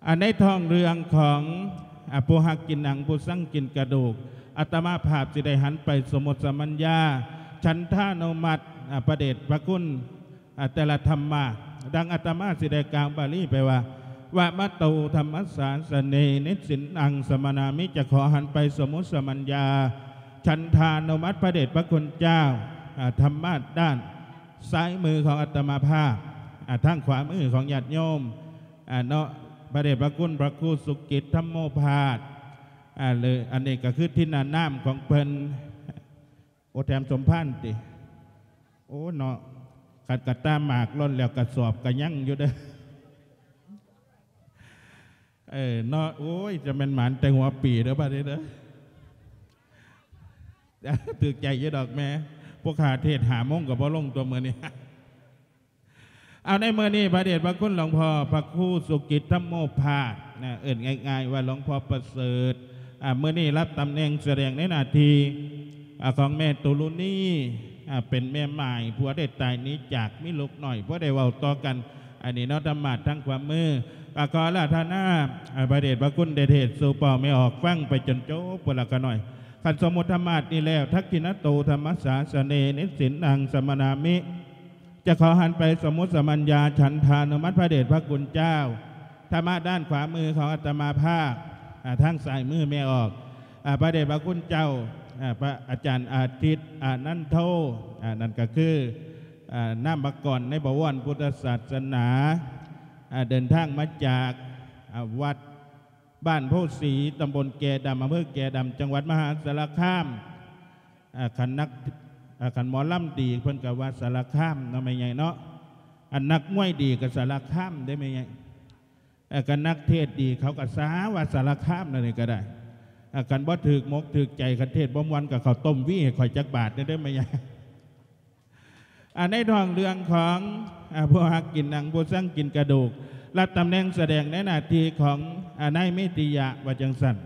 ອັນໃນທ້ອງເລື່ອງຂອງ ອາ ຜູ້ຮັກກິນໜັງ ຜູ້ຊັງກິນກະດູກ ອາດຕະມາພາບຊິໄດ້ຫັນໄປສົມມຸດສະມັນຍາ ສັນທານຸມັດ ອາ ພະເດດພະຄຸນ ອາ ແຕ່ລະທຳມະ ດັ່ງອາດຕະມາຊິໄດ້ກ່າວບາລີໄປວ່າ ວະມະໂຕທຳມະສາສະເນ ນິດສິນອັງສະມະນາມິ ຈະຂໍຫັນໄປສົມມຸດສະມັນຍາ ສັນທານຸມັດພະເດດພະຄຸນເຈົ້າ ອາ ທຳມະດ້ານຊ້າຍມືຂອງອາດຕະມາພາບ ອາ ທາງຂວາມືຂອງຍາດໂຍມ ອາ ເນາະ ພະເດດພະຄຸນພະຄູສຸກິດທຳໂມພາດ ອາ ຫຼື ອັນນີ້ກໍຄືທິນນານາມຂອງເພິ່ນ ໂອ ແຖມສົມພານຕິ ໂອ ເນາະ ຄັນກະຕາໝາກຫຼົ່ນແລ້ວກະສອບກະຍັງຢູ່ເດີ້ ເອີ ເນາະ ໂອ້ຍ ຈະແມ່ນໝານແຕ່ຫົວປີເດີ້ບາດນີ້ເດີ້ ຖືກໃຈຢູ່ດອກແມ່ ພວກຂ້າເທດຫ້າໂມງກໍບໍ່ລົງຕົວະມື້ນີ້ ເອົາ ໃນມື້ນີ້ພະເດດພະຄຸນຫຼວງພໍ່ພະຄູສຸກິດທຳໂມພາດນະ ເອີ້ນງ່າຍໆວ່າຫຼວງພໍ່ປະເສີດ ອາ ມື້ນີ້ຮັບຕຳແໜ່ງສະແດງໃນໜ້າທີ່ ອາ ຂອງແມ່ຕຸລຸນີ ອາ ເປັນແມ່ໝ້າຍ ຜົວໄດ້ຕາຍໜີຈາກ ມີລູກນ້ອຍ ບໍ່ໄດ້ເວົ້າຕໍ່ກັນ ອັນນີ້ເນາະ ທຳມາດທາງຂວາມື ກໍຂໍອາລາທະນາ ອາ ພະເດດພະຄຸນໄດ້ເທດສູ່ພໍ່ແມ່ອອກຟັງໄປຈົນຈົບພຸ້ນລະຂະນ້ອຍ ຄັນສົມມຸດທຳມາດນີ້ແລ້ວ ທັກຂິນະໂຕທຳມະສາສະເນ ນິດສິນອັງສະມະນາມິ ຈະຂໍຫັນໄປສົມມຸດສະມັນຍາ ສັນທານຸມັດພະເດດພະຄຸນເຈົ້າ ທຳມະດ້ານຂວາມືຂອງອາດຕະມາພາບ ອາ ທາງຊ້າຍມືແມ່ອອກ ອາ ພະເດດພະຄຸນເຈົ້າ ອາ ພະອາຈານອາທິດ ອານັນໂທ ອາ ນັ້ນກໍຄື ອາ ນາມະກອນໃນບະວອນພຸດທະສາສະໜາ ອາ ເດີນທາງມາຈາກ ອາ ວັດ ບ້ານໂພສີ ຕຳບົນແກດຳ ອຳເພີແກດຳ ຈັງຫວັດມະຫາສາລະຄາມ ອາ ຄັນນັກ ອາ ຄັນໝໍລຳດີເພິ່ນກໍວ່າສາລະຄາມເນາະແມ່ໃຫຍ່ເນາະ ອັນນັກມວຍດີກໍສາລະຄາມເດ້ແມ່ໃຫຍ່ ອາ ຄັນນັກເທດດີເຂົາກໍສາວ່າສາລະຄາມ ແນວນີ້ກໍໄດ້ ອາ ຄັນບໍ່ຖືກມົກຖືກໃຈ ຄັນເທດບໍ່ມ່ວນກໍເຂົ້າຕົ້ມວີໃຫ້ຂ້ອຍຈັກບາດແດ່ເດີ້ແມ່ໃຫຍ່. ອັນໃນທ້ອງເລື່ອງຂອງ ອາ ຜູ້ຮັກກິນໜັງ ຜູ້ຊັງກິນກະດູກ ຮັບຕຳແໜ່ງສະແດງໃນໜ້າທີ່ຂອງ ອາ ນາຍເມຕິຍະ ວ່າຈັ່ງຊັ້ນ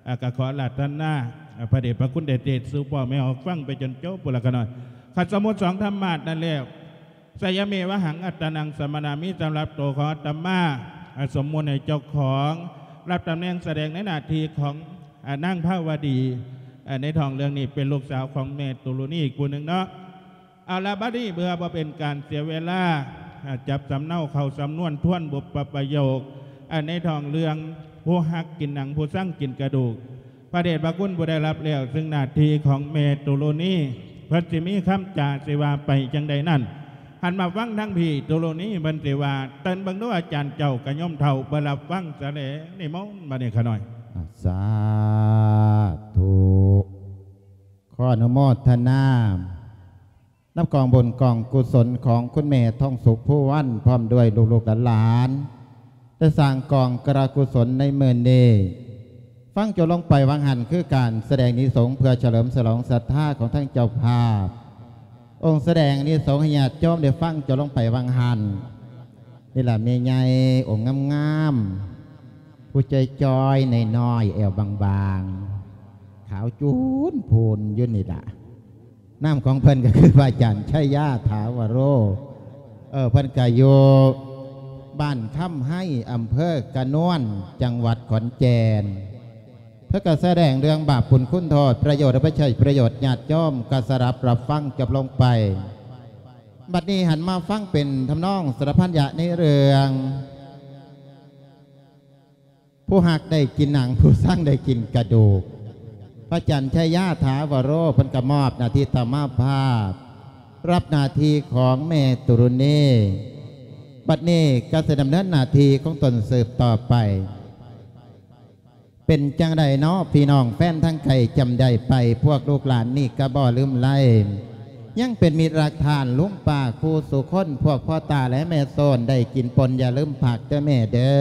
ອາ ກໍຂໍອາລາທະນາ ອາ ພະເດດພະຄຸນໄດ້ເທດສູ່ພໍ່ແມ່ອອກຟັງໄປຈົນຈົບພຸ້ນລະຂະນ້ອຍ ຄັນສົມມຸດສອງທຳມາດນັ້ນແລ້ວ ສະຍະເມວະຫັງອັດຕານັງສະມະນາມິ ສຳລັບໂຕຂອງອາດຕະມາ ອາ ສົມມຸດໃຫ້ເຈົ້າຂອງ ຮັບຕຳແໜ່ງສະແດງໃນໜ້າທີ່ຂອງ ອາ ນາງພາວະດີ ອາ ໃນທ້ອງເລື່ອງນີ້ເປັນລູກສາວຂອງແມ່ຕຸລຸນີອີກຜູ້ໜຶ່ງເນາະ. ເອົາລະ ບັດນີ້ເພື່ອບໍ່ເປັນການເສຍເວລາ ອາ ຈັບສຳເນົາເຂົ້າສຳນວນທວນບຸບປະປະໂຫຍກ ອາ ໃນທ້ອງເລື່ອງ ຜູ້ຮັກກິນໜັງ ຜູ້ຊັງກິນກະດູກ ພະເດດພະຄຸນຜູ້ໄດ້ຮັບແລ້ວ ຊຶ່ງໜ້າທີ່ຂອງແມ່ຕຸລຸນີ ເພິ່ນຊິມີຄຳຈາຊິວ່າໄປຈັ່ງໃດນັ້ນ ຫັນມາຟັງທາງພີ່ຕຸລຸນີ ເພິ່ນຊິວ່າ ເຕີນເບິ່ງດູອາຈານເຈົ້າກະໂຍມເຖົ້າ ເພິ່ນຮັບຟັງສະແລ ນິມົນ ບັດນີ້ຂະນ້ອຍ ສາທຸ ຂໍອະນຸໂມທະນາ ນຳກອງບຸນກອງກຸສົນຂອງຄຸນແມ່ທອງສຸກ ພູວັນ ພ້ອມດ້ວຍລູກໆຫຼານໆ ໄດ້ສ້າງກອງກະລະກຸສົນໃນມື້ນີ້ ຟັງຈົບລົງໄປຫວ່າງຫັ້ນ ຄືການສະແດງອານິສົງເພື່ອສະເຫຼີມສະຫຼອງສັດທາຂອງທັງເຈົ້າພາບ ອົງສະແດງອານິສົງໃຫ້ຍາດໂຍມໄດ້ຟັງຈົບລົງໄປຫວ່າງຫັ້ນ ນີ້ລະແມ່ໃຫຍ່ອົງງາມໆ ຜູ້ຈ່ອຍໆ ນ້ອຍໆ ແອວບາງໆ ຂາວຈູນພູນຢູ່ນີ້ລະ ນາມຂອງເພິ່ນກໍຄືພະອາຈານໄຊຍາ ຖາວະໂຣ ເອີ ເພິ່ນກໍຢູ່ບ້ານຄຳໄຮ ອຳເພີກະນວນ ຈັງຫວັດຂອນແກ່ນ ເພິ່ນກໍສະແດງເລື່ອງບາບບຸນຄຸນໂທດ ປະໂຫຍດ ແລະ ບໍ່ໃຊ້ປະໂຫຍດ ຍາດໂຍມກໍສະດັບຮັບຟັງຈົບລົງໄປ. ບັດນີ້ຫັນມາຟັງເປັນທຳນອງສາລະພັນຍະໃນເລື່ອງ ຜູ້ຮັກໄດ້ກິນໜັງ ຜູ້ຊັງໄດ້ກິນກະດູກ ພະອາຈານໄຊຍາ ຖາວະໂຣ ເພິ່ນກໍມອບໜ້າທີ່ຕາມາພາບ ຮັບໜ້າທີ່ຂອງແມ່ຕຸລຸນີ ບັດນີ້ກໍຊິດຳເນີນໜ້າທີ່ຂອງຕົນສືບຕໍ່ໄປ. ເປັນຈັ່ງໃດເນາະ ພີ່ນ້ອງແຟນທາງໄກ ຈຳໄດ້ໄປ ພວກລູກຫຼານນີ້ກໍບໍ່ລືມໄລ ຍັງເປັນມິດຮັກທ່ານລຸງປ້າຄູ່ສູ່ຄົນ ພວກພໍ່ຕາ ແລະ ແມ່ໂຊນ ໄດ້ກິນປົ່ນຢ່າລືມຜັກເດີ້ແມ່ເດີ້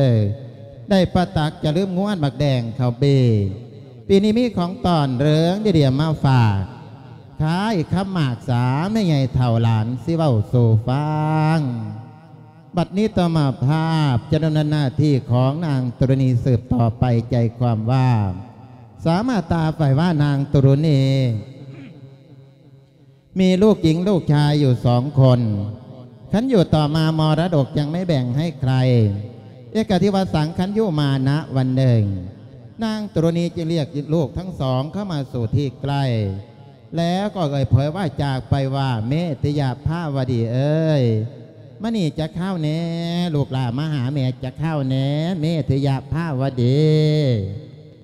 ໄດ້ປາຕັກຢ່າລືມງວນໝາກແດງເຂົ້າເບ ປີນີ້ມີຂອງຕ້ອນເລື່ອງດີໆມາຝາກ ຄ້າຍຄຳໝາກສາ ແມ່ໃຫຍ່ເຖົ້າຫຼານຊິເວົ້າສູ່ຟັງ. ບັດນີ້ຕາມາພາບຈະດຳເນີນໜ້າທີ່ຂອງນາງຕຸລຸນີສືບຕໍ່ໄປ ໃຈຄວາມວ່າ ສາມາຕາໄຟວ່ານາງຕຸລຸນີ ມີລູກຍິງລູກຊາຍຢູ່ສອງຄົນ ຄັນຢູ່ຕໍ່ມາມໍລະດົກຍັງໄມ່ແບ່ງໃຫ້ໃຄ ເອກະທິວະສັງຄັນຍຸມານະ ວັນໜຶ່ງ ນາງຕຸລະນີຈຶ່ງລຽກລູກທັງສອງເຂົ້າມາສູ່ທີ່ໃກ້ ແລ້ວກໍເອີ່ຍເຜີຍວາຈາອອກໄປວ່າ ເມທິຍະພາວະດີເອີຍ ມານີ້ຈັກຄາວແດ່ ລູກຫຼ້າມາຫາແມ່ຈັກຄາວແດ່ ເມທິຍະພາວະດີ.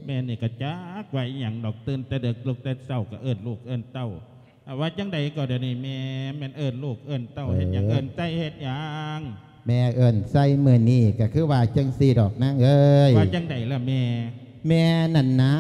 ແມ່ນີ້ກໍຈັກວ່າອີ່ຫຍັງດອກ ຕື່ນແຕ່ເດິກລຸກແຕ່ເຊົ້າກໍເອີ້ນລູກເອີ້ນເຕົ້າ. ອາ ວ່າຈັ່ງໃດກໍດຽວນີ້ແມ່ແມ່ນເອີ້ນລູກເອີ້ນເຕົ້າເຮັດຫຍັງ ເອີ ເອີ້ນໃສ່ເຮັດຫຍັງ? ແມ່ເອີ້ນໃສ່ມື້ນີ້ກໍຄືວ່າຈັ່ງຊີ້ດອກນາງເອີຍ. ວ່າຈັ່ງໃດລະແມ່? ແມ່ນັ້ນນາ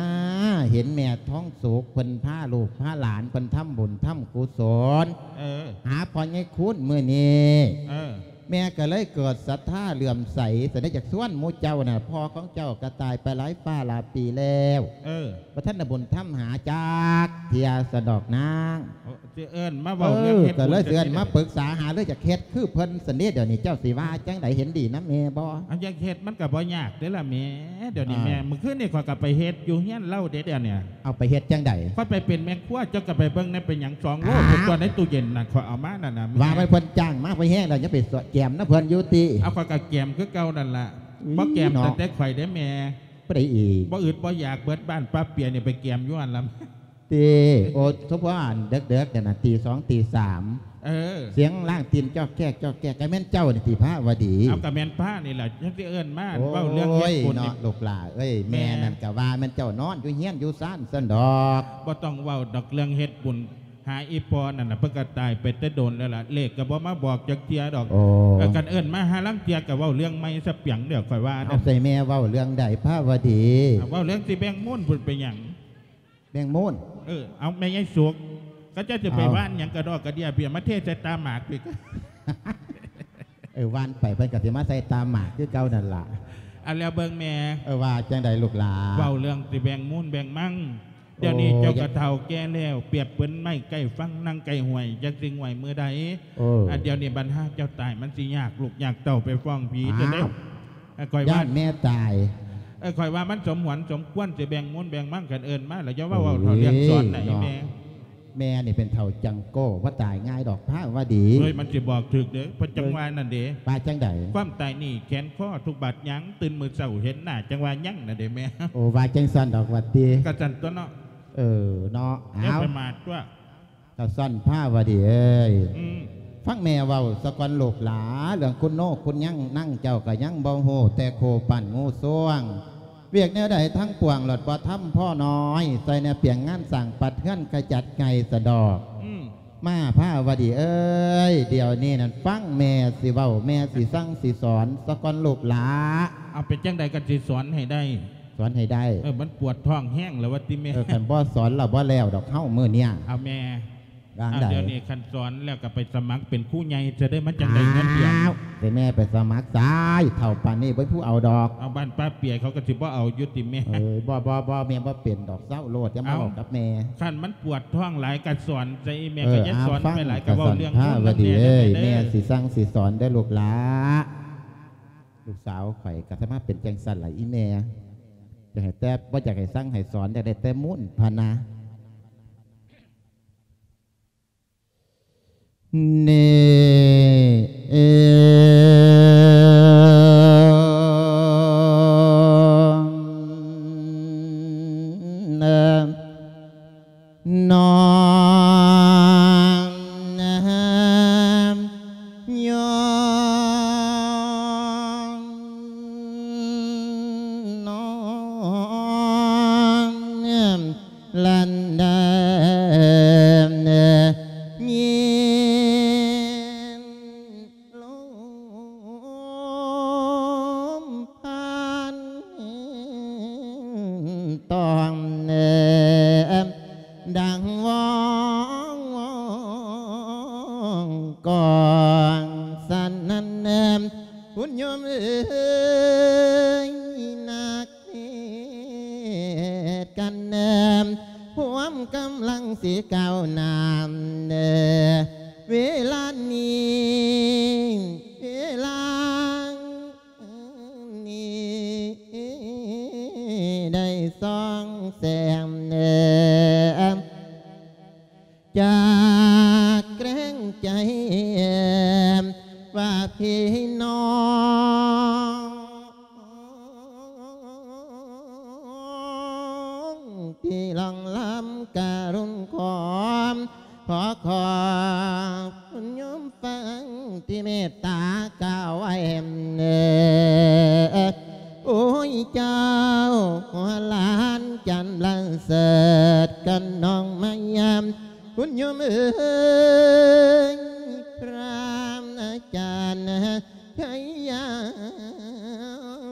ເຫັນແມ່ທອງສຸກເພິ່ນພາລູກພາຫຼານເພິ່ນທຳບຸນທຳກຸສົນ ເອີ ຫາພໍ່ໃຫຍ່ຄູນມື້ນີ້ ເອີ ແມ່ກໍເລີຍເກີດສັດທາເຫຼື້ອມໃສ ສະນັ້ນຢາກຊວນໝູ່ເຈົ້ານະ ພໍ່ຂອງເຈົ້າກໍຕາຍໄປຫຼາຍຟ້າຫຼາຍປີແລ້ວ ເອີ ບໍ່ທັນໄດ້ບຸນທຳຫາຈັກເທື່ອ ສະດອກນາງ. ໂອ້ ຊິເອີ້ນມາເວົ້າເລື່ອງເຮັດບຸນ ເອີ ກໍເລີຍຊິເອີ້ນມາປຶກສາຫາລື ຢາກເຮັດຄືເພິ່ນຊັ້ນເດ. ດຽວນີ້ເຈົ້າຊິວ່າຈັ່ງໃດ ເຫັນດີນຳແມ່ບໍ່? ເອົາ ຢາກເຮັດມັນກໍບໍ່ຍາກເດ້ລະແມ່. ດຽວນີ້ ອ່າ ແມ່ ມື້ຄືນນີ້ຂ້ອຍກໍໄປເຮັດຢູ່ເຮືອນລາວເດ້ ດຽວນີ້. ເອົາ ໄປເຮັດຈັ່ງໃດ? ຂ້ອຍໄປເປັນແມ່ຄົວ ເຈົ້າກໍໄປເບິ່ງແດ່ ເປັນຫຍັງ ສອງໂລ ອ້າວ ເປັນຕົວໃນຕູ້ເຢັນນະ ຂ້ອຍເອົາມານັ້ນນະແມ່. ວ່າມັນເພິ່ນຈ້າງມາພໍແຮງແລ້ວ ຍັງໄປແກມນຳເພິ່ນຢູ່ຕິ? ເອົາ ຂ້ອຍກໍແກມຄືເກົ່ານັ້ນລະ. ອືມ ບໍ່ແກມ ເນາະ ຕັ້ງແຕ່ຂ້ອຍເດ້ແມ່. ຜູ້ໃດອີກ? ບໍ່ອຶດບໍ່ຢາກ ເບິດບ້ານປ້າເປຍນີ້ໄປແກມຢູ່ຫັ້ນລະ. ຕິ ໂອ້ ສົມພໍອັນເດິກໆນັ້ນນະ ຕີສອງຕີສາມ ເອີ ສຽງລ້າງຕີນຈອກແຈກຈອກແຈກ ກໍແມ່ນເຈົ້ານີ້ຕິພາວະດີ? ເອົາ ກໍແມ່ນພານີ້ລະ ຈັ່ງຊິເອີ້ນມາ ໂອ້ຍ ເວົ້າເລື່ອງເຮັດບຸນ ເນາະ ນີ້ ລູກຫຼ້າເອີຍ ແມ່ ແມ່ນັ້ນກໍວ່າແມ່ນເຈົ້ານອນຢູ່ເຮືອນຢູ່ຊານຊັ້ນດອກ. ບໍ່ຕ້ອງເວົ້າດອກເລື່ອງເຮັດບຸນ ຫາອີ່ພໍ່ນັ້ນນະ ເພິ່ນກໍຕາຍໄປແຕ່ດົນແລ້ວລະ ເລກກໍບໍ່ມາບອກຈັກເທື່ອດອກ. ໂອ້ ເອີ ຄັນເອີ້ນມາຫາລາງເທື່ອກໍເວົ້າເລື່ອງໃໝ່ຊະປຽງເດີ ຂ້ອຍວ່ານະ. ເອົາ ໃສ່ແມ່ເວົ້າເລື່ອງໃດພາວະດີ? ເວົ້າເລື່ອງຊິແບ່ງມູນພຸ້ນ ເປັນຫຍັງ? ແມງມູນ ເອີ ເອົາ ແມ່ໃຫຍ່ສຸກ ເຂົາເຈົ້າຈະໄປ ເອົາ ຫວ່ານຫຍັງກະດອກກະເດຍເບຍ ມາເທໃສ່ຕາໝາກອີກ. ເອີ ຫວ່ານໄປເພິ່ນກໍຊິມາໃສ່ຕາໝາກຄືເກົ່ານັ້ນລະ. ອັນ ແລ້ວເບິ່ງແມ່ ເອີ ວ່າຈັ່ງໃດລູກຫຼ້າ? ເວົ້າເລື່ອງຊິແບ່ງມູນແບ່ງມັງ ໂອ້ ດຽວນີ້ເຈົ້າກໍເຖົ້າແກ່ແລ້ວ ປຽບເປັນໄມ້ໃກ້ຝັ່ງ ນັ່ງໃກ້ຫ້ວຍ ຈັກຊິງວຍມື້ໃດ. ເອີ ອັນ ດຽວນີ້ບັນຫາເຈົ້າຕາຍ ມັນຊິຍາກລູກຍາກເຕົ້າໄປຟ້ອງຜີ ອ້າວ ຈັ່ງໃດ. ເອີ ຂ້ອຍວ່າ ຢ້ານແມ່ຕາຍ. ເອີ ຂ້ອຍວ່າມັນສົມຫວນສົມຄວນ ຊິແບ່ງມູນແບ່ງມັງກັນ ເອີ້ນມາແລ້ວຢ່າວ່າເວົ້າເຖົ້າ ເອີ ລ້ຽງສອນໃດ ເນາະ ແມ່. ແມ່ນີ້ເປັນເຖົ້າຈັງໂກ້ ບໍ່ຕາຍງ່າຍດອກພາວະດີ. ເຮີ້ຍ ມັນຊິບອກຖືກເດີ ເພິ່ນຈັ່ງວ່ານັ້ນເດ. ວ່າຈັ່ງໃດ? ຄວາມຕາຍນີ້ແຂນຄໍທຸກບາດຫຍັງ ຕື່ນມື້ເຊົ້າເຫັນໜ້າຈັ່ງວ່າຍັງນັ້ນເດແມ່. ໂອ້ ວ່າຈັ່ງຊັ້ນດອກວ່າຕິ. ກະຊັ້ນຕົວະເນາະ. ເອີ ເນາະ ເອົາ ຢ່າປະໝາດຕົວະ. ກະຊັ້ນພາວະດີເອີຍ ອືມ ຟັງແມ່ເວົ້າສາກ່ອນລູກຫຼ້າ ເລື່ອງຄຸນໂນຄຸນຍັງ ນາງເຈົ້າກະຍັງບໍ່ຮູ້ ແຕ່ໂຄປັ້ນງູຊ່ວງ ວຽກແນວໃດທັງປວງ ລອດບໍ່ທຳພໍນ້ອຍ ໃສ່ແນວປຽງງານສ້າງປັດເຮືອນຂະຈັດໃຫຍ່ສະດອກ. ອືມ ມາພາວະດີເອີຍ ດຽວນີ້ນັ້ນຟັງແມ່ຊິເວົ້າ ແມ່ຊິສັ່ງຊິສອນສາກ່ອນລູກຫຼ້າ. ເອົາ ເປັນຈັ່ງໃດກໍຊິສອນໃຫ້ໄດ້. ສອນໃຫ້ໄດ້. ເອີ ມັນປວດທ້ອງແຮງແລ້ວວ່າຕິແມ່. ເອີ ຄັນບໍ່ສອນລະບໍ່ແລ້ວດອກເຮົາມື້ເນີ້ຍ. ເອົາແມ່ ວ່າໃດ? ດຽວນີ້ຄັນສອນແລ້ວກໍໄປສະໝັກເປັນຄູໃຫຍ່ຊະເດີ ມັນຈັ່ງໄດ້ເງິນເດືອນ. ອ້າວ ໃຫ້ແມ່ໄປສະໝັກຊາຍ ເຖົ້າປານນີ້ບໍ່ມີຜູ້ເອົາດອກ. ເອົາ ບ້ານປ້າເປຍເຂົາກໍຊິບໍ່ເອົາຢູ່ຕິແມ່. ເອີ ບໍ່ ບໍ່ ບໍ່ ແມ່ບໍ່ເປັນດອກ ເຊົາໂລດ ຢ່າມາເວົ້າກັບແມ່. ເອົ້າ ຄັນມັນປວດທ້ອງຫຼາຍກໍສອນຊະ ອີແມ່ ເອີ ກໍຢ່າສອນໄປຫຼາຍ ກໍເວົ້າເລື່ອງບຸນນຳແມ່ເດີ. ແມ່ຊິສັ່ງຊິສອນເດີລູກຫຼ້າ. ລູກສາວຂ້ອຍກໍສາມາດເປັນຈັ່ງຊັ້ນລະອີແມ່ ຢາກໃຫ້ແຕ່ ບໍ່ຢາກໃຫ້ສັ່ງໃຫ້ສອນ ຢາກໄດ້ແຕ່ມູນພະນາ. ທີ່ລ່ອງລຳກະລຸນຂອມ ຂໍຂອບຄຸນໂຍມຟັງທີ່ເມດຕາກ່າວໄວ້ ໂອ້ຍ ເຈົ້າຫົວຫຼານຈັນລະເສີດກັນນ້ອງມາຢາມ ຄຸນໂຍມເອີຍ ພຣາມອາຈານ ໄທຍາ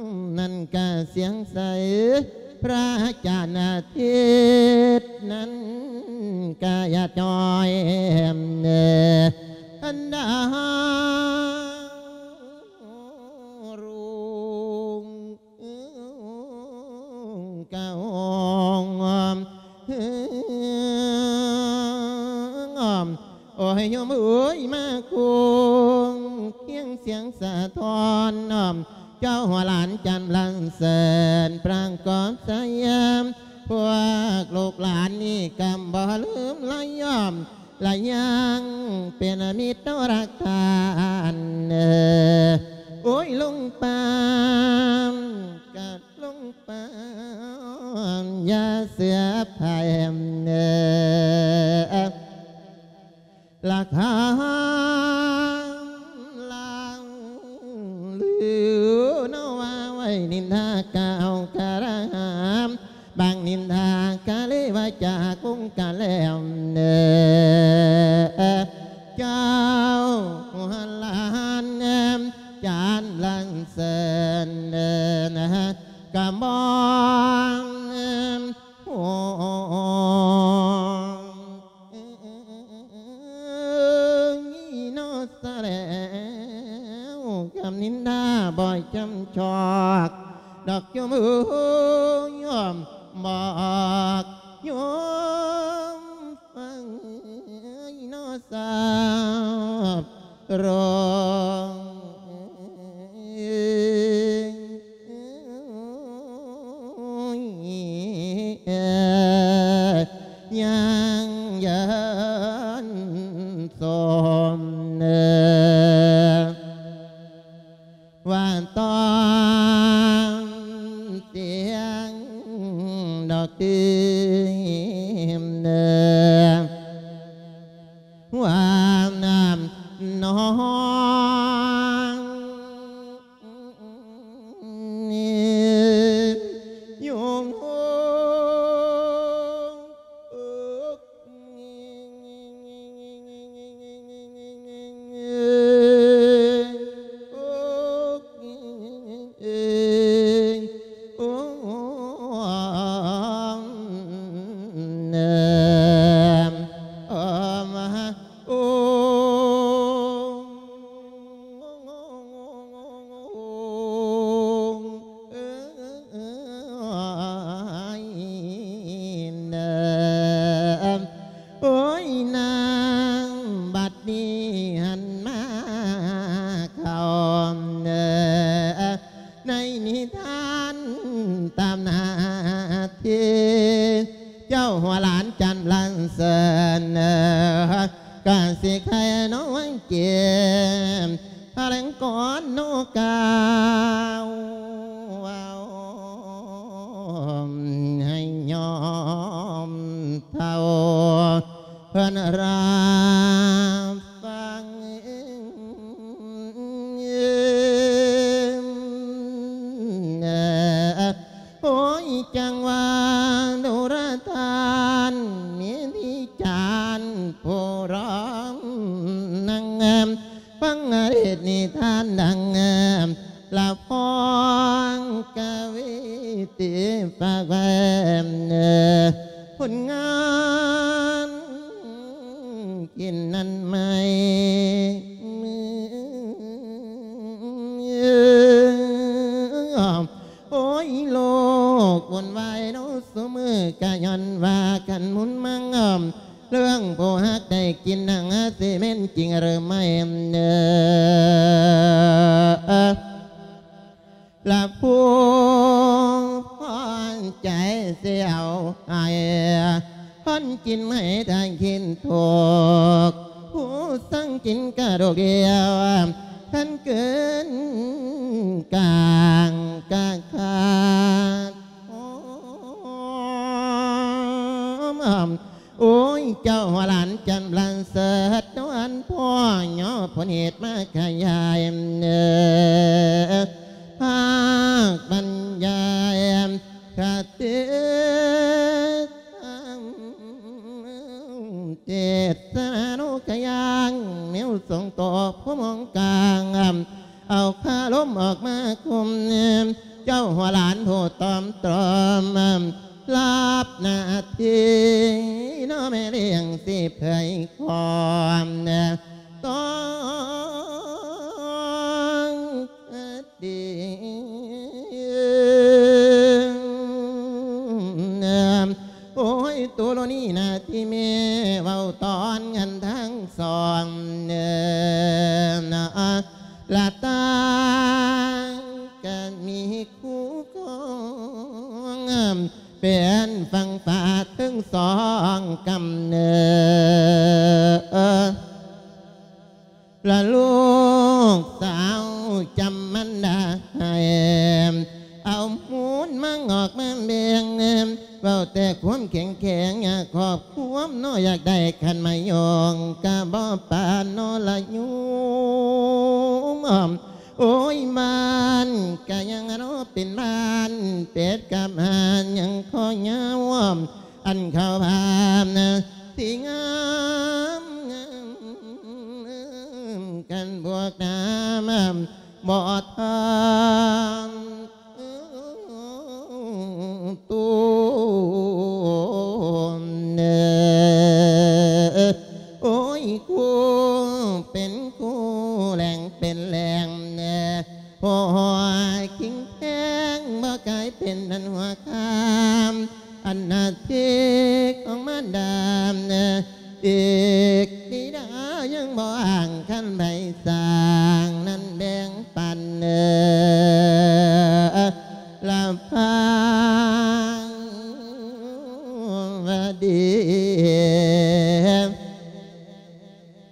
ວນັ້ນກະສຽງໃສ ພຣາອາຈານອາທິດນັ້ນກະຢາດຍ້ອຍ ອັນດາວລຸງ ກະໂອງ ໂອ້ຍ ໂຍມເອີຍ ມາຄົງຄຽງສຽງສະທ້ອນ ເຈົ້າຫົວຫຼານຈັນລະເສີນ ປາງກອບສະຫຍາມ ພວກລູກຫຼານນີ້ກຳບໍ່ລືມລະຍອມ ລະຍັງເປັນມິດຕໍ່ລັກທ່ານ ໂອ້ຍ ລຸງປາມ ກະລຸງປາມ ຢ່າເຊື່ອໃຜ ລະຄຳລາວລືເນາະວ່າໄວ້ ນິນທາກ່າວກະລະຫາມ ບາງນິນທາກະເລີຍວ່າຈາກົງກະແລ້ວ ເຈົ້າຫົວຫຼານຈັນລະເສີນ ກະມອງ ໂອ້ ຍ ເນາະ ສະແລ້ວ ຄຳນິນທາບໍ່ຈຳຈອກ ດອກໂຍມເອີຍ ຍອມບອກໂຍມຟັງ ເນາະ ຊາບໂລງ ຍັງເຍີນສົມ ວ່າຕ້ອງສຽງດອກຕື່ມ ວ່ານ້ຳນອງ ຢູ່ໂອ້ຍ ນາງ ບັດນີ້ຫັນມາເຂົ້າ ໃນນິທານຕາມໜ້າທີ່ ເຈົ້າຫົວຫຼານຈັນລະເສີນ ກະຊິໄຄນ້ອງເກມ ພະແລງກ່ອນໂນກາວ ໃຫ້ຍອມເທົ່າ ເພິ່ນຮັບຟັງ ໂອ້ຍ ຈັ່ງວ່າດູລະທ່ານ ມີທີ່ຈານຜູ້ຮ້ອງນາງງາມ ຟັງເທດນິທານດັ່ງລະຟ້ອງກະວີ ທີ່ຝາກໄວ້ ຜົນງານກິນນັ້ນໄໝ້ ໂອ້ຍ ໂລກວຸ່ນວາຍເນາະ ຊຸມື້ກະຍ້ອນວ່າກັນໝຸນມັງ ເລື່ອງຜູ້ຮັກໄດ້ກິນໜັງ ຊິແມ່ນຈິງຫຼືໄມ່ ລະຜູ້ພອນໃຈຊິເອົາໃຫ້ ຄົນກິນໃຫ້ໄດ້ກິນທຸກ ຜູ້ສັ່ງກິນກະດອກດຽວ ຄັນເກີນກາງກະຂາດ. ໂອ້ຍ ເຈົ້າຫົວຫຼານຈັນປະເສີດ ນວນພໍ່ຍໍຜົນເຫດມາຂະຫຍາຍ ເອີ ພາກບັນຍາຍຄະຕິທຳ ເທດສະນານຸກະຍາງ ແນວຊົງໂຕຜູ້ມອງກາງ ເອົາຄາລົມອອກມາຄຸມ ເຈົ້າຫົວຫຼານຜູ້ຕອມຕຣອມ ຮັບໜ້າທີ່ເນາະແມ່ລ້ຽງ ຊິເຜີຍຄວາມຕ້ອງຄະດີ ໂອ້ຍ ໂຕໂລນີນາທີ່ແມ່ເວົ້າຕອນກັນທັງສອງ ເອີ ນະ ລະຕ່າງກະມີຄູ່ຄອງ ເປັນຝັ່ງຟ້າເທິງສອງກຳເນີດ ລະລູກສາວຈຳມັນດາໃຫ້ ເອົາມູນມາງອກມາແບ່ງ ເວົ້າແຕ່ຄວາມແຂງແຂງ ຢາກຄອບຄວາມເນາະ ຢາກໄດ້ຂັນມາຍອງ ກະບໍ່ປານເນາະລະໂຍມ ໂອ້ຍ ບ້ານກະຍັງເນາະເປັນບ້ານ ເປັດກັບຫ່ານຍັງຄໍຍາວ ອັນເຂົາພານະ ທີ່ງາມ ກັນບວກນາມ ບໍ່ທານຕູນເອີ ໂອ້ຍ ຄູ່ເປັນຄູ່ ແຫຼງເປັນແຫຼງ ໂອ້ຍ ຄິງແພງ ບໍ່ກາຍເປັນອັນຫົວຄາມ ອັນໜ້າທີ່ຂອງມາດາມ ອີກບິດາຍັງບໍ່ອ້າງ ຄັນໃຜສ້າງນັ້ນແບ່ງປັນ ເອີ ລະຟັງວ່າດີ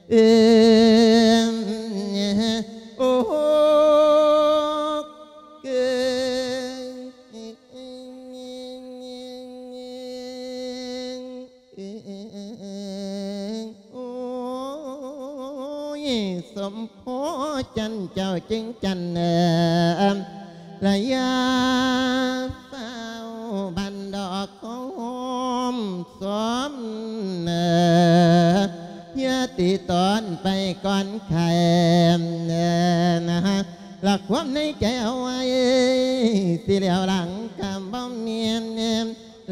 ເອີ ໂອ້ ເກີ ໂອ້ຍ ສົມພໍຈັນເຈົ້າຈຶ່ງຈັນເອີ ລະຢ່າຟ້າວບັນດອກຄອມສອມເອີ ຢ່າຕິຕອນໄປກ່ອນໃຜເອີ ນະ ລະຄວາມໃນໃຈເອົາໄວ້ ຊິແລ້ວຫຼັງກຳບໍ່ແມ່ນ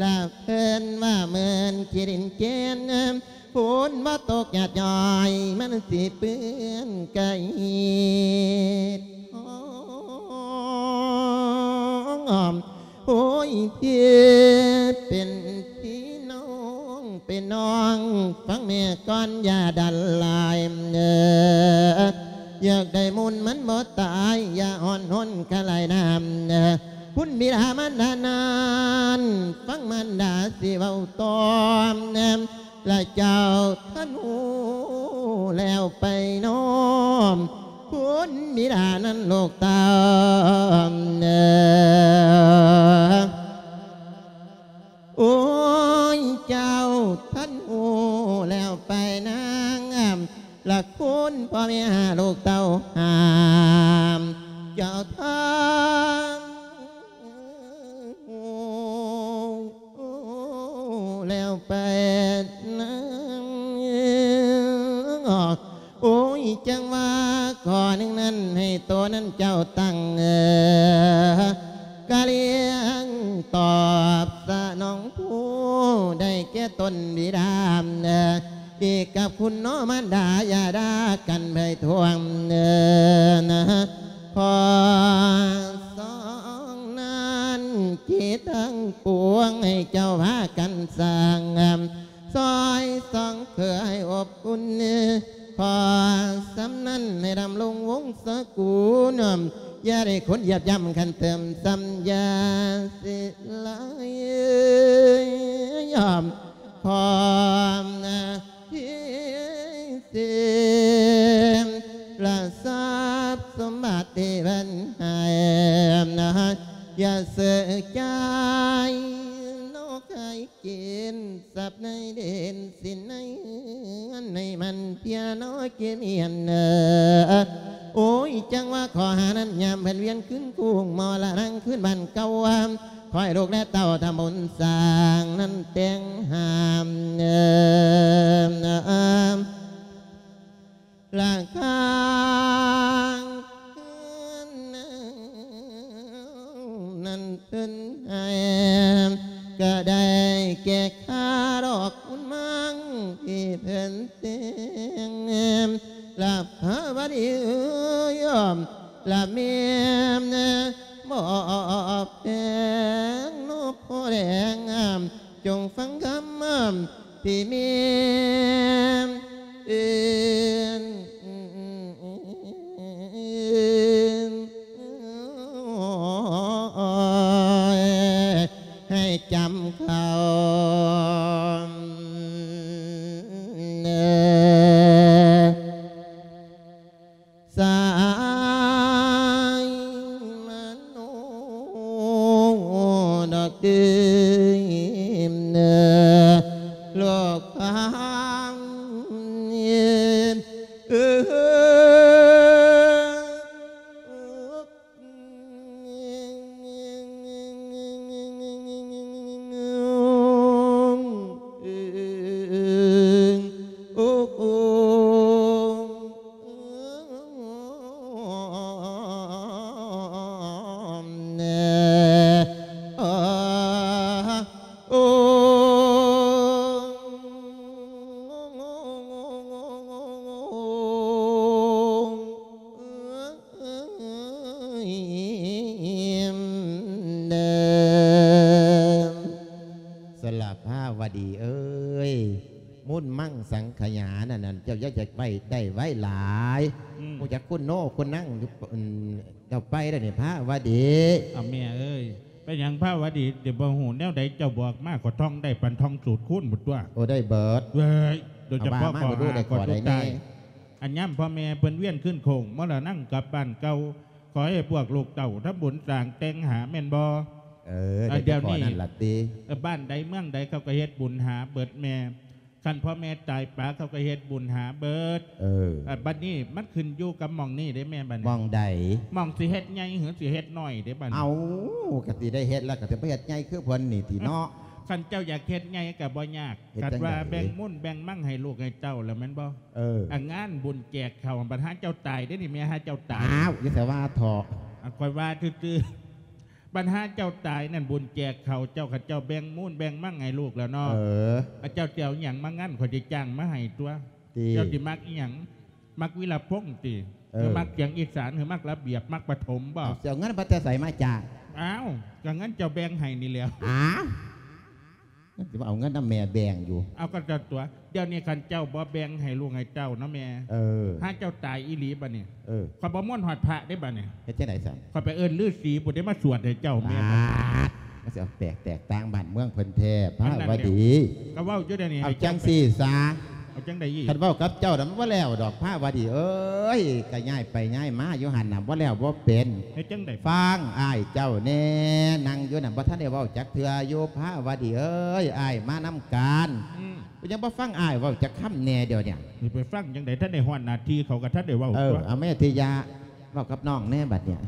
ລະເພິ່ນວ່າເມີນຂີ້ດິນເຈນ ຝົນບໍ່ຕົກຫຍາດຍ້ອຍ ມັນຊິເປື້ອນກະຮີດທອງ. ໂອ້ຍ ພີ່ເປັນພີ່ນ້ອງເປັນນ້ອງ ຟັງແມ່ກ່ອນຢ່າດັນຫຼາຍເອີ ຢາກໄດ້ມູນມັນບໍ່ຕາຍ ຢ່າອ່ອນຫົນຄະລາຍນ້ຳເອີ ຄຸນບິດາມານດານັ້ນ ຟັງມານດາຊິເວົ້າຕອນ ລະເຈົ້າທ່ານຮູ້ແລ້ວໄປນ້ອມ ຄຸນບິດານັ້ນລູກເຕົ້າເອີ ໂອ້ຍ ເຈົ້າທ່ານຮູ້ແລ້ວໄປນາງ ລະຄຸນພໍ່ແມ່ຫາລູກເຕົ້າຫາມ ເຈົ້າທ່ານ ແລ້ວໄປນຳ ໂອ້ຍ ຈັ່ງວ່າຂໍ້ໜຶ່ງນັ້ນ ໃຫ້ໂຕນັ້ນເຈົ້າຕັ້ງ ເອີ ກະລ້ຽງຕອບສະໜອງຜູ້ ໄດ້ແກ່ຕົນບິດາ ເອີ ອີກກັບຄຸນເນາະມານດາ ຢ່າດ່າກັນໃຜທ່ວງເນີນະ ຂໍສອງນັ້ນ ທີ່ທັງປວງໃຫ້ເຈົ້າພາກັນສ້າງ ຊ່ອຍສອງເຄືອໃຫ້ອົບອຸ່ນ ຂໍສ່ຳນັ້ນໃຫ້ດຳລົງວົງສະກຸນ ຢ່າໄດ້ຄົນຢຽບຢ່ຳຄັນເຕີມຊ້ຳ ຢ່າຊິຫຼາຍ ຂໍ ທີ່ສິ້ນລະຊັບສົມບັດທີ່ເພິ່ນໃຫ້ນະ ຢ່າເສີກໃຈນອກ ໃຫ້ກິນຊັບໃນດິນສິນໃນເຮືອນ ໃຫ້ມັນເພຍເນາະກິນມຽນເອີ. ໂອ້ຍ ຈັ່ງວ່າຂໍຫານັ້ນ ຍາມເພິ່ນວຽນຄືນຄຸ້ງມໍລະນັງຄືນບ້ານເກົ່າ ຂໍໃຫ້ລູກແລະເຕົ້າທຳບຸນສ້າງນັ້ນແຕ່ງຫາມເອີ. ລະຂ້າງເຮືອນນາງນັ້ນເພິ່ນໃຫ້ ກະໄດ້ແກ່ຄ່າດອກບຸນມັງທີ່ເພິ່ນແຕ່ງ ລະພະວະດີເອີຍ ລະແມ່ນະ ບໍ່ແພງເນາະພໍ່ແດງ ຈົ່ງຟັງຄຳທີ່ແມ່ນເອີ້ນ ໃຫ້ຈຳເຂົ້າ ສາຍມະໂນດອກຕື່ມເນີ ໂລກຄວາມເຫັນ ເອີ. ສະລະພາວະດີເອີຍ ມຸນມັງສັງຂະຫຍານັ້ນ ເຈົ້າຢ່າຢາກໄວ້ໄດ້ໄວ້ຫຼາຍ. ອືມ ຮູ້ຈັກຄຸນໂນຄຸນນັງຢູ່ ເຈົ້າໄປແລ້ວນີ້ພາວະດີ. ເອົາແມ່ເອີຍ ເປັນຫຍັງພາວະດີ ຊິບໍ່ຮູ້ແນວໃດ ເຈົ້າບອກມາ ຂ້ອຍທ່ອງໄດ້ປານທ່ອງສູດຄູນພຸ້ນຕົວະ. ໂອ້ ໄດ້ເບິດ. ເວີຍ ໂດຍສະເພາະ ເອົາວ່າມາ ຂໍ ເບິ່ງດູ ຫາ ໄດ້ຂໍ້ໃດແດ່? ອັນຍາມພໍ່ແມ່ເພິ່ນວຽນຄືນໂຄ້ງມໍລະນັງກັບບ້ານເກົ່າ ຂໍໃຫ້ພວກລູກເຕົ້າທຳບຸນສ້າງແຕ່ງຫາແມ່ນບໍ່? ເອີ ໄດ້ແຕ່ຂໍ້ນັ້ນລະຕິ. ເອີ ບ້ານໃດເມືອງໃດເຂົາກໍເຮັດບຸນຫາເບິດແມ່. ຄັນພໍ່ແມ່ຕາຍປະເຂົາກໍເຮັດບຸນຫາເບິດ. ເອີ ບັດນີ້ມັນຂຶ້ນຢູ່ກັບໝ່ອງນີ້ເດ້ແມ່ ບັດນີ້. ໝ່ອງໃດ? ໝ່ອງຊິເຮັດໃຫຍ່ ຫຼື ຊິເຮັດນ້ອຍເດ້ບັດນີ້. ເອົ້າ ກໍຊິໄດ້ເຮັດແລ້ວ ກໍຊິໄປເຮັດໃຫຍ່ຄືເພິ່ນນີ້ຕິເນາະ. ຄັນເຈົ້າຢາກເຮັດໃຫຍ່ກໍບໍ່ຍາກ. ເຮັດ ຄັນວ່າແບ່ງມູນແບ່ງມັງໃຫ້ລູກໃຫ້ເຕົ້າແລ້ວແມ່ນບໍ່? ເອີ ອາ ງານບຸນແຈກເຂົ້າ ບັດຫາເຈົ້າຕາຍເດ້ນີ້ ແມ່ ຫາເຈົ້າຕາຍ. ອ້າວ ຢ່າສະວ່າເຖາະ. ອາ ຂ້ອຍວ່າຊື່ໆ. ບັດຫາເຈົ້າຕາຍນັ້ນ ບຸນແຈກເຂົ້າເຈົ້າ ຄັນເຈົ້າແບ່ງມູນແບ່ງມັງໃຫ້ລູກແລ້ວເນາະ. ເອີ ອາ ເຈົ້າຊິເອົາຫຍັງມາງັ້ນ ຂ້ອຍຊິຈ້າງມາໃຫ້ຕົວະ. ເຈົ້າຊິມັກອີ່ຫຍັງ? ມັກວິລະພົງຕິ? ເອີ ຫຼື ມັກສຽງອີສານ ຫຼື ມັກລະບຽບ ມັກປະຖົມບໍ? ເອົາ ຊິເອົາເງິນມາແຕ່ໃສມາຈ້າງ? ອ້າວ ກໍເງິນເຈົ້າແບ່ງໃຫ້ນີ້ແຫຼ້ວ. ອ້າວ ມັນຊິມາເອົາເງິນນຳແມ່ແບ່ງຢູ່. ເອົາ ກໍຕົວະ ດຽວນີ້ຄັນເຈົ້າບໍ່ແບ່ງໃຫ້ລູກໃຫ້ເຕົ້າເນາະແມ່. ເອີ ຫາເຈົ້າຕາຍອີ່ຫຼີບັດນີ້. ເອີ ຂ້ອຍບໍ່ມ່ວນຮອດພະເດ້ບັດນີ້. ເຮັດຈັ່ງໃດຊັ້ນ? ຂ້ອຍໄປເອີ້ນລືສີພຸ້ນເດ້ມາສວດໃຫ້ເຈົ້າແມ່. ປາດ ມັນຊິເອົາແຕກ ແຕກຕ່າງບ້ານເມືອງເພິ່ນແທ້ ພາວະດີ. ກໍເວົ້າຢູ່ດຽວນີ້. ເອົາຈັ່ງຊີ້ຊະ. ເອົາຈັ່ງໃດອີກ? ຄັນເວົ້າກັບເຈົ້ານະ ມັນບໍ່ແລ້ວດອກ ພາວະດີເອີຍ. ກໍຍ້າຍໄປຍ້າຍມາຢູ່ຫັ້ນນະ ບໍ່ແລ້ວບໍ່ເປັນ. ເຮັດຈັ່ງໃດ? ຟັງອ້າຍເຈົ້າແດ່ ນັ່ງຢູ່ນັ້ນ ບໍ່ທັນໄດ້ເວົ້າຈັກເທື່ອຢູ່ ພາວະດີເອີຍ. ອ້າຍມານຳກັນ. ອືມ. ເປັນຫຍັງບໍ່ຟັງອ້າຍເວົ້າຈັກຄຳແດ່ດຽວນີ້? ຊິໄປຟັງຈັ່ງໃດ ທັນໄດ້ຮອດໜ້າທີ່ເຂົາກໍທັນໄດ້ເວົ້າ. ເອີ ຕົວະ ເອົາແມ່ທິຍາ ເວົ້າກັບນ້ອງແດ່ບັດນີ້.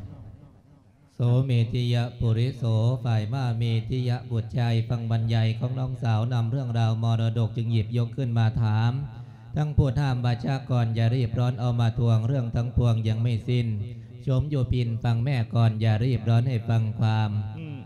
ໂສເມທິຍະປຸລິໂສ ຝ່າຍມາເມທິຍະບຸດຊາຍ ຟັງບັນຍາຍຂອງນ້ອງສາວນຳເລື່ອງລາວມໍລະດົກ ຈຶ່ງຫຍິບຍົກຂຶ້ນມາຖາມ. ທັງຜູ້ຫ້າມວາຈາກ່ອນ ຢ່າຣີບຮ້ອນເອົາມາທວງ ເລື່ອງທັງປວງຍັງໄມ່ສິ້ນ ຊົມຢູ່ປິ່ນຟັງແມ່ກ່ອນ ຢ່າຣີບຮ້ອນໃຫ້ຟັງຄວາມ. ອືມ.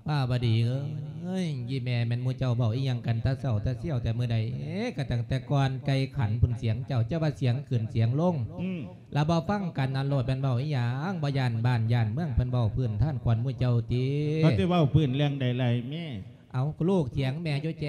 ພາວະດີເອີຍ ອີ່ແມ່ແມ່ນໝູ່ເຈົ້າເວົ້າອີ່ຫຍັງກັນແຕ່ເຊົ້າແຕ່ສ່ຽວແຕ່ມື້ໃດ? ເອ ກໍຕັ້ງແຕ່ກ່ອນໄກ່ຂັນພຸ້ນສຽງເຈົ້າ ເຈົ້າວ່າສຽງຂຶ້ນສຽງລົງ. ອືມ. ລະບໍ່ຟັງກັນນັ້ນໂລດ ແມ່ນເວົ້າອີ່ຫຍັງ? ບໍ່ຢ້ານບ້ານຢ້ານເມືອງເພິ່ນເວົ້າພື້ນທ່ານຂວັນໝູ່ເຈົ້າຕິ? ເຂົາຊິເວົ້າພື້ນເລື່ອງໃດລະແມ່? ເອົາ ລູກຖຽງແມ່ຢູ່ແຈ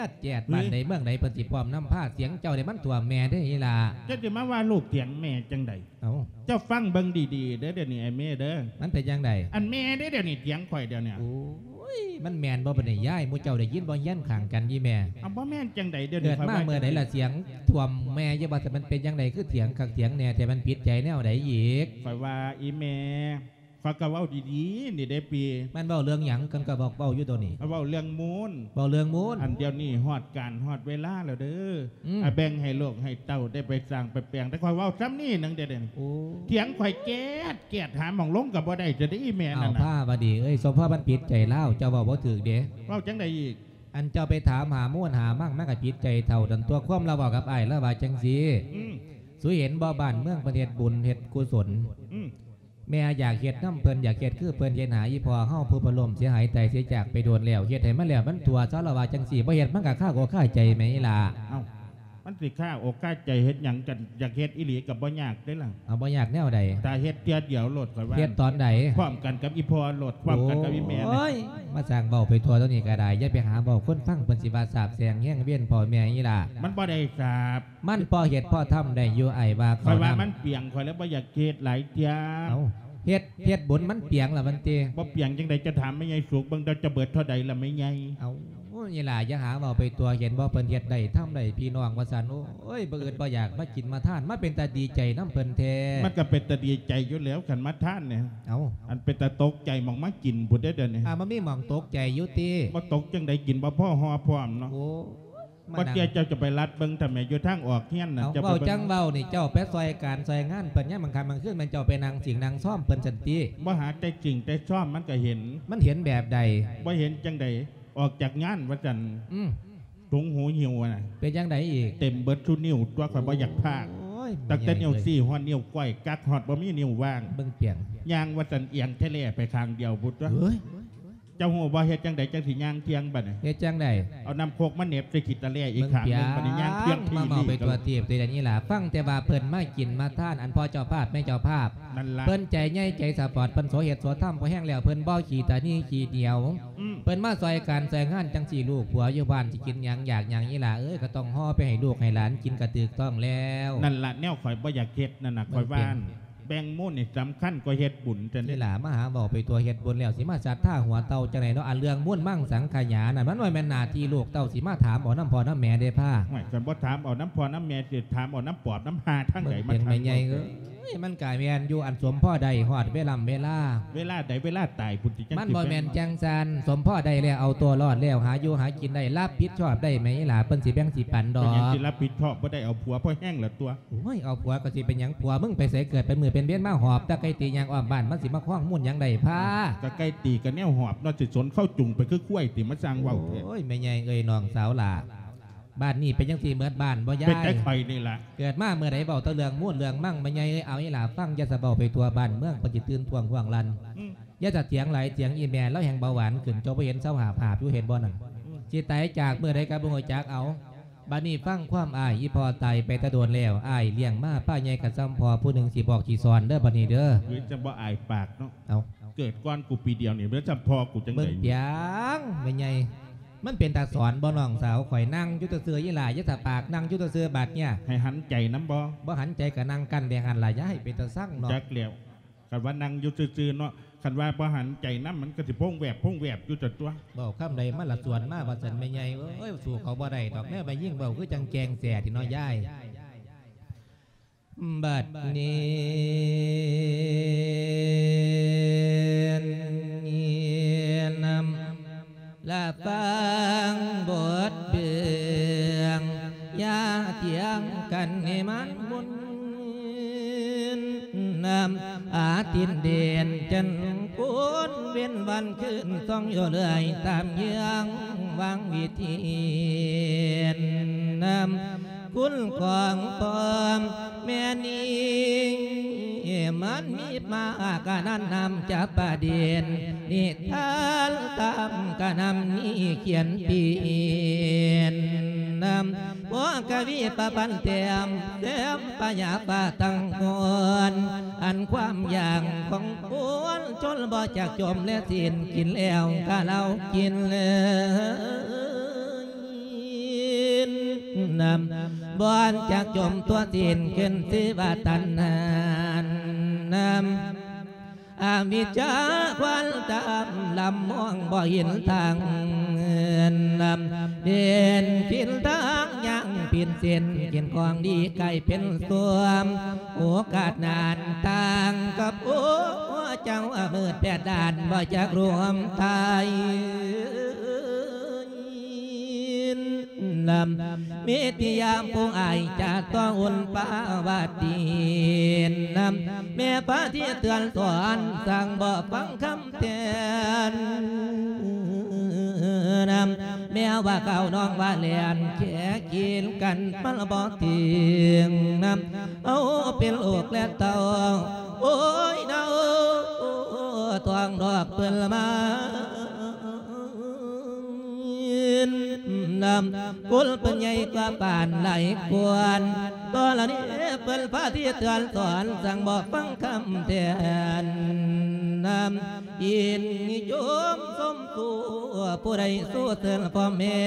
ດແຈດ. ບ້ານໃດເມືອງໃດເພິ່ນຊິພ້ອມນຳພາ ສຽງເຈົ້ານີ້ມັນຖ້ວມແມ່ເດ້ອີ່ຫຼ້າ. ເຈົ້າຊິມາວ່າລູກຖຽງແມ່ຈັ່ງໃດ? ເອົ້າ ເຈົ້າຟັງເບິ່ງດີໆເດີ ດຽວນີ້ໄອ້ເມເດີ. ມັນເປັນຈັ່ງໃດ? ອັນແມ່ເດ້ ດຽວນີ້ຖຽງຂ້ອຍດຽວນີ້. ໂອ້ຍ ມັນແມ່ນບໍ່ບັດນີ້ຍາຍ? ໝູ່ເຈົ້າໄດ້ຍິນບໍ່ ຮຽນຂ້າງກັນອີ່ແມ່? ເອົາ ບໍ່ແມ່ນຈັ່ງໃດ ດຽວນີ້ຂ້ອຍວ່າ ເກີດມາເມື່ອໃດລະສຽງຖ້ວມແມ່ຢູ່ວ່າ ມັນເປັນຈັ່ງໃດ ຄືຖຽງຄັກຖຽງແນ່ແທ້ ມັນຜິດໃຈແນວໃດອີກ? ຂ້ອຍວ່າອີ່ແມ່ ຂ້ອຍກໍເວົ້າດີໆນີ້ເດ້ ປີ. ມັນເວົ້າເລື່ອງຫຍັງ? ກັນກໍບອກເວົ້າຢູ່ໂຕນີ້. ເວົ້າເລື່ອງມູນ. ເວົ້າເລື່ອງມູນ. ອັນດຽວນີ້ຮອດການຮອດເວລາແລ້ວເດີ. ອືມ. ອາ ແບ່ງໃຫ້ລູກໃຫ້ເຕົ້າໄດ້ໄປສ້າງໄປແປງ. ແຕ່ຂ້ອຍເວົ້າຊ່ຳນີ້ໜຶ່ງເດ້. ໂອ້. ຖຽງຂ້ອຍແກດແກດ ຫາໝ່ອງລົງກໍບໍ່ໄດ້ ຈະໄດ້ອີແມ່ນັ້ນນະ. ເອົາ ພາວະດີເອີຍ, ສົມພໍມັນຜິດໃຈລາວ, ເຈົ້າເວົ້າບໍ່ຖືກເດ້. ເວົ້າຈັ່ງໃດອີກ? ອັນເຈົ້າໄປຖາມຫາມູນຫາມັງ ມັນກໍຜິດໃຈເທົ່ານັ້ນຕົວະ. ຄວາມລາວເວົ້າກັບອ້າຍ ລາວວ່າຈັ່ງຊີ້. ອືມ. ສູເຫັນບໍ່ ບ້ານເມືອງເພິ່ນເຮັດບຸນເຮັດກຸສົນ. ອືມ. ແມ່ຢາກເຮັດນຳເພິ່ນ ຢາກເຮັດຄືເພິ່ນ ເຮັດໃຫ້ອີ່ພໍ່ເຮົາຜູ້ເພິ່ນລົ້ມເສຍຫາຍຕາຍເສຍຈາກໄປໂດນແລ້ວ ເຮັດໃຫ້ມັນແລ້ວມັນທົ່ວ ຊາວລາວວ່າຈັ່ງຊີ້. ບໍ່ເຮັດມັນກໍຄາອົກຄາໃຈແມ່ນລະ. ເອົ້າ ມັນຊິຄາອົກຄາໃຈເຮັດຫຍັງກັນ? ຢາກເຮັດອີ່ຫຼີກໍບໍ່ຍາກເດ້ລະ. ເອົາ ບໍ່ຍາກແນວໃດ? ຖ້າເຮັດເທື່ອດຽວໂລດ ຂ້ອຍວ່າ. ເຮັດຕອນໃດ? ພ້ອມກັນກັບອີ່ພໍ່ໂລດ ພ້ອມກັນກັບອີ່ແມ່. ໂອ້ຍ ມາສ້າງເວົ້າໄປທົ່ວຕົວນີ້ກໍໄດ້ ຢ່າໄປຫາເວົ້າຄົນຟັງ ເພິ່ນຊິວ່າສາບແຊ່ງແຮງວຽນພໍ່ແມ່ອີ່ຫຼ້າ. ມັນບໍ່ໄດ້ສາບ ມັນພໍເຮັດພໍທຳໄດ້ຢູ່ ອ້າຍວ່າ. ຂ້ອຍວ່າມັນປຽງ ຂ້ອຍເລີຍບໍ່ຢາກເຮັດຫຼາຍເທື່ອ. ເອົ້າ ເຮັດ ເຮັດບຸນມັນປຽງລະມັນຕິ. ບໍ່ປຽງຈັ່ງໃດ? ຈະຖາມແມ່ໃຫຍ່ສຸກເບິ່ງ ເຈົ້າຈະເບິດເທົ່າໃດລະແມ່ໃຫຍ່? ເອົ້າ ນີ້ລະ ຢ່າຫາເວົ້າໄປທົ່ວ ເຫັນບໍ່ ເພິ່ນເຮັດໄດ້ທຳໄດ້ພີ່ນ້ອງວ່າຊັ້ນ. ໂອ້ຍ ບໍ່ອຶດບໍ່ຢາກມາກິນມາທານ ມາເປັນຕາດີໃຈນຳເພິ່ນແທ້. ມັນກໍເປັນຕາດີໃຈຢູ່ແລ້ວ ຄັນມາທານນີ້. ເອົ້າ ອັນເປັນຕາຕົກໃຈໝ່ອງມາກິນພຸ້ນເດ້ດຽວນີ້. ອ່າ ມັນມີໝ່ອງຕົກໃຈຢູ່ຕິ. ບໍ່ຕົກຈັ່ງໃດ ກິນບໍ່ພໍຫໍ່ພ້ອມເນາະ. ໂອ້ ມານັ່ງ ບໍ່ເຊື່ອເຈົ້າຈະໄປລັດເບິ່ງ ຖ້າແມ່ນຢູ່ທາງອອກເຮືອນນະ. ເອົ້າ ເຈົ້າໄປເບິ່ງ ເວົ້າຈັ່ງເວົ້ານີ້ ເຈົ້າໄປຊ່ອຍການຊ່ອຍງານເພິ່ນ ຍາມກາງຄ່ຳກາງຄືນ ແມ່ນເຈົ້າໄປນັ່ງສິງນັ່ງຊອມເພິ່ນຊັ້ນຕິ. ບໍ່ຫາແຕ່ສິງແຕ່ຊອມ ມັນກໍເຫັນ. ມັນເຫັນແບບໃດ? ບໍ່ເຫັນຈັ່ງໃດ ອອກຈາກງານວ່າຊັ້ນ. ອືມ ຖົງຫູຫິ້ວນະ. ເປັນຈັ່ງໃດອີກ? ເຕັມເບິດສູ່ນິ້ວຕົວະ ຂ້ອຍບໍ່ຢາກພາກ. ໂອ້ຍ ຕັ້ງແຕ່ນິ້ວຊີ້ຮອດນິ້ວກ້ອຍ ກັກຮອດບໍ່ມີນິ້ວວ່າງ. ເບິ່ງປຽງ ຍ່າງວ່າຊັ້ນ ອຽງແທແລໄປຂ້າງດຽວພຸ້ນຕົວະ. ເອີຍ ເຈົ້າຮູ້ບໍ່ ເຮັດຈັ່ງໃດຈັ່ງຊິຍ່າງທ່ຽງບັດນີ້? ເຮັດຈັ່ງໃດ? ເອົານ້ຳໂຄກມາເໜັບໃສ່ຂີ້ຕາແລອີກຂ້າງໜຶ່ງ ບັດນີ້ຍ່າງທ່ຽງທີ່ ມາເວົ້າໄປທົ່ວທີບແຕ່ລະນີ້ລະ. ຟັງແຕ່ວ່າເພິ່ນມາກິນມາທານ ອັນພໍ່ເຈົ້າພາບແມ່ເຈົ້າພາບ ນັ້ນລະ ເພິ່ນໃຈໃຫຍ່ໃຈສະປອດ ເພິ່ນໂສເຮັດໂສທຳພໍແຮງແລ້ວ ເພິ່ນບໍ່ຂີ້ຕາໜີຂີ້ໜຽວ. ອືມ ເພິ່ນມາຊ່ອຍການຊ່ອຍງານຈັ່ງຊີ້ ລູກຜົວຢູ່ບ້ານຊິກິນຫຍັງຢາກຫຍັງ ອີ່ຫຼ້າເອີຍ ກໍຕ້ອງຫໍ່ໄປໃຫ້ລູກໃຫ້ຫຼານກິນ ກໍຖືກຕ້ອງແລ້ວ. ນັ້ນລະ ແນວຂ້ອຍບໍ່ຢາກເຮັດນັ້ນນະ ຂ້ອຍວ່າ ແບ່ງມູນນີ້ສຳຄັນກວ່າເຮັດບຸນຊັ້ນເດ້. ນີ້ລະ ມາຫາເວົ້າໄປທົ່ວ ເຮັດບຸນແລ້ວຊິມາສັດທາຫົວເຕົ່າຈັ່ງໃດເນາະ. ອັນເລື່ອງມູນມັງສັງຂະຫຍານັ້ນ ມັນບໍ່ແມ່ນໜ້າທີ່ລູກເຕົ້າຊິມາຖາມເອົານຳພໍ່ນຳແມ່ເດ້ພາ. ໂອ້ຍ ຄັນບໍ່ຖາມເອົານຳພໍ່ນຳແມ່ ຊິຖາມເອົານຳປອບນຳຫ່າທາງໃດມາຖາມ? ເບິ່ງເປັນແມ່ໃຫຍ່ເອີຍ ມັນກະແມ່ນຢູ່ ອັນສົມພໍໄດ້ຮອດເວລາເວລາ. ເວລາໃດ? ເວລາຕາຍພຸ້ນຕິ ມັນບໍ່ແມ່ນຈັ່ງຊັ້ນ. ສົມພໍໄດ້ແລ້ວ ເອົາຕົວລອດແລ້ວ ຫາຢູ່ຫາກິນໄດ້ ຮັບຜິດຊອບໄດ້ແມ່ອີ່ຫຼ້າ ເພິ່ນຊິແບ່ງຊິປັນດອກ. ເປັນຫຍັງຊິຮັບຜິດຊອບບໍ່ໄດ້? ເອົາຜົວພໍແຮງລະຕົວະ. ໂອ້ຍ ເອົາຜົວກໍຊິເປັນຫຍັງ? ຜົວມຶງໄປໃສເກີດເປັນມື້ເປັນເວນມາຫອບຕາໄກ່ຕີຍ່າງອ້ອມບ້ານ ມັນຊິມາຄອງມູນຫຍັງໄດ້ພາ? ຕາໄກ່ຕີກໍແນວຫອບເນາະ ຊິສົນເຂົ້າຈຸງໄປຄືຄວາຍຕິ ມາສ້າງເວົ້າແທ້. ໂອ້ຍ ແມ່ໃຫຍ່ເອີຍ ນ້ອງສາວຫຼ້າ ບ້ານນີ້ເປັນຈັ່ງຊີ້ເໝິດບ້ານບໍ່ຍາຍ? ເປັນແຕ່ຂ້ອຍນີ້ລະ ເກີດມາເມື່ອໃດເວົ້າແຕ່ເລື່ອງມູນເລື່ອງມັງ ແມ່ໃຫຍ່ເອີຍ. ເອົາອີ່ຫຼ້າ ຟັງ ຢ່າສະເວົ້າໄປທົ່ວ ບ້ານເມືອງເພິ່ນຊິຕື່ນທວງຮ່ວງລັ່ນ. ອືມ ຢ່າສະຖຽງຫຼາຍ ຖຽງອີ່ແມ່ລາວແຮ່ງເບົາຫວານຂຶ້ນ ເຈົ້າບໍ່ເຫັນເຊົາຫາບຫາບຢູ່ ເຫັນບໍ່ນັ້ນ? ອືມ ຊິຕາຍຈາກມື້ໃດກໍບໍ່ຮູ້ຈັກ. ເອົາ ບາດນີ້ຟັງຄວາມອ້າຍ ອີ່ພໍ່ຕາຍໄປແຕ່ດົນແລ້ວ ອ້າຍລ້ຽງມາ ປ້າໃຫຍ່ກໍສ່ຳພໍ່ຜູ້ໜຶ່ງ ຊິບອກຊິສອນເດີ ບາດນີ້ເດີ. ເຮີ້ຍ ຈັ່ງບໍ່ອາຍປາກເນາະ. ເອົ້າ ເກີດກ່ອນກູປີດຽວນີ້ ແລ້ວສ່ຳພໍ່ກູຈັ່ງໃດ? ເບິ່ງປຽງ ແມ່ໃຫຍ່ ມັນເປັນຕາສອນບໍ່ ນ້ອງສາວ? ຂ້ອຍນັ່ງຢູ່ຊື່ໆ ອີ່ຫຼ້າ ຢ່າສະປາກ ນັ່ງຢູ່ຊື່ໆ ບາດເນີ້ຍ ໃຫ້ຫັນໃຈນຳບໍ່? ບໍ່ຫັນໃຈກໍນັ່ງກັ້ນແບງຫັ້ນລະ ຢ່າໃຫ້ເປັນຕາຊັງເນາະ. ຈັກແລ້ວ ຄັນວ່ານັ່ງຢູ່ຊື່ໆເນາະ ຄັນວ່າບໍ່ຫັນໃຈນຳ ມັນກໍຊິໂພງແວບໂພງແວບຢູ່ຊັ້ນຕົວະ. ເວົ້າຄຳໃດມາລະສວນມາວ່າຊັ້ນ ແມ່ໃຫຍ່ເອີຍ. ສູ້ເຂົາບໍ່ໄດ້ດອກ ແນວແມ່ຍິງເວົ້າຄືຈັ່ງແກງແສ້ນີ້ເນາະຍາຍ. ບັດນີ້ນຳ ລະຟັງບົດເບືອງ ຢ່າຖຽງກັນໃຫ້ມັນໝຸ່ນນຳ ອາທິດເດນຈັນໂກນ ເວັ້ນວັນຄືນສ່ອງຢູ່ເລື້ອຍ ຕາມເຍືອງວັງວິທີນຳ ຄຸນຂອງພໍ່ແມ່ນີ້ ມັນມີມາກະນັ້ນນຳຈະປະເດັນ ນິທານຕາມກະນຳນີ້ຂຽນປ່ຽນນຳ ພວກກະວີປະພັນແຕ້ມ ແຕ້ມປະຫຍັບປະຕັງກອນ ອັນຄວາມຢ່າງຂອງຄົນຊົນບໍ່ຈັກຈົມ ແລະສິ້ນກິນແລ້ວກະເຫຼົ້າກິນເລີຍ ນຳ ບໍ່ຈັກຈົມຕົວະສິ້ນຂຶ້ນ ຊື່ວ່າຕັນຫານຳ ອະວິຊຊາຄວານຕາມ ລຳມອງບໍ່ເຫັນທາງ ນຳ ເຫັນຜິດທາງຍ່າງປິ່ນ ເຕັ້ນກິນຂອງດີກາຍເປັນສ່ວມ ໂອກາດນານຕ່າງກັບໂອ ເຈົ້າອາມືດແປດດ້ານບໍ່ຈັກລວມຕາຍ ນຳ ເມດຕິຍາມຜູ້ອາຍຈາກຕົວອຸ່ນປາວາຕີນຳ ແມ່ພາທີ່ເຕືອນສອນ ສັ່ງບໍ່ຟັງຄຳແຕ່ນນຳ ແມ່ວ່າເຂົານ້ອງວ່າແລ່ນແຂ່ກິນກັນ ມັນບໍ່ເຖິງນຳ ເອົາເປັນລູກແລະເຕົ້າ ໂອ້ຍເນົ່າ ທ້ອງດອກເພິ່ນລະມາ ນຳ ກຸນເພິ່ນໃຫຍ່ກວ່າປານຫຼາຍກວນ ກໍລະນີ້ເພິ່ນພາທີ່ເຕືອນສອນ ສັ່ງບໍ່ຟັງຄຳແຕ່ນນຳ ຍິນຍອມຊົມຊູ ຜູ້ໃດສູ້ເຖິງພໍ່ແມ່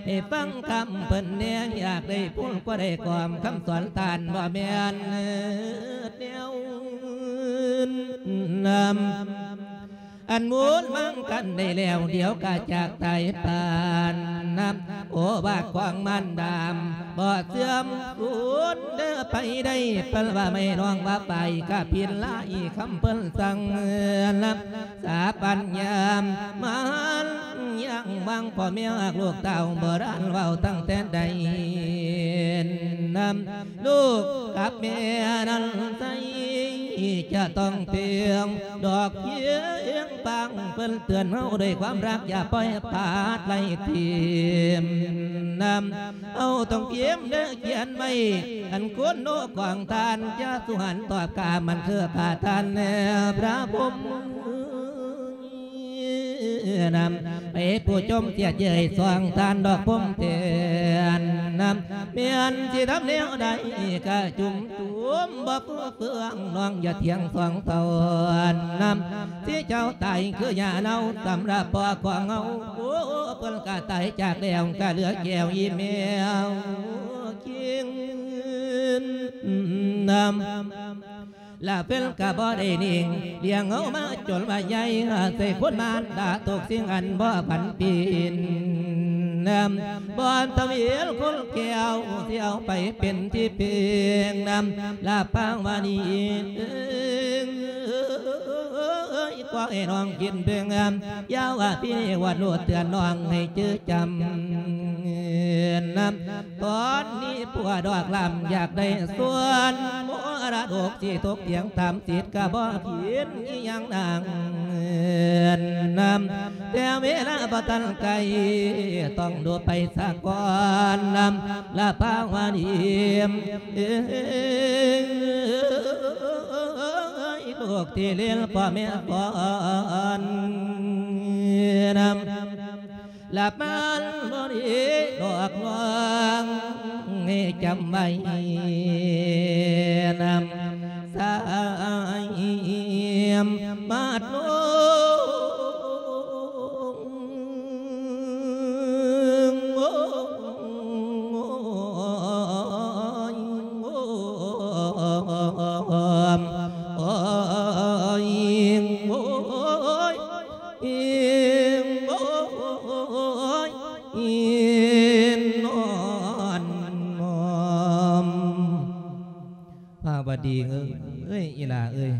ໃຫ້ຟັງຄຳເພິ່ນແດ່ ຢາກໄດ້ພຸ້ນກວ່າໄດ້ຄວາມຄຳສອນທ່ານ ບໍ່ແມ່ນແນວນັ້ນນຳ ອັນມູນມັງກັນໄດ້ແລ້ວ ດຽວກະຈາກຕາຍປານນຳ ໂອວາດຂອງມານດາ ບໍ່ເສື່ອມສູນເດີໄປໄດ້ ເພິ່ນວ່າແມ່ນ້ອງວ່າໄປກະຜິດຫຼາຍຄຳເພິ່ນສັ່ງນຳ ສາປັນຍາມມານຍັງວັງ ພໍ່ແມ່ຮັກລູກເຕົ້າ ໂບລານເວົ້າຕັ້ງແຕ່ໃດນຳ ລູກກັບແມ່ນັ້ນໃສ ຈະຕ້ອງເຕີງດອກພຽງຟັງ ເພິ່ນເຕືອນເຮົາດ້ວຍຄວາມຮັກ ຢ່າປ່ອຍພາດໄຫຼຖິ້ມນຳ ເຮົາຕ້ອງພິມເດີຂຽນໄວ້ ອັນຄຸນໂນຂອງທ່ານ ຈະສຸຫັນຕອບກາ ມັນຄືພະທ່ານແລະພະພົມ ນຳ ໃຫ້ຜູ້ຊົມສຽດເຍີ້ຍຊ່ອງທ່ານດອກພົມແທນນຳ ແມ່ນຊິທຳແນວໃດກະຈຸ່ມຈຸ່ມບໍ່ຟູເຟືອງ ນ້ອງຢ່າຖຽງສອງຕອນນຳ ຊິເຈົ້າຕາຍຄືຫຍ້າເນົ່າ ສຳລັບພໍ່ຂອງເຮົາ ໂອ ເພິ່ນກະຕາຍຈາກແລ້ວ ກະເຫຼືອແກ້ວອີ່ແມວຄິງນຳ ລະເພິ່ນກະບໍ່ໄດ້ນິ່ງ ລ້ຽງເຮົາມາຈົນວ່າໃຫຍ່ ໃສ່ຄຸນມານດາທຸກສິ່ງອັນບໍ່ຜັນປີນນຳ ບໍ່ທຳເວນຄົນແກ້ວ ຊິເອົາໄປເປັນທີ່ເພິ່ງນຳ ລະພາວະນີ ເອີຍ ຂໍໃຫ້ນ້ອງຄິດເບິ່ງ ຢ່າວ່າພີ່ວັດໂລດ ເຕືອນນ້ອງໃຫ້ຈື່ຈຳນຳ ຕອນນີ້ຜົວດອກລຳຢາກໄດ້ສ່ວນ ມໍລະດົກທີ່ຕົກຖຽງຕາມສິດກະບໍ່ຜິດອີ່ຫຍັງນາງນຳ ແຕ່ເວລາບໍ່ທັນໃກ້ ຕ້ອງດູໄປສາກ່ອນນຳ ລະພາວະດີ ເອີຍ ລູກທີ່ລ້ຽງພໍ່ແມ່ກ່ອນນຳ ລະມານບໍ່ດີດອກນ້ອງ ໃຫ້ຈຳໄວ້ນຳ ສາຍມາດນ້ອງ ໂອ້ຍ ໂອ້ຍ ໂອ້ຍ ໂອ້ຍ ອີງ ໂອ້ຍ ອີນອນ ພາວະດີເອີຍ ອີ່ຫຼ້າເອີຍ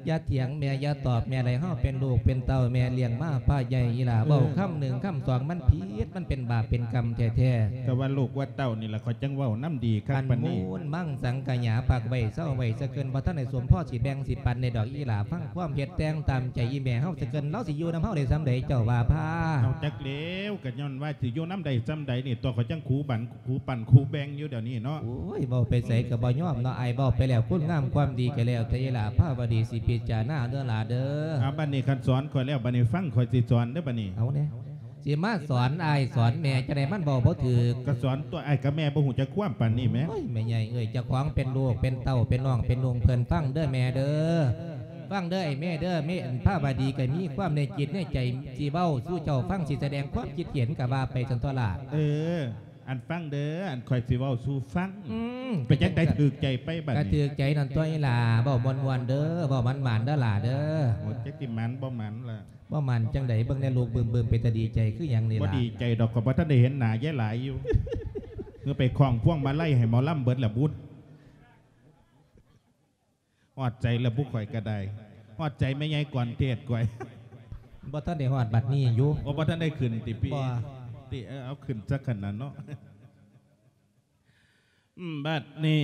ຢ່າຖຽງແມ່ ຢ່າຕອບແມ່ ໃຫ້ເຮົາເປັນລູກເປັນເຕົ້າ ແມ່ລ້ຽງມາພາໃຫຍ່ ອີ່ຫຼ້າ ເອີ ເວົ້າຄຳໜຶ່ງຄຳສອງ ມັນຜິດ ມັນເປັນບາບເປັນກຳແທ້ໆ ກະວ່າລູກວ່າເຕົ້ານີ້ລະ ຂ້ອຍຈັ່ງເວົ້ານຳດີຄັກປານນີ້ ອັນມູນມັງສັງກະຫຍາ ພັກໄວ້ເຊົາໄວ້ສະເກີນ ບໍ່ທັນໄດ້ສົມພໍຊິແບ່ງຊິປັນໄດ້ດອກ ອີ່ຫຼ້າ ຟັງຄວາມເຮັດແຕ່ງຕາມໃຈອີ່ແມ່ເຮົາສະເກີນ ລາວຊິຢູ່ນຳເຮົາໄດ້ສ່ຳໃດ ເຈົ້າວ່າພາ ເອົາ ຈັກແລ້ວ ກະຍ້ອນວ່າຊິຢູ່ນຳໄດ້ສ່ຳໃດນີ້ຕົວະ ຂ້ອຍຈັ່ງຄູ່ບັນ ຄູ່ປັນຄູ່ແບ່ງຢູ່ດຽວນີ້ເນາະ ໂອ້ຍ ເວົ້າໄປໃສກະບໍ່ຍອມເນາະ ອ້າຍເວົ້າໄປແລ້ວ ຄຸນງາມຄວາມດີກະແລ້ວແຕ່ ອີ່ຫຼ້າພາວະດີ ຊິພິຈາລະນາເດີຫຼ້າເດີ ເອົາ ບາດນີ້ຄັນສອນຂ້ອຍແລ້ວ ບາດນີ້ຟັງຂ້ອຍຊິສອນເດີ ບາດນີ້ ເອົາແນ່ ຊິມາສອນອ້າຍສອນແມ່ຈັ່ງໃດ ມັນເວົ້າບໍ່ຖືກ ກະສອນຕົວະ ອ້າຍກັບແມ່ບໍ່ຮູ້ຈັກຄວາມປານນີ້ແໝ ໂອ້ຍ ແມ່ໃຫຍ່ເອີຍ ເຈົ້າຂອງເປັນລູກເປັນເຕົ້າ ເປັນນ້ອງເປັນນຸ່ງເພິ່ນ ຟັງເດີແມ່ເດີ ຟັງເດີອ້າຍແມ່ເດີ ແມ່ພາວະດີກະມີຄວາມໃນຈິດໃນໃຈ ຊິເວົ້າສູ່ເຈົ້າຟັງ ຊິສະແດງຄວາມຄິດເຫັນກະວ່າໄປຊັ້ນຕົວະຫຼ້າ ເອີ ອັນຟັງເດີ ອັນຂ້ອຍຊິເວົ້າສູ່ຟັງ ອືມ ເປັນຈັ່ງໃດ ຖືກໃຈໄປບາດນີ້ ກະຖືກໃຈນັ້ນຕົວະອີ່ຫຼ້າ ເວົ້າມ່ວນໆເດີ ເວົ້າໝານໆເດີຫຼ້າເດີ ໂອ້ ຈັກຊິໝານບໍ່ໝານລະ ບໍ່ໝານຈັ່ງໃດ ເບິ່ງແນ່ລູກບຶ້ມໆ ເປັນຕາດີໃຈຄືຫຍັງນີ້ລະ ບໍ່ດີໃຈດອກ ຂ້ອຍບໍ່ທັນໄດ້ເຫັນໜ້າຍາຍຫຼາຍຢູ່ ຄືໄປຄ້ອງພວງມາໄລໃຫ້ໝໍລຳເບິດລະບຸດ. ຮອດໃຈລະບຸ ຂ້ອຍກະໄດ້ ຮອດໃຈແມ່ໃຫຍ່ກອນເທດຂ້ອຍ. ບໍ່ທັນໄດ້ຮອດບັດນີ້ຢູ່. ໂອ້ ບໍ່ທັນໄດ້ຂຶ້ນຕິພີ່? ບໍ່. ຕິ ເອີ ເອົາຂຶ້ນຊະຂະໜາດເນາະ. ບັດນີ້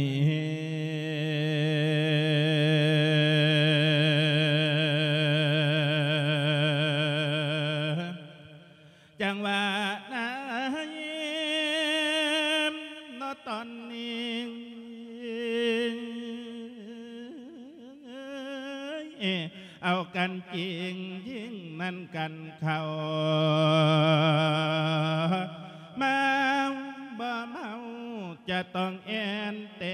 ຈັງຫວະໃດເນາະຕອນນີ້ ເອົາກັນຈິງຍິງນັ້ນກັນເຂົ້າ ເມົາບໍ່ເມົາຈະຕ້ອງແອ່ນແຕ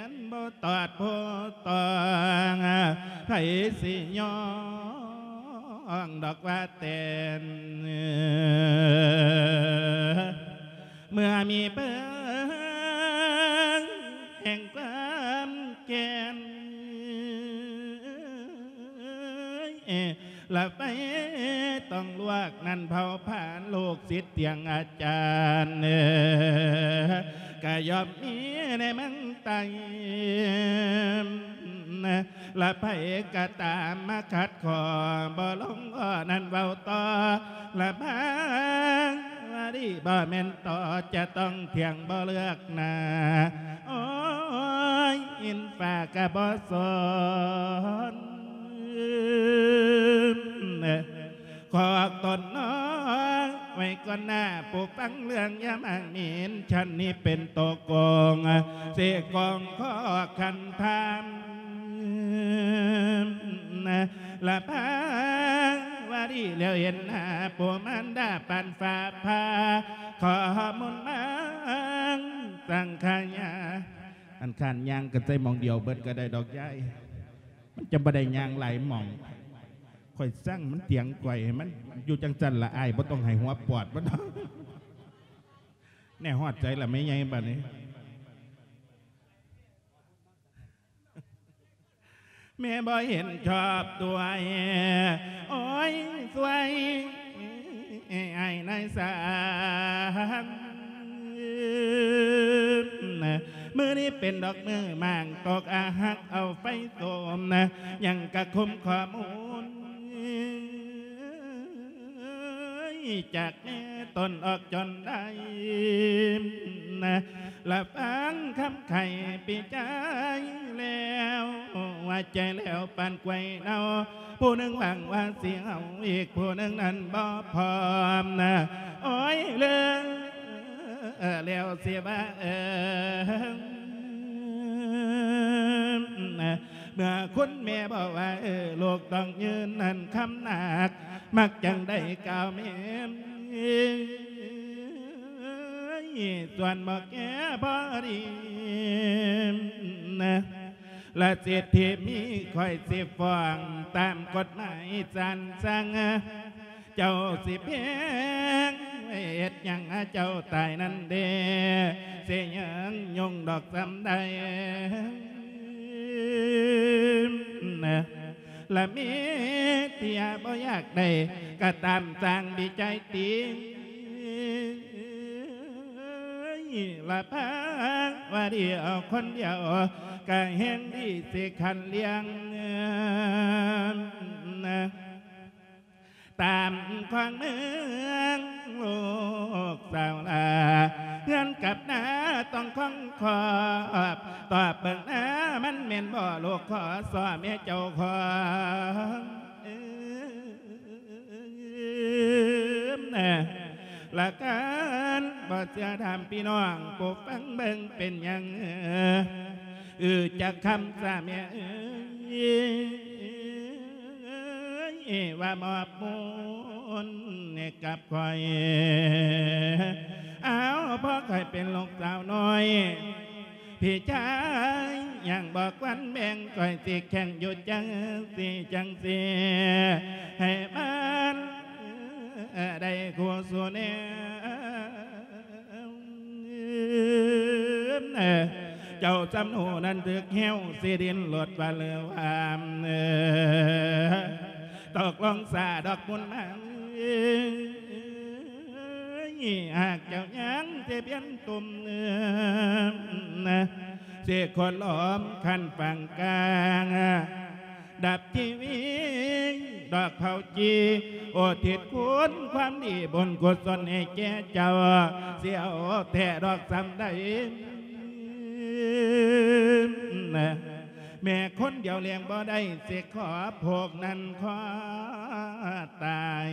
ນ ບໍ່ຕອດຜູ້ຕ້ອງ ໃຜຊິຍ້ອງດອກວ່າແຕ່ນ ເມື່ອມີເບິ່ງແຫ່ງຄວາມແກ່ນ ລະໄປຕ້ອງລວກນັ້ນເຜົ່າພັນລູກສິດຕຽງອາຈານ ກະຍ່ອມມີໃນເມືອງໃຕ້ ລະໃຜກະຕາມມາຂັດຂໍ້ບໍ່ລົງຂໍ້ນັ້ນເວົ້າຕໍ່ ລະບາງວາລີບໍ່ແມ່ນຕໍ່ ຈະຕ້ອງຖຽງບໍ່ເລືອກໜ້າ ໂອ້ຍ ອິນຟ້າກະບໍ່ສົນ ຂອກຕົນນ້ອຍໄວ້ກ່ອນໜ້າ ຜູ້ຟັງເລື່ອງຢ່າມາໝິ່ນ ຊັ້ນນີ້ເປັນໂຕໂກງ ຊິໂກງຂໍ້ຄັນທຳ ລະພາວາລີແລ້ວເຫັນໜ້າ ຜູ້ມານດາປານຟ້າຜ່າ ຂໍມູນມັງສັງຂະຍາ ອັນຄັນຍ່າງກັນໃສ່ໝ່ອງດຽວເບິດກະໄດ້ດອກຍາຍ ມັນຈະບໍ່ໄດ້ຍ່າງຫຼາຍໝ່ອງ ຂ້ອຍສັ່ງມັນຕຽງກວຍ ໃຫ້ມັນຢູ່ຈັ່ງຊັ້ນລະ ອ້າຍບໍ່ຕ້ອງໃຫ້ຫົວປອດມັນດອກ. ແນ່ ຮອດໃສລະແມ່ໃຫຍ່ບາດນີ້? ແມ່ບໍ່ເຫັນຊອບດ້ວຍ ໂອ້ຍ ຊ່ວຍອ້າຍນາຍສາງ ມື້ນີ້ເປັນດອກມື້ໝາກຕົກ ອາຮັກເອົາໄຟໂຕມ ຍັງກະຄຸມຂໍ້ມູນ ຈາກແມ່ຕົນອອກຈົນໄດ້ ລະຟັງຄຳໄຂປີກາຍແລ້ວ ວ່າໃຈແລ້ວປານກ້ວຍເນົ່າ ຜູ້ໜຶ່ງຫວັງວ່າຊິເອົາ ອີກຜູ້ໜຶ່ງນັ້ນບໍ່ພ້ອມນະ ໂອ້ຍ ເລີ ແລ້ວຊິວ່າເອີ ເມື່ອຄຸນແມ່ບອກວ່າ ເອີ ລູກຕ້ອງຢືນນັ້ນຄຳໜັກ ມັກຈັ່ງໄດ້ກ່າວແມ່ນ ສ່ວນບໍ່ແກ່ພໍດີ ລະສິດທີ່ມີຂ້ອຍຊິຟ້ອງຕາມກົດໝາຍສານສັ່ງ ເຈົ້າຊິແພງເຮັດຫຍັງ ເຈົ້າຕາຍນັ້ນເດ ຊິຍັງຍົງດອກສ່ຳໃດ ລະມີເຕຍບໍ່ຢາກໄດ້ ກະຕາມສ້າງດີໃຈຕິ ລະພາວາລີເອົາຄົນດຽວ ກະແຮງດີຊິຂັນລ້ຽງ ຕາມຂອງເມືອງລູກສາວລາ ເຮືອນກັບນາຕ້ອງຄອງຄອບ ຕອບເບິ່ງນາມັນແມ່ນບໍ່ ລູກຂໍສໍ້ແມ່ເຈົ້າຂອງ ລະການບໍ່ເຊື່ອຖາມພີ່ນ້ອງ ຜູ້ຟັງເບິ່ງເປັນຫຍັງ ອື ຈັກຄຳສາແມ່ເອີຍ ວ່າມອບມູນໃຫ້ກັບຂ້ອຍ ເອົາ ເພາະຂ້ອຍເປັນລູກສາວນ້ອຍ ພີ່ຊາຍຍັງບໍ່ຄວນແບ່ງ ຂ້ອຍຊິແຂ່ງຢູ່ຈັ່ງຊີ້ຈັ່ງຊີ້ ໃຫ້ມັນໄດ້ຄູ່ສູ່ແນວ ເຈົ້າສຳໂນນັ້ນຖືກແຮ້ວ ຊິດິ້ນລົດວ່າເຫຼືວ່າ ຕົກລົງສາດອກບຸນມາ ຫາກເຈົ້າຍັງຊິເປັນຕຸ່ມເອີມ ຊິຂໍລ້ອມຂັ້ນຝັ່ງກາງ ດັບຊີວິດດອກເຜົາຈີ່ ອຸທິດຄຸນຄວາມດີບຸນກຸສົນໃຫ້ແກ່ເຈົ້າ ຊິເອົາແທ້ດອກສ່ຳໃດ. ແມ່ຄົນດຽວລ້ຽງບໍ່ໄດ້ ຊິຂໍພວກນັ້ນຂໍຕາຍ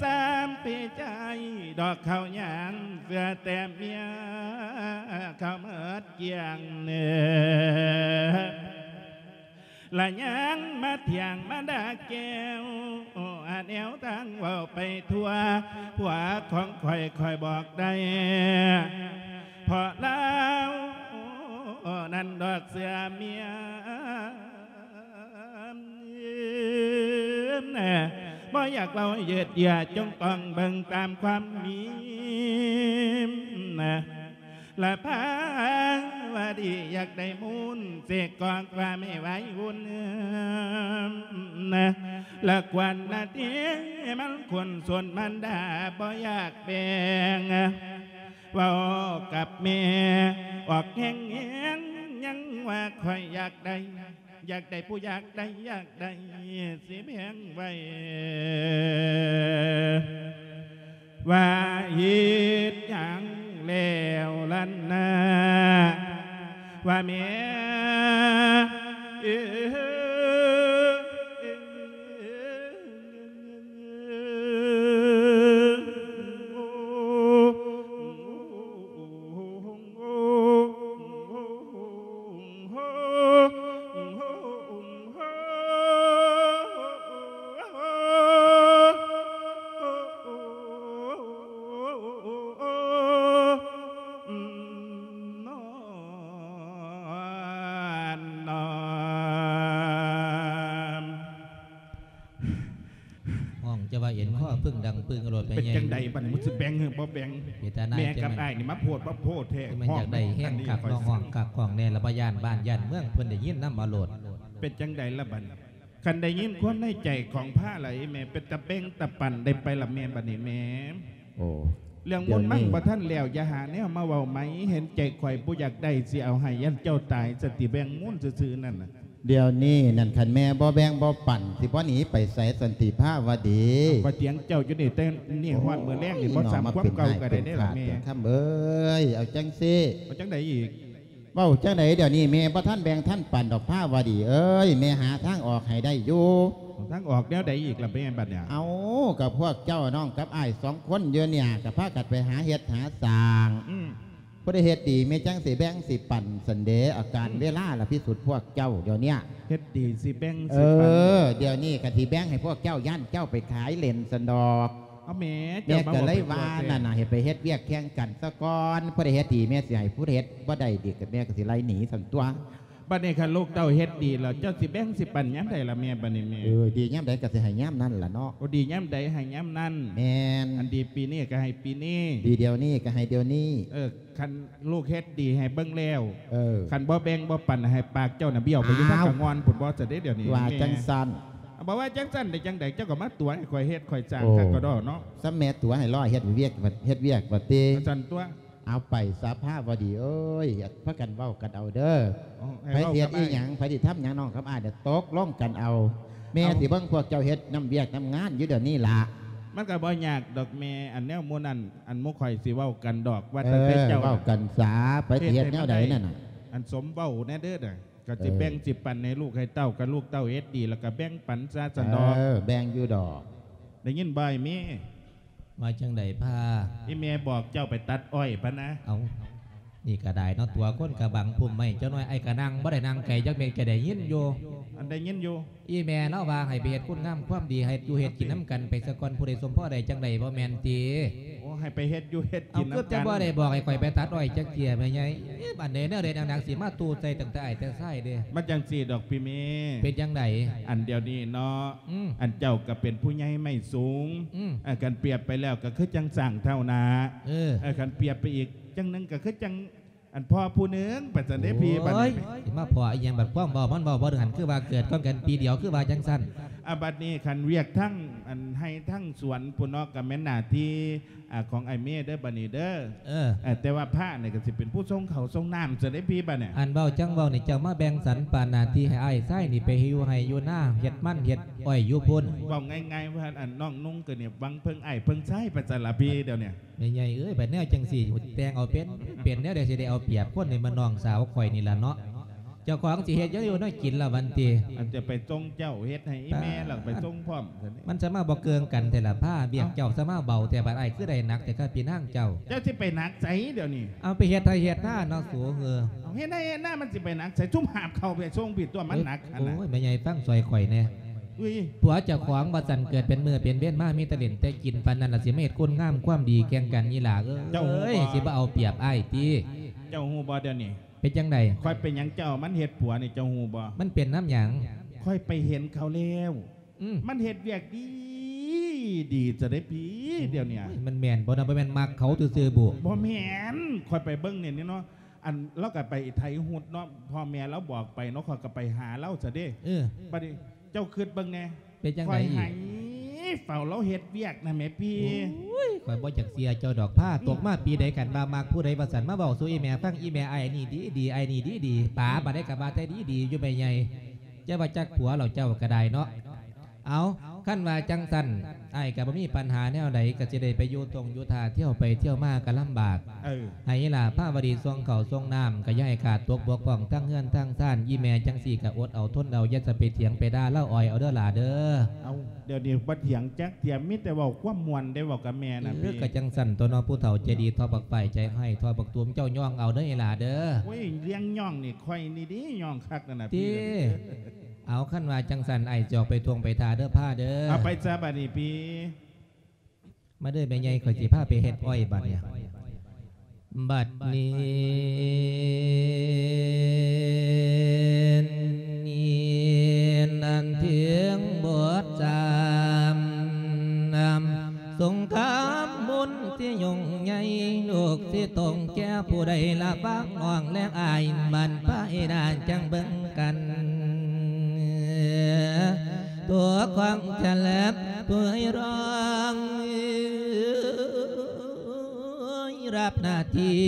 ສາມປີໃຈດອກເຂົ້າຍາມ ເຊື່ອແຕ່ເມຍເຂົ້າເໝິດກ້ຽງ ລະຍັງມາຖຽງມາດ່າແກ້ວ ແນວທາງເວົ້າໄປທົ່ວ ຜົວຂອງຂ້ອຍ ຂ້ອຍບອກໄດ້ ເພາະລາວນັ້ນດອກເຊື່ອເມຍ ບໍ່ຢາກເວົ້າເຢີດເຢື້ອ ຈົ່ງຕ້ອງເບິ່ງຕາມຄວາມມີ ລະພາວະດີຢາກໄດ້ມູນ ເສກກອກວ່າແມ່ໄວວຸ່ນ ລະກວນນາທີມັນຄົນຊົນ ມັນດາບໍ່ຢາກແບ່ງ ເວົ້າກັບແມ່ອອກແຮງໆ ຍັງວ່າຂ້ອຍຢາກໄດ້ ຢາກໄດ້ຜູ້ຢາກໄດ້ ຢາກໄດ້ຊິແບ່ງໄວ້ ວ່າເຮັດຫຍັງແລ້ວລະນາ ວ່າແມ່ເອີ. ຮ້ອງຈະວ່າເອັນຄໍເພິ່ງດັງປຶ້ງໂລດ ເປັນຈັ່ງໃດບັດນີ້ ມັນຊິແບ່ງຫຼືບໍ່ແບ່ງ? ເວທະນາ ແມ່ກັບອ້າຍນີ້ມາໂພດມາໂພດແທ້ ຄືມັນຢາກໄດ້ແຮງຄັກເນາະ ຮ້ອງຄັກຮ້ອງແນ່ ລະບໍ່ຢ້ານບ້ານຢ້ານເມືອງເພິ່ນໄດ້ຍິນນຳເອົາໂລດ. ເປັນຈັ່ງໃດລະບັດນີ້? ຄັນໄດ້ຍິນຄວາມໃນໃຈຂອງພາລະອີ່ແມ່ ເປັນຕາແບ່ງຕາປັນໄດ້ໄປລະແມ່ ບັດນີ້ແມ່. ໂອ້ ເລື່ອງມູນມັນບໍ່ທັນແລ້ວ ຢ່າຫາແນວມາເວົ້າໃໝ່ ເຫັນໃຈຂ້ອຍບໍ່ຢາກໄດ້ ຊິເອົາໃຫ້ຢ້ານເຈົ້າຕາຍ ສະຕິແບ່ງມູນຊື່ໆນັ້ນນະ. ດຽວນີ້ນັ້ນ ຄັນແມ່ບໍ່ແບ່ງບໍ່ປັນ ຊິບໍ່ໜີໄປໃສສັນຕິພາວະດີ? ຂ້ອຍຖຽງເຈົ້າຢູ່ນີ້ ແຕ່ນີ້ຮອດມື້ແລງນີ້ ບໍ່ຊ້ຳຄວາມເກົ່າກໍໄດ້ເດ້ລະແມ່. ຄຳເອີຍ ເອົາຈັ່ງຊີ້ ເອົາຈັ່ງໃດອີກ? ເວົ້າຈັ່ງໃດ ດຽວນີ້ແມ່ບໍ່ທັນແບ່ງທັນປັນດອກພາວະດີເອີຍ ແມ່ຫາທາງອອກໃຫ້ໄດ້ຢູ່. ທາງອອກແນວໃດອີກລະແມ່ບັດນີ້? ເອົາ ກໍພວກເຈົ້ານ້ອງກັບອ້າຍສອງຄົນຢູ່ນີ້ ກໍພາກັນໄປຫາເຮັດຫາສ້າງ ອືມ ຜູ້ໃດເຮັດດີແມ່ຈັ່ງຊິແບ່ງຊິປັນຊັ້ນເດ. ອາການ ອືມ ເວລາລະພິສູດພວກເຈົ້າດຽວນີ້ ເຮັດດີຊິແບ່ງຊິປັນ. ເອີ ດຽວນີ້ກໍຊິແບ່ງໃຫ້ພວກເຈົ້າ ຢ້ານເຈົ້າໄປຂາຍເຫຼັ້ນຊັ້ນດອກ. ເອົາແມ່ ແມ່ກໍເລີຍວ່ານັ້ນນະ ໃຫ້ໄປເຮັດວຽກແຂ່ງກັນຊະກ່ອນ ຜູ້ໃດເຮັດດີແມ່ຊິໃຫ້ ຜູ້ເຮັດບໍ່ໄດ້ດີກໍແມ່ກໍຊິໄລ່ໜີຊັ້ນຕົວະ. ບັດນີ້ຄັນລູກເຕົ້າເຮັດດີແລ້ວ ເຈົ້າຊິແບ່ງຊິປັນຍາມໃດລະແມ່ ບັດນີ້ແມ່? ເອີ ດີຍາມໃດກໍຊິໃຫ້ຍາມນັ້ນລະເນາະ. ໂອ້ ດີຍາມໃດໃຫ້ຍາມນັ້ນ. ແມ່ນ. ອັນດີປີນີ້ກໍໃຫ້ປີນີ້ ດີດຽວນີ້ກໍໃຫ້ດຽວນີ້. ເອີ ຄັນລູກເຮັດດີໃຫ້ເບິ່ງແລ້ວ ເອີ ຄັນບໍ່ແບ່ງບໍ່ປັນໃຫ້ປາກເຈົ້ານະ ບ້ຽວໄປຢູ່ທາງກະງ່ອນພຸ້ນບໍ່ ຈະໄດ້ດຽວນີ້ ວ່າຈັ່ງຊັ້ນ. ບໍ່ວ່າຈັ່ງຊັ້ນໄດ້ຈັ່ງໃດ ເຈົ້າກໍມາຕົວະໃຫ້ຂ້ອຍເຮັດຂ້ອຍສ້າງ ໂອ້ ຄັກກໍດໍເນາະ. ສ່ຳແມ່ຕົວະໃຫ້ລໍເຮັດວຽກ ເຮັດວຽກວ່າຕິ ວ່າຊັ້ນຕົວະ. ເອົາໄປສະພາວະດີເອີຍ ພາກັນເວົ້າກັນເອົາເດີ. ໃຜຊິເຮັດອີ່ຫຍັງ ໃຜຊິທຳຫຍັງ ນ້ອງກັບອ້າຍຕົກລົງກັນເອົາ. ແມ່ຊິເບິ່ງພວກເຈົ້າເຮັດນຳວຽກນຳງານຢູ່ດຽວນີ້ລະ. ມັນກໍບໍ່ຍາກດອກແມ່ ອັນແນວໝູ່ນັ້ນ ອັນໝູ່ຂ້ອຍຊິເວົ້າກັນດອກ ວ່າ ເອີ ຕັ້ງແຕ່ເຈົ້າເວົ້າກັນສາ ໃຜຊິເຮັດແນວໃດນັ້ນນະ ອັນສົມເວົ້າແນ່ເດີ. ກໍຊິແບ່ງ ເອີ ຊິປັນໃຫ້ລູກໃຫ້ເຕົ້າ ຄັນລູກເຕົ້າເຮັດດີແລ້ວກໍແບ່ງປັນຊະຊັ້ນດອກ. ເອີ ແບ່ງຢູ່ດອກ. ໄດ້ຍິນບໍ່ອ້າຍເມ? ວ່າຈັ່ງໃດພາ? ອີ່ແມ່ບອກເຈົ້າໄປຕັດອ້ອຍພະນະ. ເອົ້າ ນີ້ກໍໄດ້ເນາະ ຕົວະຄົນກະບັງພຸ້ມໄມ້ຈັກໜ້ອຍ ອ້າຍກະນັ່ງບໍ່ໄດ້ນັ່ງໄກຈັກເມັດ ກະໄດ້ຍິນຢູ່. ອັນໄດ້ຍິນຢູ່ ອີ່ແມ່ລາວວ່າໃຫ້ໄປເຮັດຄຸນງາມຄວາມດີ ໃຫ້ຢູ່ເຮັດກິນນຳກັນໄປສາກ່ອນ ຜູ້ໃດສົມພໍໄດ້ຈັ່ງໃດ ບໍ່ແມ່ນຕິ? ໂອ້ ໃຫ້ໄປເຮັດຢູ່ເຮັດກິນນຳກັນ. ເອົ້າ ຄືຈະບໍ່ໄດ້ບອກໃຫ້ຂ້ອຍໄປຕັດອ້ອຍຈັກເທື່ອແມ່ໃຫຍ່? ເອີ ອັນໃດແນວໃດໜັກໆ ຊິມາຕູ້ໃສ່ຕັ້ງແຕ່ອ້າຍແຕ່ຊາຍເດ້. ມັນຈັ່ງຊີ້ດອກພີ່ເມ. ເປັນຈັ່ງໃດ? ອັນດຽວນີ້ເນາະ ອືມ ອັນເຈົ້າກໍເປັນຜູ້ໃຫຍ່ໄມ້ສູງ ອືມ ເອີ ຄັນປຽບໄປແລ້ວກໍຄືຈັ່ງຊ້າງເທົ້ານາ ເອີ ເອີ ຄັນປຽບໄປອີກຈັ່ງໜຶ່ງກໍຄືຈັ່ງ ອັນພໍ່ຜູ້ໜຶ່ງ ປະຊັ້ນເດ້ພີ່. ໂອ້ຍ ບັດນີ້ ຊິມາພໍ່ອີ່ຫຍັງ ບັດຄວາມເວົ້າມັນເວົ້າບໍ່ຖືກ ອັນຄືວ່າເກີດກ່ອນກັນປີດຽວ ຄືວ່າຈັ່ງຊັ້ນ. ອາ ບັດນີ້ຄັນວຽກທັງ ອັນໄຮ່ທັງສວນພຸ້ນເນາະ ກໍແມ່ນໜ້າທີ່ ອ່າ ຂອງອ້າຍເມເດີ ບັດນີ້ເດີ. ເອີ ເອີ ແຕ່ວ່າພະນີ້ກໍຊິເປັນຜູ້ສົ່ງເຂົ້າສົ່ງນ້ຳຊະເດ້ພີ່ ບັດນີ້. ອັນເວົ້າຈັ່ງເວົ້ານີ້ ເຈົ້າມາແບ່ງສັນປານໜ້າທີ່ໃຫ້ອ້າຍຊາຍນີ້ໄປຢູ່ໄຮ່ຢູ່ນາ ເຮັດມັນເຮັດອ້ອຍຢູ່ພຸ້ນ. ເວົ້າງ່າຍໆວ່າ ອັນນ້ອງນຸ່ງກໍນີ້ຫວັງເພິ່ງອ້າຍເພິ່ງຊາຍໄປຊັ້ນລະພີ່ ດຽວນີ້. ແມ່ໃຫຍ່ເອີຍ ບັດແນວຈັ່ງຊີ້ ແຕ່ງເອົາເປັນ ເປັນແນວໃດ ຊິໄດ້ເອົາປຽບຄົນ ໃຫ້ມານ້ອງສາວຂ້ອຍນີ້ລະເນາະ. ເຈົ້າຂອງຊິເຮັດຫຍັງຢູ່ແນວກິນລະບັດນີ້? ອັນຈະໄປສົ່ງເຈົ້າ ເຮັດໃຫ້ອີ່ແມ່ ແລ້ວໄປສົ່ງພ້ອມ. ມັນສະມາບໍ່ເກີງກັນແທ້ລະ ພາວຽກເຈົ້າສະມາເບົາແທ້ ບັດອ້າຍຄືໄດ້ໜັກແທ້ ຂ້າພີ່ນາງເຈົ້າ. ເຈົ້າຊິໄປໜັກໃສດຽວນີ້? ເອົາໄປເຮັດໄຮ່ເຮັດນາເນາະສູເອີຍ. ເຮັດໄຮ່ເຮັດນາມັນຊິໄປໜັກໃສ? ຊຸມຫາບເຂົ້າໄປສົ່ງພີ້ຕົວະ ມັນໜັກຫັ້ນນະ. ໂອ້ຍ ແມ່ໃຫຍ່ຟັງຊ່ອຍຂ້ອຍແດ່. ອຸ້ຍ ຜົວເຈົ້າຂອງວ່າຊັ້ນ ເກີດເປັນມື້ເປັນເວນມາ ມີແຕ່ຫຼິ້ນແຕ່ກິນ ປານນັ້ນລະຊິມາເຮັດຄຸນງາມຄວາມດີແຂ່ງກັນນີ້ລະເອີຍ. ເຈົ້າຮູ້ບໍ່? ຊິບໍ່ເອົາປຽບອ້າຍຕິ? ເຈົ້າຮູ້ບໍ່ດຽວນີ້? ເປັນຈັ່ງໃດ? ຂ້ອຍເປັນຫຍັງເຈົ້າມັນເຮັດຜົວນີ້ ເຈົ້າຮູ້ບໍ່? ມັນເປັນນຳຫຍັງ? ຂ້ອຍໄປເຫັນເຂົາແລ້ວ. ອືມ ມັນເຮັດວຽກດີດີຊະເດ້ພີ່ ດຽວນີ້. ໂອ້ຍ ມັນແມ່ນບໍ່ນະ? ບໍ່ແມ່ນມັກເຂົາຊື່ໆບໍ? ບໍ່ແມ່ນ ຂ້ອຍໄປເບິ່ງນີ້ເນາະ ອັນລາວກໍໄປໄຖຫຸດເນາະ ພໍ່ແມ່ລາວບອກໄປເນາະ ຂ້ອຍກໍໄປຫາລາວຊະເດ້. ເອີ ບັດນີ້ເຈົ້າຄິດເບິ່ງແດ່. ເປັນຈັ່ງໃດອີກ? ຂ້ອຍໃຫ້ເຝົ້າລາວເຮັດວຽກນະແໝ່ພີ່. ໂອ້ຍ ຂ້ອຍບໍ່ຢາກເຊື່ອເຈົ້າດອກ ພາຕົກມາປີໃດ ຄັນວ່າມັກຜູ້ໃດວ່າຊັ້ນ ມາເວົ້າສູ່ອີ່ແມ່ຟັງ ອີ່ແມ່ ອ້າຍນີ້ດີໆ ອ້າຍນີ້ດີໆ ປາບາດໃດກໍວ່າແຕ່ດີໆຢູ່ແມ່ໃຫຍ່. ຢ່າວ່າຈັກຜົວແລ້ວ ເຈົ້າກໍໄດ້ເນາະ. ເອົາ ຄັນວ່າຈັ່ງຊັ້ນ ອ້າຍກໍບໍ່ມີປັນຫາແນວໃດ ກໍຊິໄດ້ໄປຢູ່ຕົງຢູ່ທ່າ ທ່ຽວໄປທ່ຽວມາກໍລຳບາກ. ເອີ ໃຫ້ອີ່ຫຼ້າພາວະດີສົ່ງເຂົ້າສົ່ງນ້ຳ ກໍຢ່າໃຫ້ຂາດຕົກບົກຜ່ອງ ທັງເຮືອນທັງຊານ. ອີ່ແມ່ຈັ່ງຊີ້ກໍອົດເອົາທົນເອົາ ຢ່າຈະໄປຖຽງໄປດ່າລາວອ້ອຍເອົາເດີຫຼ້າເດີ. ເອົາ ດຽວນີ້ບໍ່ຖຽງຈັກເທື່ອ ມີແຕ່ເວົ້າຄວາມມ່ວນໄດ້ ເວົ້າກັບແມ່ນະ. ເອີ ພີ່ ກໍຈັ່ງຊັ້ນຕົວເນາະ ຜູ້ເຖົ້າໃຈດີ ທອບບັກຝ້າຍໃຈຮ້າຍ ທອບບັກຕູມ ເຈົ້າຍ່ອງເອົາເດີອີ່ຫຼ້າເດີ. ໂອ້ຍ ລຽງຍ່ອງນີ້ ຂ້ອຍນີ້ເດ້ຍ່ອງຄັກນັ້ນນະ ຕິ ພີ່. ເອົາ ຄັນວ່າຈັ່ງຊັ້ນ ອ້າຍຈອກໄປທົ່ງໄປທ່າເດີ ພາເດີ. ເອົາ ໄປຊະບາດນີ້ ພີ່. ມາເດີແມ່ໃຫຍ່ ຂ້ອຍຊິພາໄປເຮັດອ້ອຍບາດນີ້. ບັດນີ້ ອັນທຽງບົດສາມ ສົງຄາມບຸນຊິຫຍຸ້ງໃຫຍ່ ລູກຊິຕົງແກ່ຜູ້ໃດລະຟັງ ນ້ອງແລະອ້າຍ ບັ້ນພາຍໜ້າຈັ່ງເບິ່ງກັນ ຕົວຂອງຈະແລບເຜີຍຮ້ອງ ຮັບໜ້າທີ່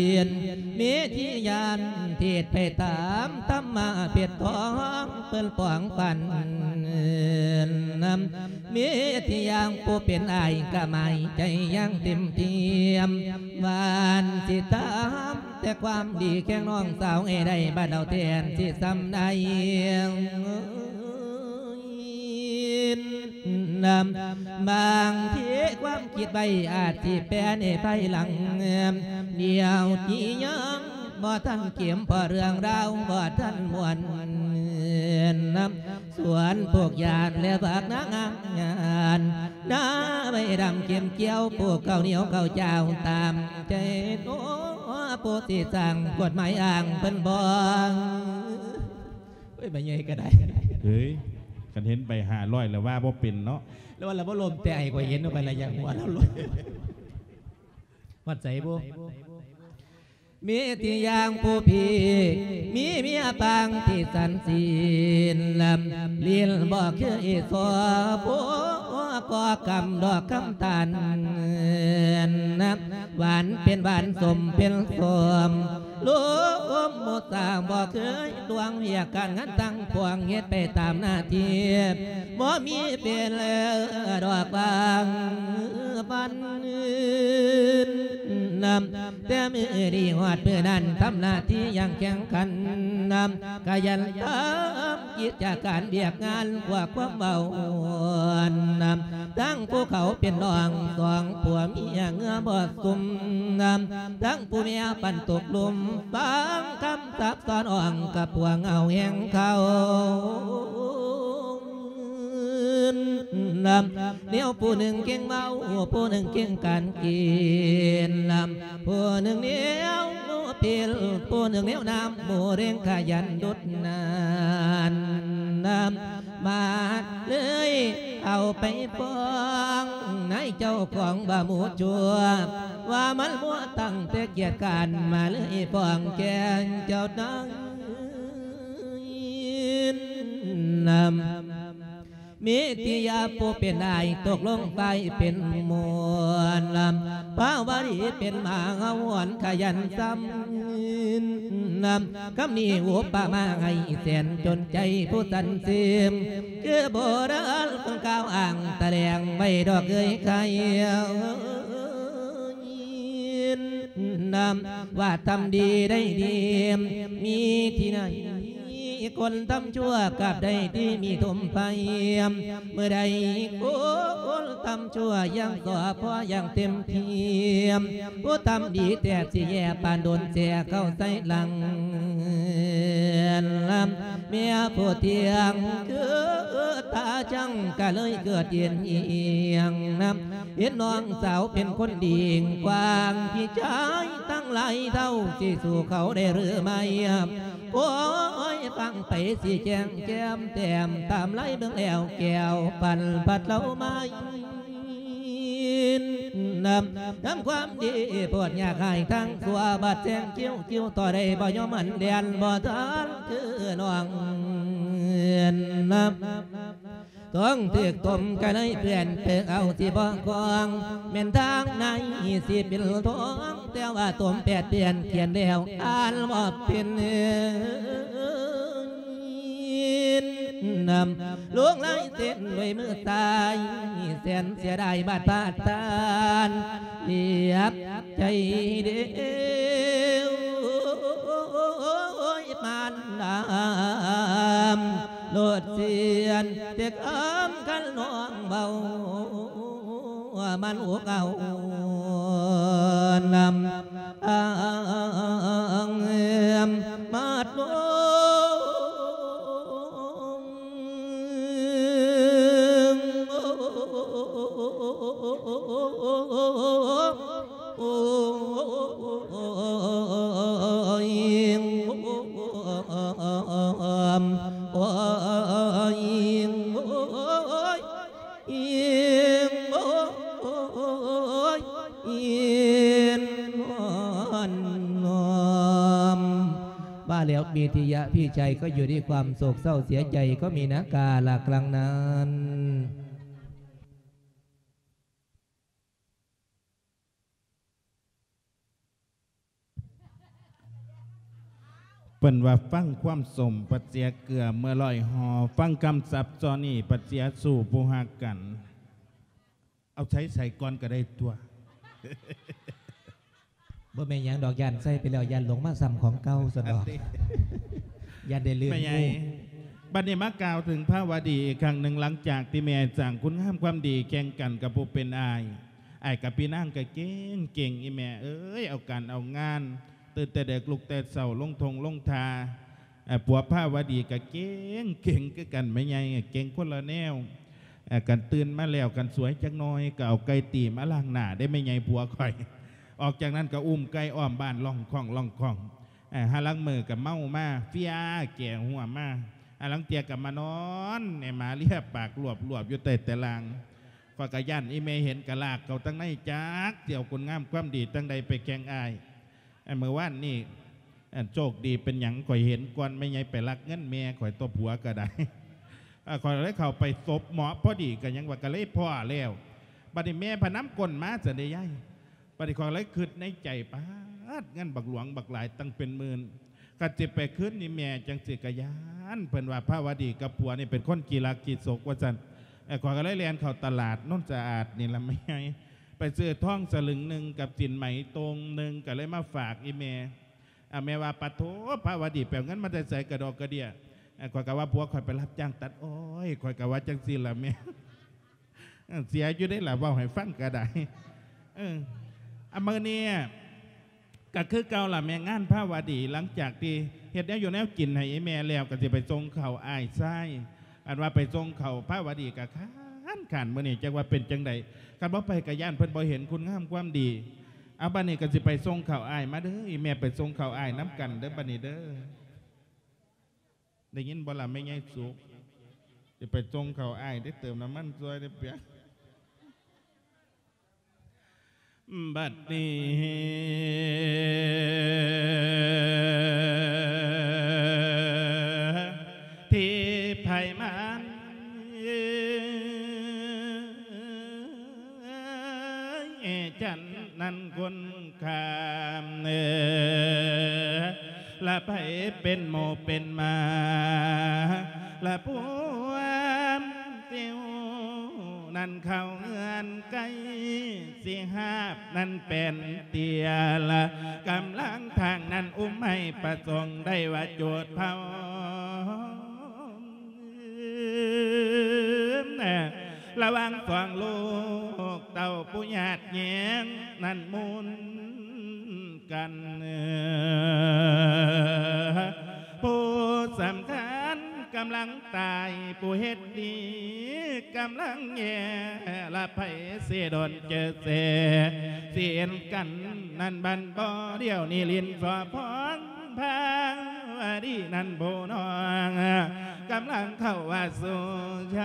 ເມທິຍານ ເທດໄປຕາມທຳມະເພັດທອງ ເພິ່ນປອງປັນນຳ ເມທິຍານ ຜູ້ເປັນອ້າຍກະໝາຍໃຈຢ່າງເຕັມທີ່ ຫວານຊິຖາມແຕ່ຄວາມດີແຂ່ງນ້ອງສາວໃຫ້ໄດ້ ບັດເອົາແທນຊິສ່ຳໃດ. ນຳ ບາງທີຄວາມຄິດໄວ້ອາດຊິແປໃນພາຍຫຼັງ ດຽວນີ້ຍັງບໍ່ທັນເກມ ເພາະເລື່ອງລາວບໍ່ທັນມ່ວນ ນຳ ສວນປູກຢາດ ແລະ ບັກນາງງາມຍານ ນາໃບດຳເກັບກ່ຽວ ປູກເຂົ້າໜຽວເຂົ້າຈ້າວຕາມໃຈ ໂອ້ ຜູ້ຊິສ້າງກົດໝາຍອ້າງເພິ່ນບໍ່. ໂອ້ຍ ໃບໃຫຍ່ກໍໄດ້ ເຮີ້ຍ ຄັນເຫັນໃບຫ້າຮ້ອຍແລ້ວວ່າບໍ່ເປັນເນາະ ແລ້ວວ່າລະບໍ່ລົມແຕ່ໃຫ້ຂ້ອຍເຫັນເອົາໄປລະ ຢາກຫົວລາວລົມ ຮອດໃສບໍ່? ມີທີ່ຢ່າງຜູ້ພີ່ ມີເມຍປາງທີ່ສັນສີນ ລິນບໍ່ເຄີຍສໍ້ ຜູ້ກໍກຳດອກຄຳຕານ ຫວານເປັນຫວານ ສົ້ມເປັນສົ້ມ ລົມມຸດສາບໍ່ເຄີຍລວງ ວຽກການງານທັງປວງ ເຮັດໄປຕາມໜ້າທີ່ ບໍ່ມີເປັນດອກບາງປັນອື່ນນຳ ແຕ່ມື້ນີ້ຮອດມື້ນັ້ນ ທຳໜ້າທີ່ຢ່າງແຂງຂັນນຳ ຂະຫຍັນທຳກິດຈະການວຽກງານ ກວ່າຄວາມເວົ້ານຳ ທັງຜູ້ເຂົາເປັນນ້ອງ ສອງຜົວເມຍເຫື່ອບໍ່ຊຸ່ມນຳ ທັງຜູ້ເມຍປັ່ນຕົກລຸ່ມ ຟັງຄຳສັບສອນອ່ອງ ກັບພວກເຫງົາແຫ່ງເຂົາ ນຳ ແນວຜູ້ໜຶ່ງເກັ່ງເມົາ ຜູ້ໜຶ່ງເກັ່ງການກິນນຳ ຜູ້ໜຶ່ງແນວເພິ່ນ ຜູ້ໜຶ່ງແນວນ້ຳ ໝູ່ເລັ່ງຂະຫຍັນດຸດນານນຳ ມາເລີຍເອົາໄປຟ້ອງນາຍເຈົ້າຂອງວ່າໝູ່ຊົ່ວ ວ່າມັນມົວຕັ້ງແຕ່ກຽດການ ມາເລີຍຟ້ອງແກ່ເຈົ້ານາຍນຳ ມີຕິຍາຜູ້ເປັນອ້າຍຕົກລົງໄປເປັນໝູ່ ພາວະດີເປັນມະຫາຫວນຂະຫຍັນຊຳ ຄຳນີ້ອຸປະມາໃຫ້ແສນຈົນໃຈຜູ້ສັນເສມ ຄືໂບລານເພິ່ນກ່າວອ້າງຕະແຫຼງໄວ້ດອກເອີຍໄຂ່ ວ່າທຳດີໄດ້ດີ ມີທີ່ໃນ ຄົນທຳຊົ່ວກັບໄດ້ທີ່ມີຖົມໄພ ເມື່ອໃດຄົນທຳຊົ່ວຍັງກໍພໍຢ່າງເຕັມທີ່ ຜູ້ທຳດີແທບຊິແຍ່ປານໂດນແຊ່ເຂົ້າໃສ່ຫຼັງ ເມຍຜູ້ທ່ຽງຄືຕາຊ່າງ ກໍເລີຍເກີດເຢັນອີ່ຫຍັງນຳ ເຫັນນ້ອງສາວເປັນຄົນດີກວ້າງ ພີ່ຊາຍທັງຫຼາຍເທົ່າ ຊິສູ້ເຂົາໄດ້ຫຼືໄມ່? ໂອ້ຍ ຟັງໄປຊິແຈ້ງແຈ່ມແຕ້ມ ຕາມໄລ່ເບິ່ງແລ້ວແກ້ວ ປັນພັດເລົ່າມາ ນຳ ນຳຄວາມດີໂພດ ຢາກໃຫ້ທັງຊົ່ວ ບາດແຊງຄິ້ວ ຄິ້ວຕໍ່ໄດ້ບໍ່ຍອມ ອັນແລ່ນບໍ່ທັນຄືນ້ອງ ນຳ ຕ້ອງຖືກຕົມກະໄດ້ເພື່ອນເພິ່ນເອົາຊິບໍ່ຄອງ ແມ່ນທາງໃນຊິເປັນທອງ ແຕ່ວ່າຕົມແປດປ່ຽນຂຽນແລ້ວອ່ານບໍ່ເປັນ ນຳ ລົງລາຍເຊັນດ້ວຍມືຊ້າຍ ແສນເສຍດາຍບາດພາດທ່ານ ລຽບໃຈເດວ ມານນຳ ໂລດເຊືອນ ແຕ່ຄຳຄັນນ້ອງເວົ້າ ມັນອົກເອົານຳ ມາດລົງ ໂອ້ຍ ໂອ້ຍ ໂອ້ຍ ໂອ້ຍ ໂອ້ຍ ວ່າແລ້ວ ມີທິຍະ ພີ່ຊາຍກໍຢູ່ດ້ວຍຄວາມໂສກເສົ້າເສຍໃຈ ກໍມີນາກາລະຄັ້ງນັ້ນ. ເພິ່ນວ່າຟັງຄວາມສົ້ມ ປະເສຍເກືອເມື່ອລອຍຫໍ່ ຟັງຄຳສັບຊໍນີ້ ປະເສຍຊູ້ຜູ້ຮັກກັນ. ເອົາໃຊ້ໃສ່ກ່ອນກໍໄດ້ຕົວະ. ບໍ່ແມ່ນຫຍັງດອກ ຢ້ານໃສ່ໄປແລ້ວ ຢ້ານຫຼົງມາຊ້ຳຂອງເກົ່າຊັ້ນດອກ. ຢ້ານໄດ້ລື່ນ. ແມ່ໃຫຍ່ ໝູ່ ບັດນີ້ມາກ່າວເຖິງພາວະດີອີກຄັ້ງໜຶ່ງ ຫຼັງຈາກທີ່ແມ່ສ້າງຄຸນງາມຄວາມດີແຂ່ງກັນກັບຜູ້ເປັນອ້າຍ. ອ້າຍກັບພີ່ນາງກໍເກັ່ງໆ ອີ່ແມ່ເອີຍ ເອົາການເອົາງານ ຕື່ນແຕ່ເດິກລຸກແຕ່ເຊົ້າ ລົງທົ່ງລົງທ່າ. ເອີ ຜົວພາວະດີກໍເກັ່ງໆ ຄືກັນ ແມ່ໃຫຍ່ເກັ່ງຄົນລະແນວ. ເອີ ຄັນຕື່ນມາແລ້ວ ຄັນສວຍຈັກໜ້ອຍ ກໍເອົາໄກ່ຕີມາລ້າງໜ້າເດ້ ແມ່ໃຫຍ່ຜົວຂ້ອຍ. ອອກຈາກນັ້ນກໍອຸ້ມໄກ່ອ້ອມບ້ານ ລ້ອງຄ້ອງໆ. ເອີ ຫາລາງມື້ກໍເມົາມາ ເຟຍແກ່ຫົວມາ. ຫາລາງເທື່ອກໍມານອນແນມາເລຍປາກລວບໆ ຢູ່ໃຕ້ຕາລ່າງ. ຂ້ອຍກໍຢ້ານອີ່ແມ່ເຫັນ ກໍລາກເຂົ້າທາງໃນ ຈັກຊິເອົາຄຸນງາມຄວາມດີທາງໃດໄປແຂ່ງອ້າຍ. ອັນມື້ວານນີ້ ອັນໂຊກດີເປັນຫຍັງ ຂ້ອຍເຫັນກ່ອນແມ່ໃຫຍ່ໄປລັກເງິນແມ່ຂ້ອຍຕົວະ ຜົວກໍໄດ້. ເອີ ຂ້ອຍເລີຍເຂົ້າໄປສົບເໝາະພໍດີ ກໍຍັງວ່າກໍເລີຍພໍ້ແລ້ວ. ບັດນີ້ແມ່ພະນຳກົ້ນມາຊັ້ນເດ້ຍາຍ. ບັດນີ້ຂ້ອຍເລີຍຄິດໃນໃຈ ປາດ ເງິນບັກຫຼວງບັກຫຼາຍຕັ້ງເປັນໝື່ນ ຄັນຊິໄປຄືນນີ້ແມ່ຈັ່ງຊີ້ກໍຢ້ານ. ເພິ່ນວ່າພາວະດີກັບຜົວນີ້ເປັນຄົນຂີ້ລັກຂີ້ສົກວ່າຊັ້ນ. ເອີ ຂ້ອຍກໍເລີຍແລ່ນເຂົ້າຕະຫຼາດໂນນສະອາດນີ້ລະແມ່ໃຫຍ່ ໄປຊື້ທອງສະລຶງໜຶ່ງກັບສິນໄໝໂຕ່ງໜຶ່ງ ກໍເລີຍມາຝາກອີ່ແມ່. ອາ ແມ່ວ່າ ປະໂທ ພາວະດີໄປເອົາເງິນມາແຕ່ໃສກະດອກກະເດຍ. ເອີ ຂ້ອຍກໍວ່າຜົວຂ້ອຍໄປຮັບຈ້າງຕັດອ້ອຍ ຂ້ອຍກໍວ່າຈັ່ງຊີ້ລະແມ່. ເອີ ເສຍຢູ່ເດ້ລະ ເວົ້າໃຫ້ຟັງກໍໄດ້. ເອີ ອາ ມື້ນີ້ກໍຄືເກົ່າລະແມ່ ງານພາວະດີ ຫຼັງຈາກທີ່ເຮັດແນວຢູ່ແນວກິນໃຫ້ອີ່ແມ່ແລ້ວ ກໍຊິໄປສົ່ງເຂົ້າອ້າຍຊາຍ. ອັນວ່າໄປສົ່ງເຂົ້າພາວະດີກໍຄ້ານໆ ມື້ນີ້ຈັກວ່າເປັນຈັ່ງໃດ. ຄັນບໍ່ໄປກໍຢ້ານເພິ່ນບໍ່ເຫັນຄຸນງາມຄວາມດີ. ເອົາ ບັດນີ້ກໍຊິໄປສົ່ງເຂົ້າອ້າຍ ມາເດີ ອີ່ແມ່ໄປສົ່ງເຂົ້າອ້າຍນຳກັນເດີ ບັດນີ້ເດີ. ໄດ້ຍິນບໍ່ລະແມ່ໃຫຍ່ສຸກ? ຊິໄປສົ່ງເຂົ້າອ້າຍເດ້ ເຕີມນ້ຳມັນຊ່ວຍເດ້ປຽກ. ບັດນີ້ທີ່ໃຜມາ ເອີ ຈັ່ນນັ້ນຄົນຂ້າມເອີ ລະໃຜເປັນໝູ່ເປັນໝາ ລະພວມຕິວນັ້ນເຂົ້າເຮືອນໄກ ຊິຫາບນັ້ນແປນເຕຍ ລະກຳລັງທາງນັ້ນອຸ້ມໃຫ້ປະສົງໄດ້ວ່າຈູດເຜົາ. ລະຫວ່າງສອງລູກເຕົ້າຜູ້ຍາດແຍ່ງນັ້ນໝູນກັນ ຜູ້ສຳຄັນກຳລັງຕາຍ ຜູ້ເຮັດດີກຳລັງແຍ່ ລະໃຜຊິດົນເຈີແສ ຊິເຫັນກັນນັ້ນບັນບໍ່ ດຽວນີ້ຫຼິ້ນສໍພອງ ພາວະດີນັ້ນຜູ້ນ້ອງ ກຳລັງເຂົ້າວ່າສູ່ໄຊ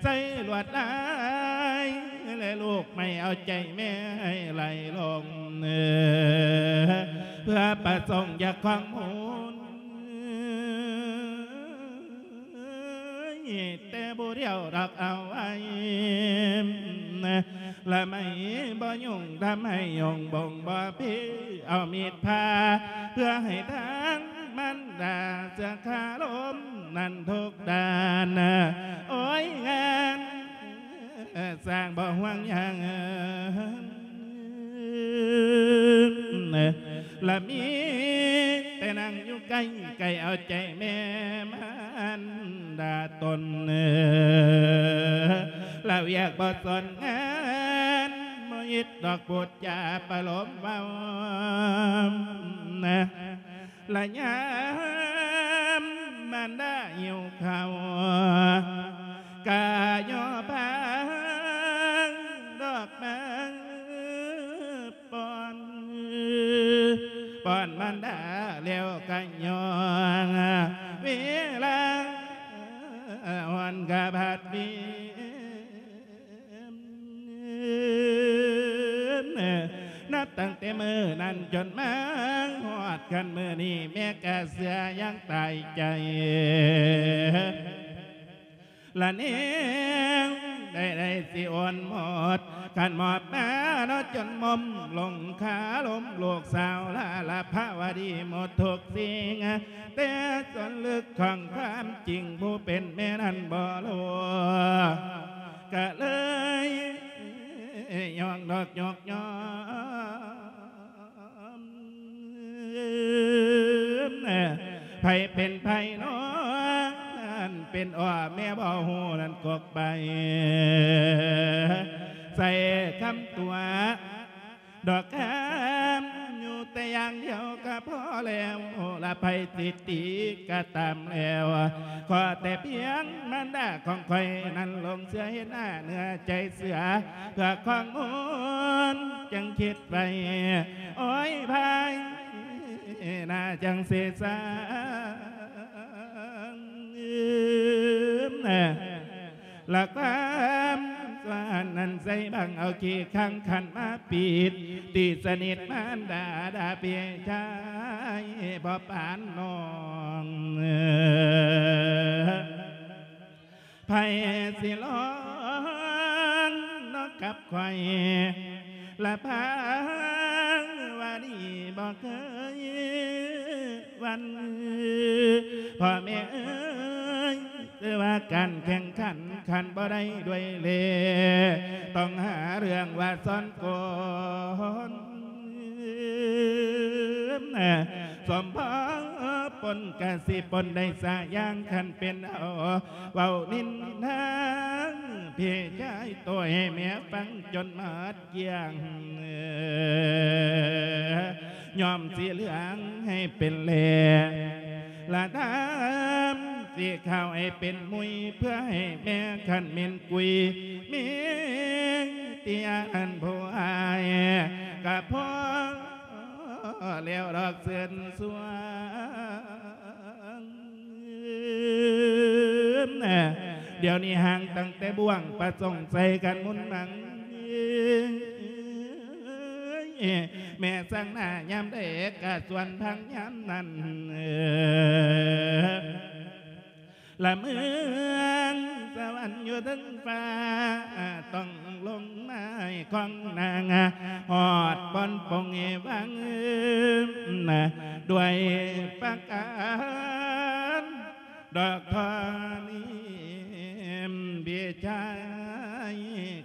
ໃສ່ລວດລາຍ ແລະລູກໄມ້ເອົາໃຈແມ່ໃຫ້ໄຫຼລົງ ເພື່ອປະສົງຢາກຄອງມູນ ແຕ່ຜູ້ດຽວດອກເອົາໄວ້ ລະໄມ້ບໍ່ຫຍຸ້ງ ທຳໃຫ້ຫຍຸ້ງບົ່ງບໍ່ພີ ເອົາມີດຜ່າ ເພື່ອໃຫ້ທາງມານດາເສືອຄາລົມນັ້ນທຸກດ້ານ ໂອ້ຍ ງານ ສ້າງບໍ່ຫວງຫຍັງ ລະມີແຕ່ນັ່ງຢູ່ໃກ້ ໃກ້ເອົາໃຈແມ່ມານດາຕົນ ລະວຽກບໍ່ສົນງານ ບໍ່ອິດດອກພູດຈາປະໂລມເວົ້າ ລະຍາມມານດາຫິວເຂົ້າ ກະຍໍພາງດອກໄມ້ປ້ອນ ປ້ອນມານດາແລ້ວກະຍ້ອນເວລາ ອ່ອນກະບາດເບ ນັບຕັ້ງແຕ່ມື້ນັ້ນຈົນມາຮອດຄັນມື້ນີ້ ແມ່ກະເຊື່ອຢ່າງຕາຍໃຈ ລະແນງໃດໆຊິອ່ອນໝົດ ຄັນມອບມາເນາະຈົນໝົມລົງຄາລົມ ລູກສາວລາລະພາວະດີໝົດທຸກສິ່ງ ແຕ່ສ່ວນເລິກຂອງຄວາມຈິງ ຜູ້ເປັນແມ່ນັ້ນບໍ່ຮູ້ ກະເລີຍຍ້ອງດອກຍົກຍ້ອນ ໃຜເປັນໃຜນ້ອງ ເປັນອ້ອແມ່ບໍ່ຮູ້ນັ້ນກົກໃບ ໃສ່ຄຳຕົວະ ດອກຄຳຢູ່ແຕ່ຢ່າງດຽວກະພໍແລ້ວ ລະໃຜຊິຕີກະຕາມແລ້ວ ຂໍແຕ່ພຽງມານດາຂອງຂ້ອຍນັ້ນ ຫຼົງເຊື່ອເຫັນໜ້າເນື້ອໃຈເຊື່ອ ເພື່ອຄວາມມ່ວນຈຶ່ງຄິດໄວ້ ໂອ້ຍ ພາຍໜ້າຈັ່ງເສສາງ ລະຄວາມສວນນັ້ນໃສ່ບັງເອົາຂີ້ຄ້າງຂັນມາປິດ ຕີສະໜິດມານດາດາເປຍຊາຍ ບໍ່ປານນ້ອງ ໃຜຊິລອງເນາະກັບຂ້ອຍ ລະພາວະດີບໍ່ເຄີຍ ວັນ ພໍ່ແມ່ເອີຍ ຄືວ່າການແຂ່ງຂັນຄັນບໍ່ໄດ້ດ້ວຍເລ່ ຕ້ອງຫາເລື່ອງວ່າຊ້ອນກົນ ສົມພໍປົນກະຊິປົນໄດ້ສາຢ່າງ ຄັນເປັນເອົາເວົ້ານິນທາ ພີ່ຊາຍໂຕໃຫ້ແມ່ຟັງຈົນໝົດ ກຽງ ຍ້ອມສີເຫຼືອງໃຫ້ເປັນແຫຼ ລະດຳສີຂາວໃຫ້ເປັນມຸຍ ເພື່ອໃຫ້ແມ່ຄັນເໝັນກຸຍ ມີເຕຍອັນຜູ້ອ້າຍ ກະພໍແລ້ວດອກເຊີນຊວນ ດຽວນີ້ຫ່າງຕັ້ງແຕ່ບ່ວງ ປະສົງໃສ່ກັນມຸນມັງ ແມ່ສັງໜ້າຍາມໃດກະຊວນພັງຍາມນັ້ນ ລະເມືອງ ເທິງຟ້າ ຕ້ອງລົງມາໃຫ້ຂອງນາງ ຮອດບ່ອນປົງໃຫ້ວາງ ດ້ວຍປະການ ດອກທອງນີ້ພີ່ຊາຍ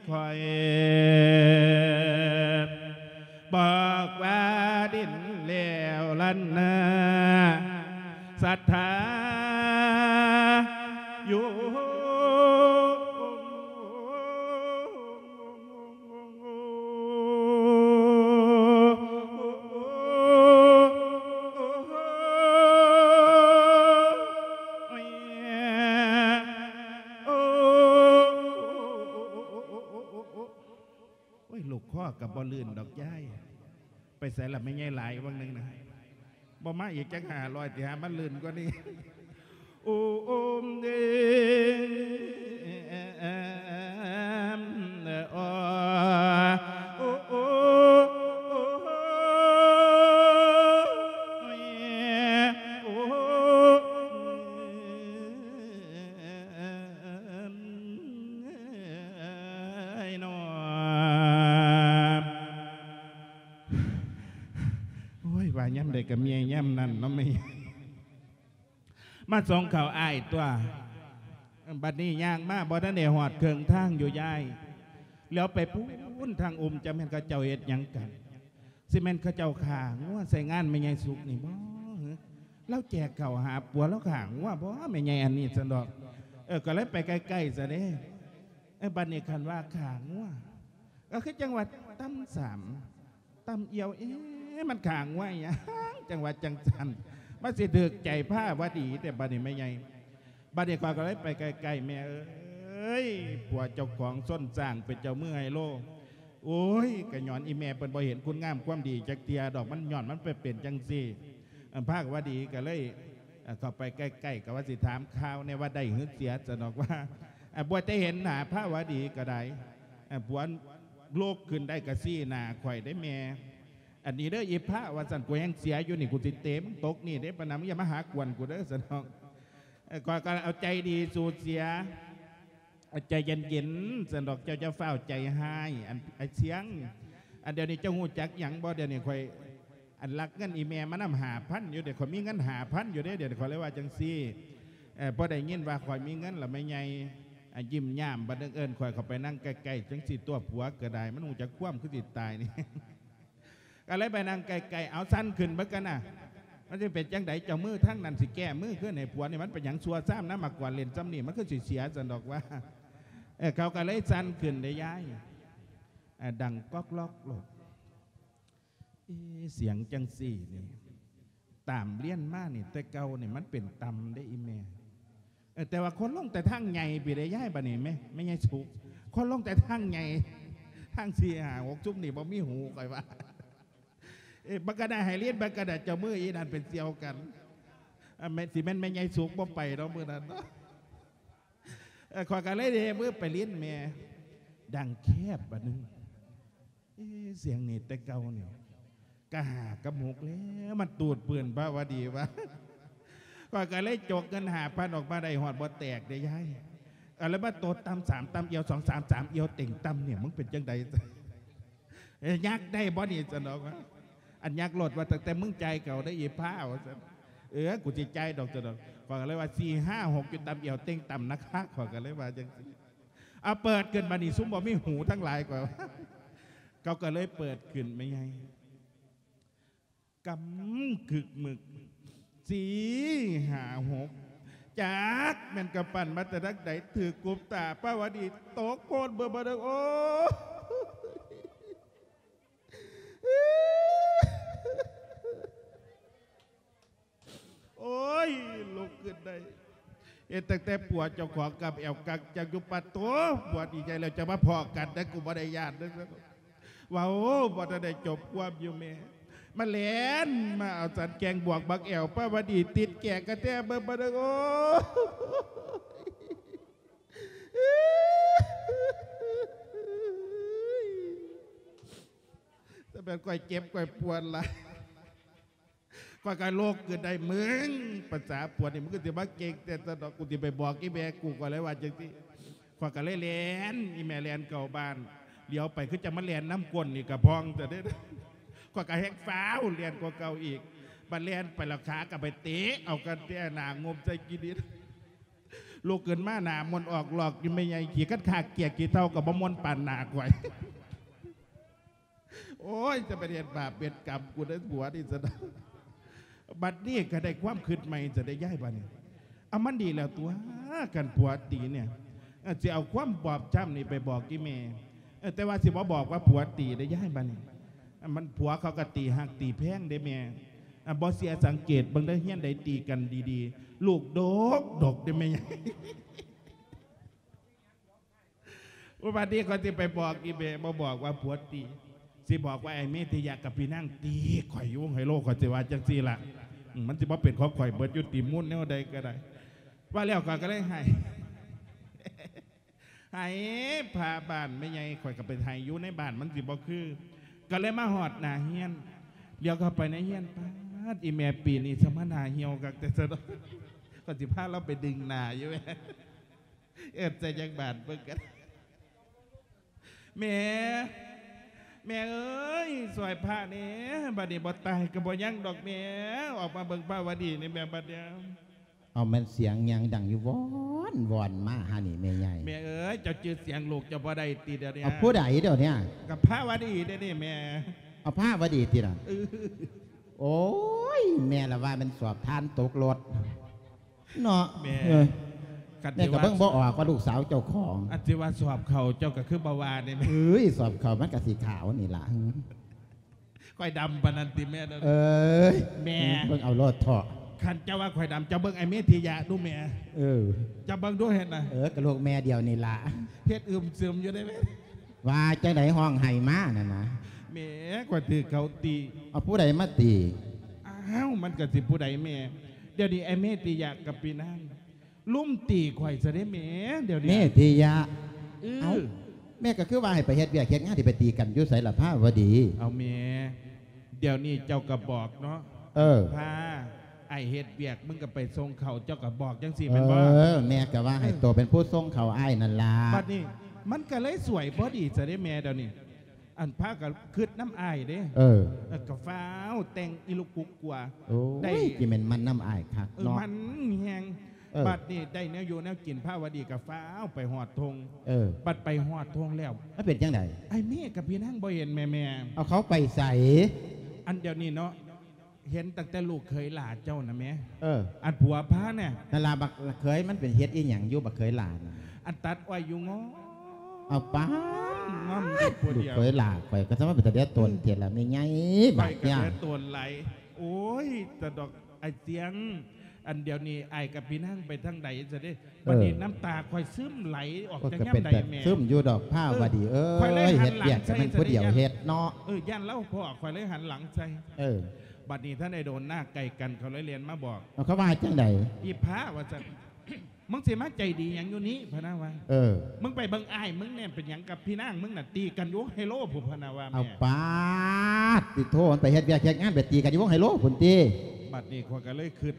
ຂ້ອຍ ບອກວ່າດິນແລ້ວລັນນາ ສັດທາຢູ່ ໂອ້ຍ ລູກຄໍກໍບໍ່ລື່ນດອກຍາຍ ໄປໃສລະແມ່ໃຫຍ່ຫຼາຍຫວ່າງໜຶ່ງນະ ບໍ່ມາອີກຈັກຫ້າຮ້ອຍຕິ ຫາມັນລື່ນກວ່ານີ້ ໂອ້ ໂອ້ ເດ ໂອ້ ໂອ້ ໂອ້ ໂອ້ ໂອ້ ເອີຍ ເນາະ ໂອ້ຍ ວ່າຍາມໃດກໍເມື່ອຍຍາມນັ້ນເນາະແມ່ ມາສົ່ງເຂົ້າອ້າຍຕົວະ ບັດນີ້ຍ່າງມາບໍ່ທັນໄດ້ຮອດເຄິ່ງທາງຢູ່ຍາຍ ແລ້ວໄປພຸ້ນທາງອຸ່ມ ຈັກແມ່ນເຂົາເຈົ້າເຮັດຫຍັງກັນ ຊິແມ່ນເຂົາເຈົ້າຂ້າງົວໃສ່ງານແມ່ໃຫຍ່ສຸກນີ້ບໍ່? ລາວແຈກເຂົ້າຫາຜົວ ລາວຂ້າງົວບໍ່ແມ່ໃຫຍ່ອັນນີ້ ຊັ້ນດອກ ເອີ ກໍເລີຍໄປໃກ້ໆຊະເດ້ ເອີ ບັດນີ້ຄັນວ່າຂ້າງົວ ກໍຄືຈັ່ງວ່າຕຳສາມ ຕຳອຽວ ເອ ມັນຂ້າງົວຫຍັງ ຈັ່ງວ່າຈັ່ງຊັ້ນ ມັນຊິຖືກໃຈພາວະດີແທ້ບັດນີ້ແມ່ໃຫຍ່ ບັດນີ້ຂ້ອຍກໍເລີຍໄປໃກ້ໆ ແມ່ເອີຍ ຜົວເຈົ້າຂອງຊົນຊ້າງເປັນເຈົ້າມືໄຮໂລ ໂອ້ຍ ກໍຍ້ອນອີແມ່ເພິ່ນບໍ່ເຫັນຄຸນງາມຄວາມດີຈັກເທື່ອດອກ ມັນ ຍ້ອນມັນໄປເປັນຈັ່ງຊີ້ ພາວະດີກໍເລີຍ ເອີ ເຂົ້າໄປໃກ້ໆ ກໍວ່າຊິຖາມຂ່າວແດ່ວ່າໄດ້ຫຼືເສຍ ຊັ້ນດອກວ່າ ເອີ ບໍ່ໄດ້ເຫັນໜ້າພາວະດີກໍໄດ້ ເອີ ຜົວລຸກຂຶ້ນໄດ້ກໍຊີ້ໜ້າຂ້ອຍເດ້ແມ່ ອັນນີ້ເດີອີພາວ ວ່າຊັ້ນ ກູແຮ່ງເສຍຢູ່ນີ້ ກູຊິເຕະມຶງຕົກນີ້ເດ້ ປານນັ້ນ ມຶງຢ່າມາຫາກວນກູເດີ ຊັ້ນດອກ ເອີ ຂ້ອຍກໍເອົາໃຈດີສູ້ເສຍ ໃຈເຢັນໆ ຊັ້ນດອກ ເຈົ້າຢ່າຟ້າວໃຈຮ້າຍ ອັນ ອ້າຍຊຽງ ອັນດຽວນີ້ເຈົ້າຮູ້ຈັກຫຍັງບໍ່? ດຽວນີ້ຂ້ອຍ ອັນລັກເງິນອີແມ່ມານຳຫ້າພັນຢູ່ເດ້ ຂ້ອຍມີເງິນຫ້າພັນຢູ່ເດ້ ດຽວນີ້ ຂ້ອຍເລີຍວ່າຈັ່ງຊີ້ ເອີ ພໍໄດ້ຍິນວ່າຂ້ອຍມີເງິນລະແມ່ໃຫຍ່ ອາ ຍິ້ມຍາມ ບັດໜຶ່ງເອີ້ນຂ້ອຍເຂົ້າໄປນັ່ງໃກ້ໆ ຈັ່ງຊີ້ຕົວະ ຜົວກໍໄດ້ ມັນຮູ້ຈັກຄວາມຄືຊິຕາຍນີ້ ກໍເລີຍໄປນັ່ງໃກ້ໆ ເອົາ ສັ່ນຂຶ້ນເບິ່ງກັນນະ ມັນຊິເປັນຈັ່ງໃດ? ເຈົ້າມືທາງນັ້ນຊິແກ້ມືຄືນໃຫ້ຜົວນີ້ ມັນເປັນຫຍັງຊົ່ວຊາມນຳມາກວນເຫຼັ້ນຊ່ຳນີ້ ມັນຄືຊິເສຍ ຊັ້ນດອກວ່າ ເອີ ເຂົາກໍເລີຍສັ່ນຂຶ້ນເດ້ຍາຍ ເອີ ດັງກອກລັອກໂລດ ເອ ສຽງຈັ່ງຊີ້ນີ້ ຕາມລຽນມານີ້ ແຕ່ເກົ່ານີ້ມັນເປັນຕ່ຳເດ້ອີແມ່ ເອີ ແຕ່ວ່າຄົນລົງແຕ່ທາງໃຫຍ່ພີ້ເດ້ຍາຍ ບັດນີ້ແມ່ ແມ່ໃຫຍ່ສຸກ ຄົນລົງແຕ່ທາງໃຫຍ່ ທາງສີ່ຫ້າຫົກຊຸມນີ້ບໍ່ມີຫູ ຂ້ອຍວ່າ ເອີ ບັກກະນາໄຫລິນ ບັກກະນາເຈົ້າມືອີນັ້ນເປັນສ່ຽວກັນ ອາ ແມ່ນ ຊິແມ່ນແມ່ໃຫຍ່ສຸກບໍ່ໄປເນາະມື້ນັ້ນເນາະ ເອີ ຂ້ອຍກໍເລີຍເດ້ມືໄປຫຼິ້ນແມ່ ດັງແຄບບາດໜຶ່ງ ເອ ສຽງນີ້ແຕ່ເກົ່ານີ້ ກະຫ້າກັບຫົກແລ້ວ ມັນຕູດປືນພາວະດີວ່າ ຂ້ອຍກໍເລີຍຈົກເງິນຫ້າພັນອອກມາໄດ້ຮອດບໍ່ແຕກເດ້ຍາຍ ກໍເລີຍມາໂຕດຕຳສາມ ຕຳອຽວສອງ ສາມ ສາມອຽວເຕັງຕຳນີ້ ມຶງເປັນຈັ່ງໃດ? ເອີ ຍັກໄດ້ບໍ່ນີ້? ຊັ້ນດອກວ່າ ອັນຍັກໂລດວ່າ ຕັ້ງແຕ່ມຶງຈ່າຍເຂົາໄດ້ອີພາ ວ່າຊັ້ນ ເອີ ກູຊິຈ່າຍດອກ ຊັ້ນດອກ ຂ້ອຍກໍເລີຍວ່າ ສີ່ ຫ້າ ຫົກ ຢູ່ຕຳອຽວເຕັງຕຳນະຄະ ຂ້ອຍກໍເລີຍວ່າຈັ່ງຊີ້ ເອົາ ເປີດຂຶ້ນບາດນີ້ ຊຸມບໍ່ມີຫູທັງຫຼາຍ ຂ້ອຍວ່າ ເຂົາກໍເລີຍເປີດຂຶ້ນແມ່ໃຫຍ່ ກຳກຶກມຶກ ສີ່ ຫ້າ ຫົກ ຈັກແມ່ນກຳປັ່ນມາແຕ່ທາງໃດ ຖືກກຸບຕາພາວະດີ ຕົກໂພນເບີດ ໂອ້ຍ ໂອ້ຍ ລຸກຂຶ້ນໄດ້ ເຫັນຕັ້ງແຕ່ຜົວເຈົ້າຂອງກຳແອວກັກຈັກຢູ່ ປະໂທ້ ຜົວດີໃຈແລ້ວ ຈະມາພໍ້ກັນ ແຕ່ກູບໍ່ໄດ້ຢ້ານເດີ ເວົ້າບໍ່ທັນໄດ້ຈົບຄວາມຢູ່ແມ່ ມາແລ່ນມາເອົາສັນແກງບວກບັກແອວ ພາວະດີຕິດແກງກະແທເບິ່ງ ບາດນີ້ ໂອ້ຍ ແຕ່ແມ່ນຂ້ອຍເຈັບຂ້ອຍປວດຫຼາຍ ຂ້ອຍກໍລຸກຂຶ້ນໄດ້ ມຶງ ພາສາປວດນີ້ ມຶງຄືຊິມາເກັ່ງແທ້ ຊັ້ນດອກ ກູຊິໄປບອກອີແມ່ກູ ຂ້ອຍເລີຍວ່າຈັ່ງຊີ້ ຂ້ອຍກໍເລີຍແລ່ນ ອີແມ່ແລ່ນເຂົ້າບ້ານ ຫຼຽວໄປຄືຈະມາແລ່ນນຳກົ້ນນີ້ກະພອງຊະເດ້. ຂ້ອຍກໍແຮງຟ້າວແລ່ນກວ່າເກົ່າອີກ ບັດແລ່ນໄປແລ້ວຂາກໍໄປເຕະເອົາກັນແຕ່ໜ້າງົມໃສ່ຂີ້ດິນ. ລຸກຂຶ້ນມາໜ້າມົນອອກລອກຢູ່ແມ່ໃຫຍ່ ຂີ້ຄັນຄາກເກຍຂີ້ເຖົ້າກໍບໍ່ມົນປານໜ້າຂ້ອຍ. ໂອ້ຍ ຈະໄປເຮັດບາບເຮັດກຳ ກູໄດ້ຜົວນີ້ຊະດອກ. ບັດນີ້ກໍໄດ້ຄວາມຄິດໃໝ່ຊະໄດ້ຍາຍ ບັດນີ້ ເອົາ ມັນດີແລ້ວຕົວະ ຄັນຜົວຕີນີ້ ເອີ ຊິເອົາຄວາມບອບຊ້ຳນີ້ໄປບອກອີ່ແມ່ ເອີ ແຕ່ວ່າຊິບໍ່ບອກວ່າຜົວຕີເດ້ຍາຍ ບັດນີ້ ເອີ ມັນ ຜົວເຂົາກໍຕີຮັກຕີແພງເດ້ແມ່ ເອີ ບໍ່ເຊື່ອສັງເກດເບິ່ງເດີ ເຮືອນໃດຕີກັນດີໆ ລູກດົກໆເດ້ແມ່ໃຫຍ່. ໂອ້ ບັດນີ້ຂ້ອຍຊິໄປບອກອີ່ແມ່ ບໍ່ບອກວ່າຜົວຕີ ຊິບອກວ່າໄອ້ເມດທິຍະກັບພີ່ນາງຕີຂ້ອຍຢູ່ວົງໄຮໂລ ຂ້ອຍຊິວ່າຈັ່ງຊີ້ລະ ອືມ ມັນຊິບໍ່ເປັນຂອງຂ້ອຍເບິດຢູ່ຕິ ມູນແນວໃດກໍໄດ້. ວ່າແລ້ວຂ້ອຍກໍເລີຍໄຫ້ ໄຫ້ພາບ້ານແມ່ໃຫຍ່ ຂ້ອຍກໍໄປໄຫ້ຢູ່ໃນບ້ານ ມັນຊິບໍ່ຄື ກໍເລີຍມາຮອດໜ້າເຮືອນ ຫຼຽວເຂົ້າໄປໃນເຮືອນ ປາດ ອີ່ແມ່ປີນີ້ສະມາໜ້າຫ່ຽວຄັກແຕ່ຊະເນາະ ຂ້ອຍຊິພາລາວໄປດຶງໜ້າຢູ່ແມ່. ເອີ້ນໃສ່ຈັກບາດເບິ່ງກັນ ແມ່ ແມ່ເອີຍ ຊ່ອຍພະແດ່ ບັດນີ້ບໍ່ຕາຍກໍບໍ່ຍັງດອກແມ່ ອອກມາເບິ່ງພະວະດີນີ້ແມ່ ບັດນີ້. ເອົາ ແມ່ນສຽງຫຍັງດັງຢູ່ວອນໆມາຫານີ້ແມ່ໃຫຍ່? ແມ່ເອີຍ ເຈົ້າຈື່ສຽງລູກເຈົ້າບໍ່ໄດ້ຕິດຽວນີ້? ເອົາ ຜູ້ໃດດຽວນີ້? ກັບພະວະດີເດ້ນີ້ແມ່. ເອົາ ພະວະດີຕິລະ? ເອີ ໂອ້ຍ ແມ່ລະວ່າແມ່ນສອບທານຕົກລົດ. ເນາະ ແມ່ ເອີ ຄັນ ແມ່ກໍເບິ່ງບໍ່ອອກວ່າລູກສາວເຈົ້າຂອງ ອັນຊິວ່າສອບເຂົ້າເຈົ້າກໍຄືບໍ່ວ່ານີ້ແມ່. ເອີຍ ສອບເຂົ້າມັນກໍຊິຂາວນີ້ລະ ຂ້ອຍດຳປານນັ້ນຕິແມ່. ເອີຍ ແມ່ ເບິ່ງເອົາໂລດເຖາະ ຄັນເຈົ້າວ່າຂ້ອຍດຳ ເຈົ້າເບິ່ງໄອ້ເມດທິຍະດູແມ່. ເອີ ເຈົ້າເບິ່ງດູເຫັນນະ. ເອີ ກໍລູກແມ່ດຽວນີ້ລະ ເຮັດອຶມຊຶມຢູ່ເດ້ແມ່. ວ່າຈັ່ງໃດ ຮ້ອງໄຫ້ມານັ້ນນະ? ແໝ ຂ້ອຍຖືກເຂົາຕີ. ເອົາ ຜູ້ໃດມາຕີ? ອ້າວ ມັນກະຊິຜູ້ໃດແມ່? ດຽວນີ້ໄອ້ເມດທິຍະກັບປີນາງລຸມຕີຂ້ອຍຊະເດ້ແມ່ ດຽວນີ້. ເມດທິຍະ? ເອີ ເອົ້າ ແມ່ກໍຄືວ່າໃຫ້ໄປເຮັດວຽກເຮັດງານ ຊິໄປຕີກັນຢູ່ໃສລະພາວະດີ? ເອົາແມ່ ດຽວນີ້ເຈົ້າກໍບອກເນາະ. ເອີ ພາອ້າຍເຮັດວຽກ ມຶງກໍໄປສົ່ງເຂົ້າ ເຈົ້າກໍບອກຈັ່ງຊີ້ແມ່ນບໍ່? ເອີ ແມ່ກໍວ່າໃຫ້ ເອີ ໂຕເປັນຜູ້ສົ່ງເຂົ້າອ້າຍນັ້ນລະ. ບັດນີ້ມັນກໍເລີຍສວຍພໍດີຊະເດ້ແມ່ ດຽວນີ້ ອັນພາກໍຄຶດນຳອ້າຍເດ້. ເອີ ເອີ ກໍຟ້າວແຕ່ງອີລຸກກຸກກົວ. ໂອ້ຍ ໄດ້ ຊິແມ່ນມັນນຳອ້າຍຄັກ ເອີ ເນາະ ມັນແຮງ. ເອີ ບັດນີ້ໄດ້ແນວຢູ່ແນວກິນ ພາວະດີກໍຟ້າວໄປຮອດທົ່ງ. ເອີ ບັດໄປຮອດທົ່ງແລ້ວ ມັນເປັນຈັ່ງໃດ? ອ້າຍເມດກັບພີ່ນາງບໍ່ເຫັນແມ່ ແມ່. ເອົາ ເຂົາໄປໃສ? ອັນດຽວນີ້ເນາະ ເຫັນຕັ້ງແຕ່ລູກເຂີຍຫຼ້າເຈົ້ານະແມ່. ເອີ ອັນຜົວພານະ ນັ້ນລະ ບັກເຂີຍມັນເປັນເຮັດອີ່ຫຍັງຢູ່ ບັກເຂີຍຫຼ້ານະ? ອັນຕັດອ້ອຍຢູ່ງໍ້. ເອົາປາດ ງໍ້ຢູ່ຜູ້ດຽວ. ລູກເຂີຍຫຼ້າຂ້ອຍກໍສະມາເປັນຕາເດຍຕົນແທ້ລະແມ່ໃຫຍ່. ອືມ ບັກ ຂ້ອຍກໍເດຍຕົນຫຼາຍ. ໂອ້ຍ ຕະດອກ ອ້າຍສຽງ ອັນດຽວນີ້ອ້າຍກັບພີ່ນາງໄປທາງໃດຊະເດ້? ເອີ ບັດນີ້ນ້ຳຕາຂ້ອຍຊຶມໄຫຼອອກ ໂອ້ຍ ຈາກຍາມໃດແມ່? ຊຶມຢູ່ດອກພາວະດີເອີຍ. ເອີ ຂ້ອຍເລີຍຫັນຫຼັງໃສ່ ເຮັດວຽກໃຫ້ມັນຜູ້ດຽວເຮັດເນາະ. ເອີ ຢ້ານລາວພໍ້ ຂ້ອຍເລີຍຫັນຫຼັງໃສ່. ເອີ ບັດນີ້ທັນໄດ້ໂດນນາໃກ້ກັນ ເຂົາເລີຍແລ່ນມາບອກ. ເອົາ ເຂົາວ່າຈັ່ງໃດ? ອີພາວ່າຊັ້ນ ມຶງຊິມາໃຈດີຫຍັງຢູ່ນີ້ ພະນະວ່າ. ເອີ ມຶງໄປເບິ່ງອ້າຍມຶງແດ່ ເປັນຫຍັງກັບພີ່ນາງມຶງນະ ຕີກັນຢູ່ວົງໄຮໂລພຸ້ນ ພະນະວ່າ. ເອົາ ແມ່ ປາດຕິໂທ ມັນໄປເຮັດວຽກເຮັດງານ ໄປຕີກັນຢູ່ວົງໄຮໂລພຸ້ນຕິ. ບັດນີ້ຂ້ອຍກໍເລີຍຄິດ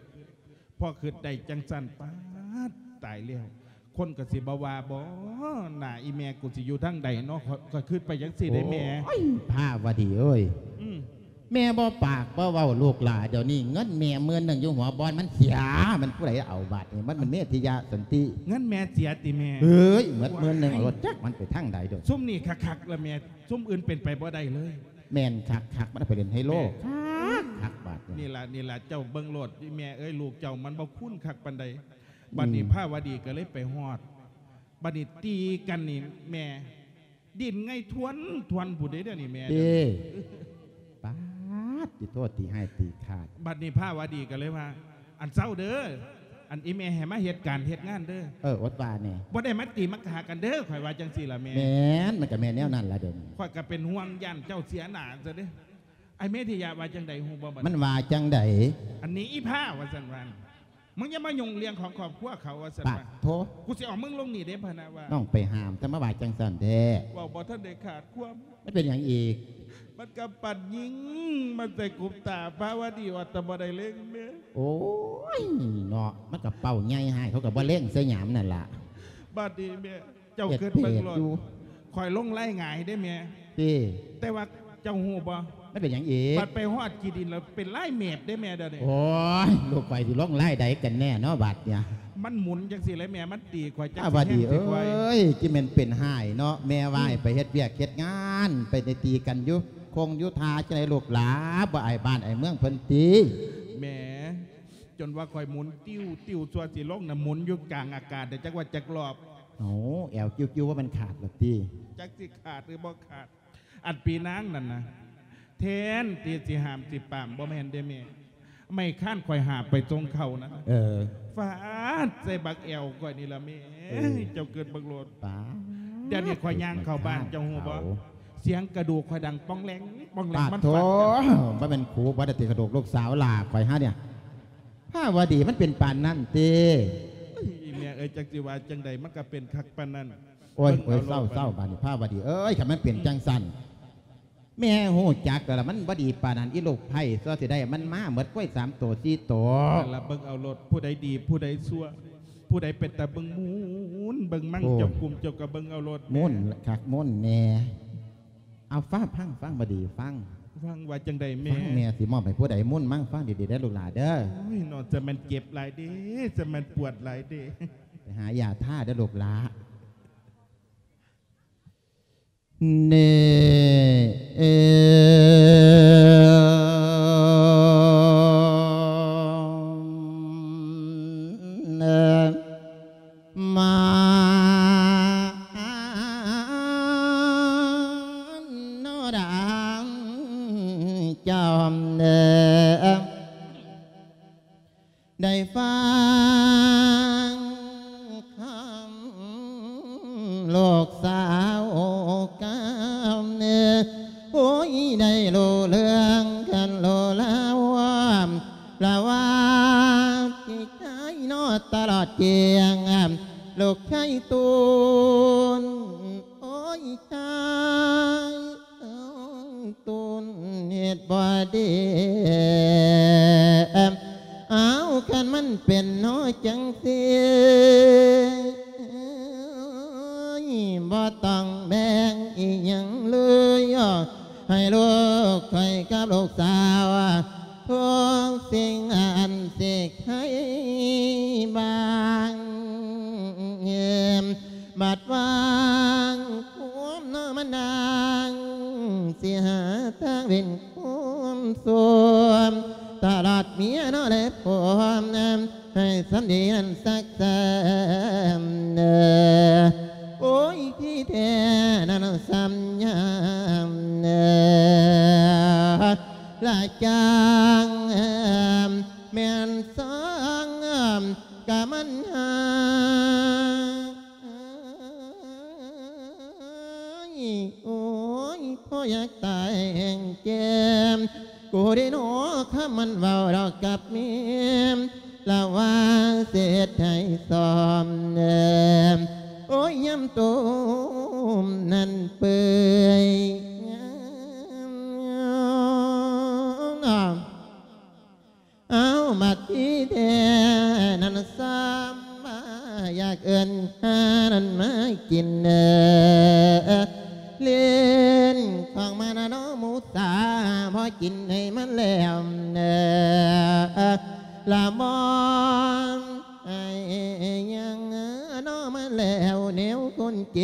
ພໍຄິດໄດ້ຈັ່ງຊັ້ນ ປາດ ຕາຍແລ້ວ ຄົນກໍຊິບໍ່ວ່າບໍ? ໜ້າອີ່ແມ່ກູຊິຢູ່ທາງໃດເນາະ? ຂ້ອຍ ຂ້ອຍຄິດໄປຈັ່ງຊີ້ເດ້ແມ່. ໂອ້ຍ ພາວະດີເອີຍ ອືມ ແມ່ບໍ່ປາກບໍ່ເວົ້າລູກຫຼ້າ ດຽວນີ້ເງິນແມ່ໝື່ນໜຶ່ງຢູ່ຫົວບ່ອນມັນເສຍ ມັນຜູ້ໃດເອົາບາດນີ້? ມັນ ມັນເມດທິຍະສັນຕິ. ເງິນແມ່ເສຍຕິແມ່? ເອີຍ ໝົດໝື່ນໜຶ່ງ ໂອ້ຍ ເອົາລົດຈັກມັນໄປທາງໃດໂດດ. ຊຸມນີ້ຄັກໆລະແມ່ ຊຸມອື່ນເປັນໄປບໍ່ໄດ້ເລີຍ. ແມ່ນຄັກໆ ມັນໄປຫຼິ້ນໄຮໂລ ແມ່ ຄັກໆບາດນີ້. ນີ້ລະ ນີ້ລະ ເຈົ້າເບິ່ງໂລດ ແມ່ເອີຍ ລູກເຈົ້າມັນບໍ່ຄຸນຄັກປານໃດ. ບັດນີ້ ອືມ ພາວະດີກໍເລີຍໄປຮອດ ບັດນີ້ຕີກັນນີ້ແມ່ ດິນໄງທວນ ທວນຜູ້ໃດເດ້ນີ້ແມ່. ເດ້ ປາດ ຕິໂທດ ຕີໃຫ້ຕີຂາດ. ບັດນີ້ພາວະດີກໍເລີຍວ່າ ອັນເຊົາເດີ ອັນອີແມ່ໃຫ້ມາເຮັດການເຮັດງານເດີ. ເອີ ອົດວ່າແດ່ ບໍ່ໄດ້ມາຕີມາຂາກັນເດີ ຂ້ອຍວ່າຈັ່ງຊີ້ລະແມ່. ແມ່ນ ມັນກໍແມ່ນແນວນັ້ນລະເດີ. ຂ້ອຍກໍເປັນຫ່ວງຢ້ານເຈົ້າເສຍໜ້າຊະເດ້. ອ້າຍເມດທິຍະວ່າຈັ່ງໃດຮູ້ບໍ່ບັດ? ມັນວ່າຈັ່ງໃດ? ອັນນີ້ອີພາວ່າຊັ້ນວ່າ ມຶງຢ່າມາຫຍຸ້ງເລື່ອງຂອງຄອບຄົວເຂົາວ່າຊັ້ນ. ປາດໂທ ກູຊິເອົາມຶງລົງນີ້ເດ້ ພະນະວ່າ. ນ້ອງໄປຫ້າມ ແຕ່ມາວ່າຈັ່ງຊັ້ນແທ້. ເວົ້າບໍ່ທັນໄດ້ຂາດຄວາມ ມັນເປັນຫຍັງອີກ? ມັນກໍປັ້ນຍິງມາໃສ່ກຸບຕາພາວະດີ ວ່າແຕ່ບໍ່ໄດ້ເລັງແມ່. ໂອ້ຍເນາະ ມັນກໍເປົ້າໃຫຍ່ໃຫ້ ເຂົາກໍບໍ່ເລັງໃສ່ຫຍາມນັ້ນລະ. ບາດນີ້ແມ່ ເຈົ້າເກີດເບິ່ງໂລດ ຂ້ອຍລົງລາຍຫງາຍເດ້ແມ່ ຕິ ແຕ່ວ່າເຈົ້າຮູ້ບໍ່ ມັນເປັນຫຍັງອີກ? ບັດໄປຮອດຂີ້ດິນແລ້ວເປັນລາຍເມດເດ້ແມ່ ດຽວນີ້. ໂອ້ຍ ລູກຂ້ອຍຊິລົງລາຍໃດກັນແນ່ເນາະບາດເນີ້ຍ? ມັນໝູນຈັ່ງຊີ້ແຫຼະແມ່ ມັນຕີຂ້ອຍຈັກຊິແຮງຊິໄຫວ. ເອີຍ ຊິແມ່ນເປັນຮ້າຍເນາະ ແມ່ວ່າໃຫ້ໄປເຮັດວຽກເຮັດງານ ໄປໄດ້ຕີກັນຢູ່ຄົງຢູ່ທ່າຈັ່ງໃດລູກຫຼາ ບໍ່ອາຍບ້ານອາຍເມືອງເພິ່ນຕິ? ແມ່ ຈົນວ່າຂ້ອຍໝູນຕິວໆ ຊົ່ວຊິລົງນະ ໝູນຢູ່ກາງອາກາດໄດ້ຈັກວ່າຈັກລອບ. ເອົາ ແອວກິ້ວໆ ວ່າມັນຂາດລະຕິ? ຈັກຊິຂາດຫຼືບໍ່ຂາດ. ອັນປີນາງນັ້ນນະ ແທນທີ່ຊິຫ້າມຊິປາມ ບໍ່ແມ່ນເດ້ແມ່ ໄມ້ຄ້ານຂ້ອຍຫາບໄປສົ່ງເຂົ້ານັ້ນ ເອີ ຟາດໃສ່ບັກແອວຂ້ອຍນີ້ລະແມ່. ເອີ ເຈົ້າເກີດເບິ່ງໂລດ ປາດ ດຽວນີ້ຂ້ອຍຍ່າງເຂົ້າບ້ານ ເຈົ້າຮູ້ບໍ່? ສຽງກະດູກຂ້ອຍດັງປ່ອງແຫຼງປ່ອງແຫຼງ ມັນຟາດກັນ. ບໍ່ແມ່ນຄູບໍ່ໄດ້ຕິ ກະດູກລູກສາວຫຼ້າຂ້ອຍຫານີ້ ພາວະດີ ມັນເປັນປານນັ້ນຕິ? ອີແມ່ເອີຍ ຈັກຊິວ່າຈັ່ງໃດ ມັນກະເປັນຄັກປານນັ້ນ. ໂອ້ຍ ເບິ່ງເອົາໂລດ ເອົ້າ ເສົ້າ ບາດນີ້ພາວະດີເອີຍ ຄັນມັນເປັນຈັ່ງຊັ້ນ ແມ່ຮູ້ຈັກແລ້ວລະ ມັນບໍ່ດີປານນັ້ນ ອີລູກໃພ້ ຊົ່ວຊິໄດ້ມັນມາໝົດ ກ້ວຍສາມໂຕສີ່ໂຕ. ນັ້ນລະ ເບິ່ງເອົາໂລດ ຜູ້ໃດດີ ຜູ້ໃດຊົ່ວ ຜູ້ໃດເປັນຕາເບິ່ງ ໝູນເບິ່ງມັງ ໂອ້ ເຈົ້າກຸ້ມເຈົ້າກະເບິ່ງເອົາໂລດ ໝູນຄັກໝູນແນ່. ເອົາ ຟັງ ຟັງ ຟັງບໍ່ດີ ຟັງ ຟັງວ່າຈັ່ງໃດແມ່? ຟັງ ແມ່ຊິມອບໃຫ້ຜູ້ໃດ ໝູນມັງ ຟັງດີໆ ເດີລູກຫຼ້າເດີ. ໂອ້ຍເນາະ ຈະແມ່ນເຈັບຫຼາຍເດ້ ຈະແມ່ນປວດຫຼາຍເດ້. ໄປຫາຢາທາເດີລູກຫຼ້າ. ເນ ເອ ມາ ໂນດາງຈອມເດີ ໄດ້ຟັງຄຳລູກສາວກ່າວເດີ ໂອ້ຍ ໄດ້ຮູ້ເລື່ອງກັນໂລລາວ ລາວາທີ່ໃຈນອດຕະຫຼອດຈຽງ ລູກຊາຍຕູນ ໂອ້ຍ ຊາຍ ຕູນເຮັດບໍ່ດີ ເອົາ ຄັນມັນເປັນເນາະຈັ່ງຊີ້ ບໍ່ຕ້ອງແບ່ງອີ່ຫຍັງເລີຍ ໃຫ້ລູກຂ້ອຍກັບລູກສາວ ທຸກສິ່ງອັນຊິໃຫ້ບາງ ບັດວາງຄວາມເນາະມານາງ ຊິຫາທາງເວັ້ນຄວາມສວມ ຕະຫຼອດເມຍເນາະແລະຜົວ ໃຫ້ສຳດີນັ້ນສັກສາມເດີ ໂອ້ຍ ທີ່ແທ້ນັ້ນສຳຍາມເດີ ລະຈາງແມ່ນສອງ ກະມັນຫາຍ ໂອ້ຍ ພໍຢາກຕາຍແຮງແຈ່ມ ກູເດໂນຄຳມັນເວົ້າດອກກັບແມ່ ລະວ່າເສດໃຫ້ຊອມ ໂອ້ຍ ຍາມໂຕມນັ້ນເປື່ອຍ ເອົາ ບັດທີ່ແທ້ນັ້ນຊ້ຳ ຢາກເອີ້ນຫານັ້ນມາກິນເດີ ຫຼິ້ນຂອງມານະເນາະໝູສາ ພໍກິນໃຫ້ມັນແລ້ວເດີ ລະມອງໃຫ້ຍັງເນາະມາແລ້ວ ແນວຄົນເກ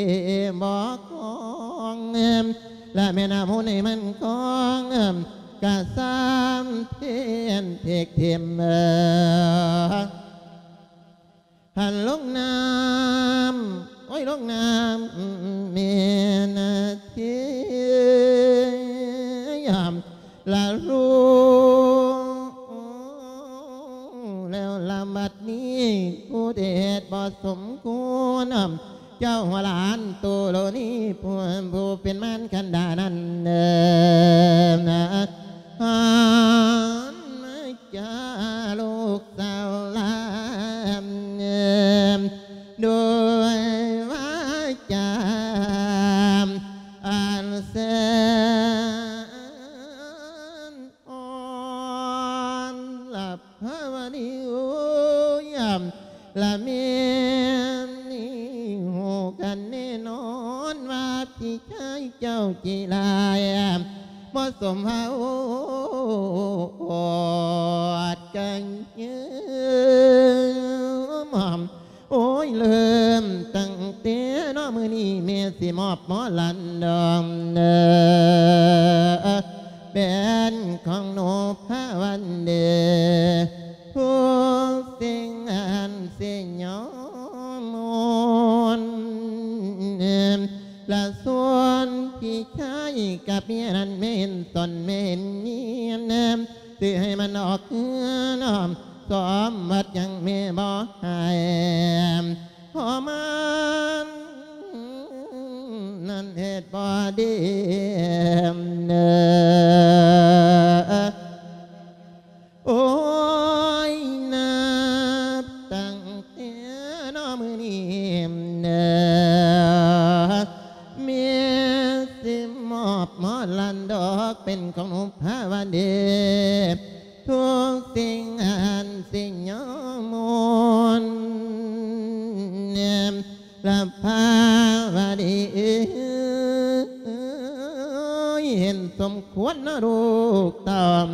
ບໍ່ຄອງ ລະແມ່ນອາໝູນໃຫ້ມັນຄອງ ກະຊ້ຳເພນເທກເທມ ຫັ້ນລົງນ້ຳ ໂອ້ຍ ລົງນ້ຳແມ່ນເທ ລະຮູ້ແລ້ວລະບັດນີ້ ຜູ້ເດດບໍ່ສົມຄວນ ເຈົ້າຫົວຫຼານໂຕໂລນີ້ ຜູ້ ຜູ້ເປັນມານຄັນດານັ້ນເດີ ຫັນມາຈາລູກສາວຫຼານ ໂດຍວາຈາອັນແສນອ່ອນ ລະພາວະນີ ໂອ້ຍ ລະແມ່ນນີ້ ຮູ້ກະ ອັນແນ່ນອນວ່າພີ່ຊາຍເຈົ້າຂີ້ຮ້າຍ ບໍ່ສົມຫວັງກັນຍືມ. ໂອ້ຍ ເລີ່ມຕັ້ງແຕ່ເນາະ ມື້ນີ້ແມ່ຊິມອບໝໍລຳດອງເດີ ແບນຂອງນົບພະວັນເດ ທຸກສິ່ງອັນຊິຍອມໝູນ ລະຊວນພີ່ຊາຍກັບເມຍນັ້ນ ແມ່ນຕອນແມ່ນຍຽນ ຊິໃຫ້ມັນອອກເຮືອນອອມ ສອມວັດຍັງແມ່ບໍ່ໃຫ້ ເພາະມັນນັ້ນເຮັດບໍ່ດີເດີ. ໂອ້ຍ ນັບຕັ້ງແຕ່ເນາະມື້ນີ້ເດີ ແມ່ຊິມອບໝໍລຳດອກ ເປັນຂອງນົບພະວັນເດ ທຸກສິ່ງອັນຊິຍອມໝູນ ລະພະວະດີເອີຍ ເຫັນສົມຄວນເນາະລູກເຕົ້າ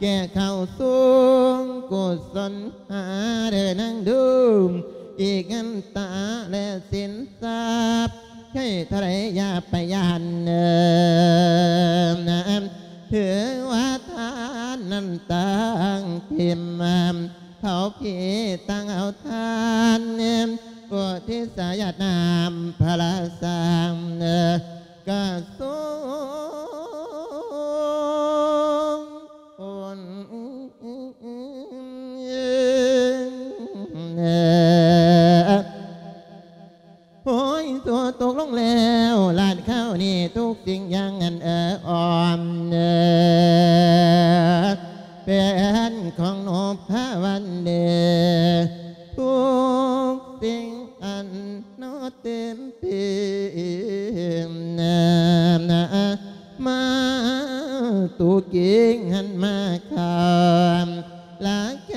ແກ່ເຂົ້າສູງກຸສົນຫາເດີນາງດູ ອີກເງິນຕາແລະສິນຊັບ ໃຊ້ເທົ່າໃດຢ່າໄປຢ້ານເດີ ຖືວ່າທານນັ້ນຕ່າງທິມ ເຮົາພີ່ຕ່າງເອົາທານ ອຸທິດສາຍາດນ້ຳພະລາສັງ ກະສົງຜົນ ໂອ້ຍ ຕົວຕົກລົງແລ້ວ ລາດຄາວນີ້ທຸກສິ່ງຢ່າງອັນເອີອອມ ແຜນຂອງນົບພະວັນເດ ທຸກສິ່ງອັນນອເຕັມປີ ມາຕູກິງຫັນມາຄາມ ລາໄກ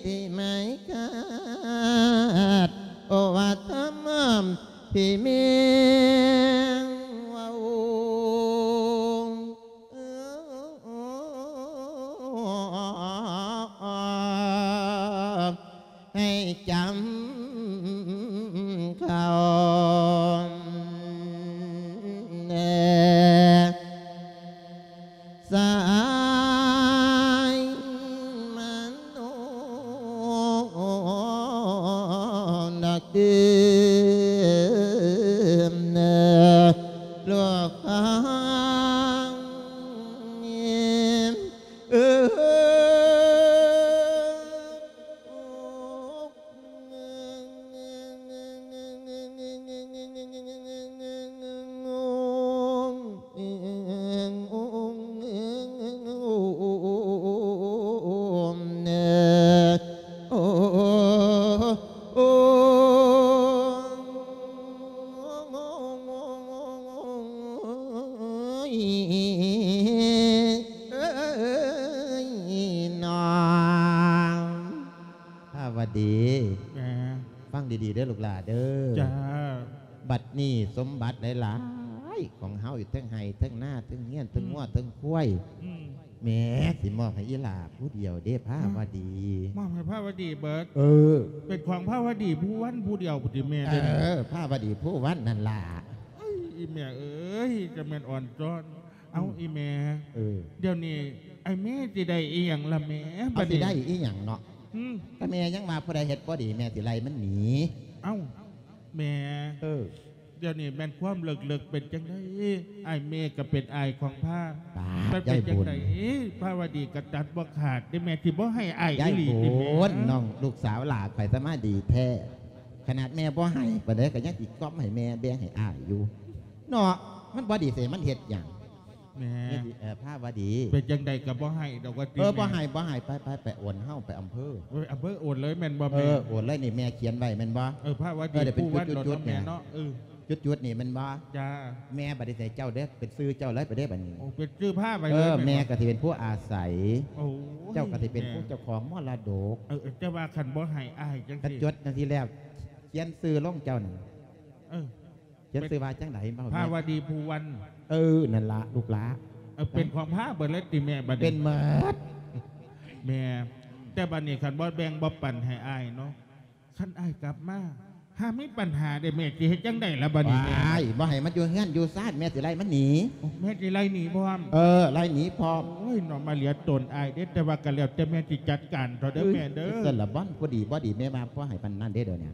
ທີ່ໄມຄາດ ໂອວາທຳທີ່ແມ່ເວົ້າ ໃຫ້ຈຳເຂົ້າ ສາຍມະໂນດອກເດີມ ລູກຂອງເອີ ພາວະດີ ແມ່ ຟັງດີໆເດີລູກຫຼ້າເດີ. ຈ້າ. ບັດນີ້ສົມບັດຫຼາຍໆຂອງເຮົາຢູ່ເທິງໄຮ່ເທິງນາ ເທິງເຮືອນເທິງງົວ ອືມ ເທິງຄວາຍ ອືມ ແມ່ຊິມອບໃຫ້ອີ່ຫຼ້າຜູ້ດຽວເດ້ ພາວະດີ. ມອບໃຫ້ພາວະດີເບີດ? ເອີ ເປັນຂອງພາວະດີພູວັນຜູ້ດຽວພຸ້ນຕິແມ່? ເອີ ພາວະດີພູວັນນັ້ນລະ. ເອີຍ ອີ່ແມ່ເອີຍ ຈະແມ່ນອ່ອນຊ້ອນ. ເອົ້າ ອືມ ອີ່ແມ່ ເອີ ດຽວນີ້ອ້າຍແມ່ຊິໄດ້ອີ່ຫຍັງລະແມ່? ເອົາ ບັດນີ້ຊິໄດ້ອີ່ຫຍັງເນາະ? ຫືມ ກະແມ່ຍັງວ່າຜູ້ໃດເຮັດບໍ່ດີ ແມ່ຊິໄລ່ມັນໜີ. ເອົ້າ ແມ່ ເອີ ດຽວນີ້ແມ່ນຄວາມເລິກໆ ເປັນຈັ່ງໃດ? ອ້າຍແມ່ກະເປັນອ້າຍຂອງພາ ປາດ ມັນເປັນຈັ່ງໃດ? ຍາຍບຸນ ພາວະດີກະຕັດບໍ່ຂາດເດ້ແມ່ ຊິບໍ່ໃຫ້ອ້າຍອີ່ຫຼີຕິແມ່? ຍາຍບຸນ ນ້ອງລູກສາວຫຼ້າຂ້ອຍສະມາດີແທ້ ຂະໜາດແມ່ບໍ່ໃຫ້ປານໃດກະຍັງຊິກ່ອມໃຫ້ແມ່ແບ່ງໃຫ້ອ້າຍຢູ່ເນາະ. ມັນບໍ່ດີໃສ່ມັນເຮັດຫຍັງ? ແມ່ ເອີ ພາວະດີ ເປັນຈັ່ງໃດກະບໍ່ໃຫ້ດອກວ່າຕິແມ່? ເອີ ບໍ່ໃຫ້ ບໍ່ໃຫ້ ໄປ ໄປ ໄປໂອນເຮົາໄປອຳເພີ. ໂອ້ຍ ອຳເພີໂອນເລີຍແມ່ນບໍ່ແມ່? ເອີ ໂອນເລີຍນີ້ ແມ່ຂຽນໄວ້ແມ່ນບໍ່? ເອີ ພາວະດີ ເອີ ເປັນຈຸດໆ ແມ່ເນາະ. ເອີ ຈຸດໆນີ້ແມ່ນບໍ່? ຈ້າ. ແມ່ບັດນີ້ໃສ່ເຈົ້າເດີ ເປັນຊື່ເຈົ້າເລີຍໄປເດີບັດນີ້. ໂອ້ ເປັນຊື່ພາໄວ້ເລີຍ. ເອີ ແມ່ກະຊິເປັນຜູ້ອາໄສ. ໂອ້ຍ ເຈົ້າກະຊິເປັນຜູ້ເຈົ້າຂອງມໍລະດົກ. ເອີ ແຕ່ວ່າຄັນບໍ່ໃຫ້ອ້າຍຈັ່ງຊີ້ ກະຈົດຈັ່ງຊີ້ແລ້ວ ຂຽນຊື່ລົງເຈົ້ານັ້ນ. ເອີ ຂຽນຊື່ວ່າຈັ່ງໃດ ເວົ້າແດ່ ພາວະດີພູວັນ. ເອີ ນັ້ນລະລູກຫຼ້າ. ເອີ ເປັນຂອງພາເບິດເລີຍຕິແມ່ ບັດນີ້? ເປັນໝົດແມ່. ແຕ່ບັດນີ້ຄັນບໍ່ແບ່ງບໍ່ປັນໃຫ້ອ້າຍເນາະ, ຄັນອ້າຍກັບມາ ຫາມີບັນຫາເດ້ແມ່ ຊິເຮັດຈັ່ງໃດລະບັດນີ້ແມ່? ວ້າຍ ບໍ່ໃຫ້ມັນຢູ່ເຮືອນຢູ່ຊານ ແມ່ຊິໄລ່ມັນໜີ. ໂອ້ ແມ່ຊິໄລ່ໜີພ້ອມ? ເອີ ໄລ່ໜີພ້ອມ. ໂອ້ຍ ເນາະ ມາເຫຼືອຕົນອ້າຍເດ້, ແຕ່ວ່າກໍແລ້ວແຕ່ແມ່ຊິຈັດການເຖາະເດີແມ່ເດີ. ຊັ້ນລະ ບໍ່ ບໍ່ດີບໍ່ດີ ແມ່ວ່າບໍ່ໃຫ້ປານນັ້ນເດ້ດຽວນີ້.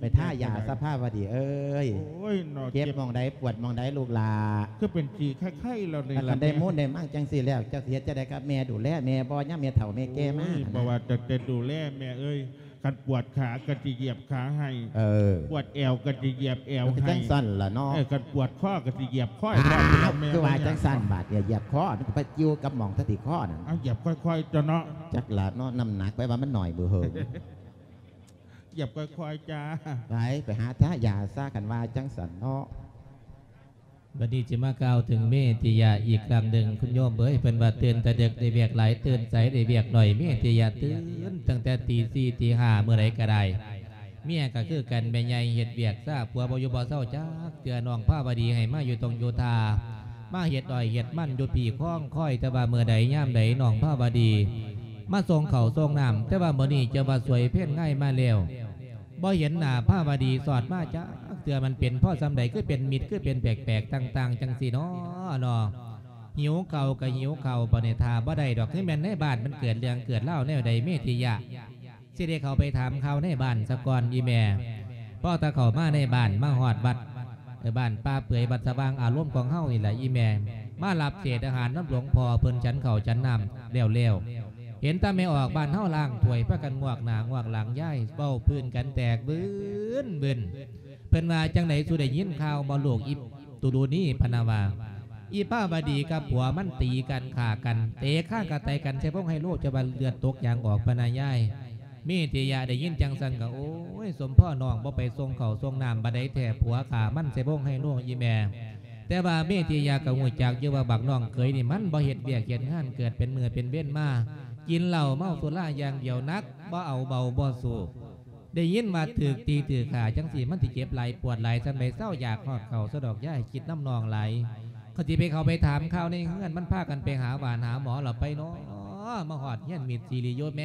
ໄປທາຢາຊະພາວະດີເອີຍ. ໂອ້ຍເນາະ ເຈັບ ເຈັບໝ່ອງໃດ ປວດໝ່ອງໃດລູກຫຼ້າ? ຄືເປັນສີໄຄໆແລ້ວນີ້. ຄັນໄດ້ມູນໄດ້ມັງຈັ່ງຊີ້ແລ້ວ ເຈົ້າຊິເຮັດຈັ່ງໃດກັບແມ່? ດູແລແມ່ບໍ່ ຍາມແມ່ເຖົ້າແມ່ແກ່ມາ? ໂອ້ຍ ຫັ້ນນະ ບໍ່ວ່າຕັ້ງແຕ່ດູແລແມ່ເອີຍ, ຄັນປວດຂາກໍຊິຢຽບຂາໃຫ້. ເອີ ປວດແອວກໍຊິຢຽບແອວໃຫ້. ຈັ່ງຊັ້ນລະເນາະ. ເອີ ຄັນປວດຄໍກໍຊິຢຽບຄໍໃຫ້. ອ້າວ ແມ່ ຄືວ່າຈັ່ງຊັ້ນບາດນີ້ ຢຽບຄໍ ມັນກໍໄປກ່ຽວກັບໝ່ອງສະຕິຄໍນັ້ນ. ເອົາ ຢຽບຄ່ອຍໆຕົວະເນາະ. ຈັກລະເນາະ ນ້ຳໜັກໄປວ່າມັນໜ້ອຍເບີເຫິງ. ຢຽບຄ່ອຍໆຈ້າ. ໄປ ໄປຫາທາຢາຊະ ຄັນວ່າຈັ່ງຊັ້ນເນາະ. ບັດນີ້ຊິມາກ່າວເຖິງເມທິຍະອີກຄັ້ງໜຶ່ງ ຄຸນໂຍມເອີຍ. ເພິ່ນວ່າຕື່ນແຕ່ດຶກໄດ້ວຽກຫຼາຍ, ຕື່ນສາຍໄດ້ວຽກໜ້ອຍ. ເມທິຍະຕື່ນຕັ້ງແຕ່ຕີສີ່ຕີຫ້າ ມື້ໃດກໍໄດ້. ເມຍກໍຄືກັນ ແມ່ໃຫຍ່ເຮັດວຽກຊ້າ, ຜົວບໍ່ຢູ່ບໍ່ເຊົາຈັກເທື່ອ. ນ້ອງພາວະດີໃຫ້ມາຢູ່ຕົງຢູ່ທ່າ, ມາເຮັດອ້ອຍເຮັດມັນຢູ່ພີ້ຄອງຄອຍ, ແຕ່ວ່າມື້ໃດຍາມໃດນ້ອງພາວະດີມາສົ່ງເຂົ້າສົ່ງນ້ຳ, ແຕ່ວ່າມື້ນີ້ຈະວ່າສວຍເພນງາຍມາແລ້ວ. ບໍ່ເຫັນໜ້າພາວະດີສອດມາຈັກເທື່ອ. ມັນເປັນເພາະສ່ຳໃດ ຄືເປັນມິດ ຄືເປັນແປກໆຕ່າງໆ ຈັ່ງຊີ້ເນາະ ເນາະ. ຫິວເຂົ້າກໍຫິວເຂົ້າ ບັດນີ້ຖ້າບໍ່ໄດ້ດອກ. ຄືແມ່ນໃນບ້ານມັນເກີດເລື່ອງເກີດລາວແນວໃດ ເມທິຍະ ຊິໄດ້ເຂົ້າໄປຖາມຂ່າວໃນບ້ານສາກ່ອນ ອີ່ແມ່. ພໍຖ້າເຂົ້າມາໃນບ້ານ ມາຮອດວັດ ເອີ ບ້ານປ່າເປືອຍ ວັດສະຫວ່າງອາລົມຂອງເຮົານີ້ແຫຼະ ອີ່ແມ່ ມາຮັບເສດອາຫານນຳຫຼວງພໍ່ເພິ່ນ ສັນເຂົ້າສັນນ້ຳແລ້ວໆ. ເຫັນແຕ່ແມ່ອອກບ້ານເຮົາລ້າງຖ້ວຍ ພາກັນງວກໜ້າງວກຫຼັງ ຍາຍເວົ້າພື້ນກັນແຕກບຶ້ນບຶ້ນ. ເພິ່ນວ່າ ຈັ່ງໃດ ສູ່ໄດ້ຍິນຂ່າວບໍ່ລູກ ອີ່ຕູລູນີ ພະນະວ່າ ອີ່ພາວະດີກັບຜົວມັນຕີກັນຂ້າກັນ ເຕະຄາງກະໄຕກັນໃສ່ວົງໄຮໂລ ຈະວ່າເລືອດຕົກຢາງອອກ ພະນະຍາຍ. ເມທິຍະໄດ້ຍິນຈັ່ງຊັ້ນກໍ ໂອ້ຍ ສົມພໍນ້ອງບໍ່ໄປສົ່ງເຂົ້າສົ່ງນ້ຳບາດໃດແທ້ ຜົວຂ້າມັນໃສ່ວົງໄຮໂລ ອີ່ແມ່. ແຕ່ວ່າເມທິຍະກໍຮູ້ຈັກຢູ່ວ່າບັກນ້ອງເຂີຍນີ້ມັນບໍ່ເຮັດວຽກເຮັດງານ ເກີດເປັນມື້ເປັນເວນມາ ກິນເຫຼົ້າເມົາສຸລາຢ່າງດຽວ ໜັກບໍ່ເອົາເບົາບໍ່ສູ້. ໄດ້ຍິນວ່າຖືກຕີຖືກຂ້າຈັ່ງຊີ້ ມັນຊິເຈັບຫຼາຍປວດຫຼາຍສ່ຳໃດ. ເຊົາຢາກຮອດເຂົ້າຊະດອກ ຢ່າໃຫ້ຄິດນຳນ້ອງຫຼາຍ. ຂ້ອຍຊິໄປເຂົ້າໄປຖາມຂ່າວໃນເຮືອນ ມັນພາກັນໄປຫາຫວານຫາໝໍລະໄປເນາະ. ມາຮອດເຮືອນມິດຊີລິໂຍແມ່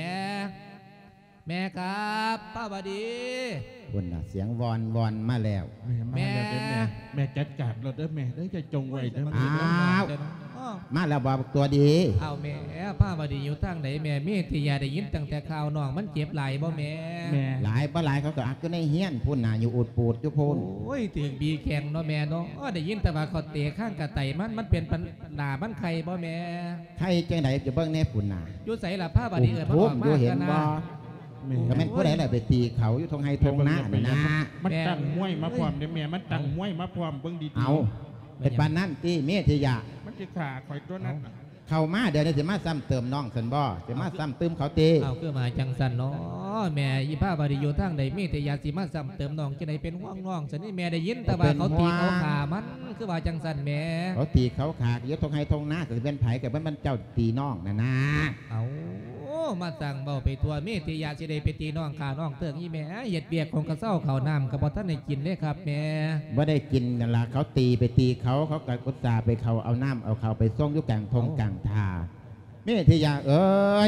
ແມ່ຄັບ ພາວະດີ. ພຸ້ນນະ ສຽງວອນໆມາແລ້ວ. ແມ່ມາແລ້ວເດີແມ່. ແມ່ ແມ່ຈັດການໂລດເດີແມ່ເດີ ຢ່າຈົ່ງໄວ້ເດີ. ອ້າວ ມາແລ້ວບໍ່ ບັກຕົວະດີ? ອ້າວແມ່ ພາວະດີຢູ່ທາງໃດແມ່? ເມທິຍາໄດ້ຍິນຕັ້ງແຕ່ຂ່າວນ້ອງມັນເຈັບຫຼາຍບໍ່ແມ່? ແມ່ ຫຼາຍບໍ່ຫຼາຍ ເຂົາກໍອັກຢູ່ໃນເຮືອນພຸ້ນນະ ຢູ່ອູດປູດຢູ່ພຸ້ນ. ໂອ້ຍ ຖືກບີແຂ້ງເນາະແມ່ເນາະ. ໄດ້ຍິນແຕ່ວ່າເຂົາເຕະຄາງກະໄຕມັນ ມັນເປັນປັນ ໜ້າມັນໄຂ້ບໍ່ແມ່? ໄຂ້ຈັ່ງໃດ ໄປເບິ່ງແດ່ພຸ້ນນະ. ຢູ່ໃສລະພາວະດີ? ເອີ້ນມັນອອກມາຢູ່ເຫັນບໍ່? ແມ່ນ ກໍແມ່ນຜູ້ໃດລະໄປຕີເຂົາຢູ່ທົ່ງໄຮ່ທົ່ງນານັ້ນນະ. ມັນຕັ້ງມວຍມາພ້ອມເດ້ແມ່ ມັນຕັ້ງມວຍມາພ້ອມ ເບິ່ງດີໆ. ເອົາ ເປັນປານນັ້ນຕິເມທິຍະ? ມັນຊິຂ້າຂ້ອຍຕົວະນັ້ນ. ເຂົ້າມາດຽວນີ້ຊິມາຊ້ຳເຕີມນ້ອງຊັ້ນບໍ່? ຊິມາຊ້ຳຕື່ມເຂົາຕິ? ເອົາ ຄືມາຈັ່ງຊັ້ນເນາະແມ່. ອີພາວະດີຢູ່ທາງໃດ? ເມທິຍະຊິມາຊ້ຳເຕີມນ້ອງຈັ່ງໃດ? ເປັນຫ່ວງນ້ອງຊັ້ນນີ້ແມ່ ໄດ້ຍິນແຕ່ວ່າເຂົາຕີເຂົາຂ້າມັນ ຄືວ່າຈັ່ງຊັ້ນແມ່. ເຂົາຕີເຂົາຂ້າຢູ່ທົ່ງໄຮ່ທົ່ງນາ ກໍຊິແມ່ນໃຜ ກໍແມ່ນເຈົ້າຕີນ້ອງນັ້ນນາ. ເອົາ ມາສ້າງເວົ້າໄປທົ່ວ. ເມທິຍະຊິໄດ້ໄປຕີນ້ອງຂ້ານ້ອງເຖິງອີແມ່ ເຮັດວຽກຄົງກະເຊົາ ເຂົ້ານ້ຳກໍບໍ່ທັນໄດ້ກິນເດ້ຄັບແມ່. ບໍ່ໄດ້ກິນນັ້ນລະ ເຂົາຕີໄປຕີເຂົາ ເຂົາກໍອຸດສ່າໄປເຂົ້າເອົານ້ຳເອົາເຂົ້າໄປສົ່ງຢູ່ກາງທົ່ງກາງທ່າ. ເມທິຍະເອ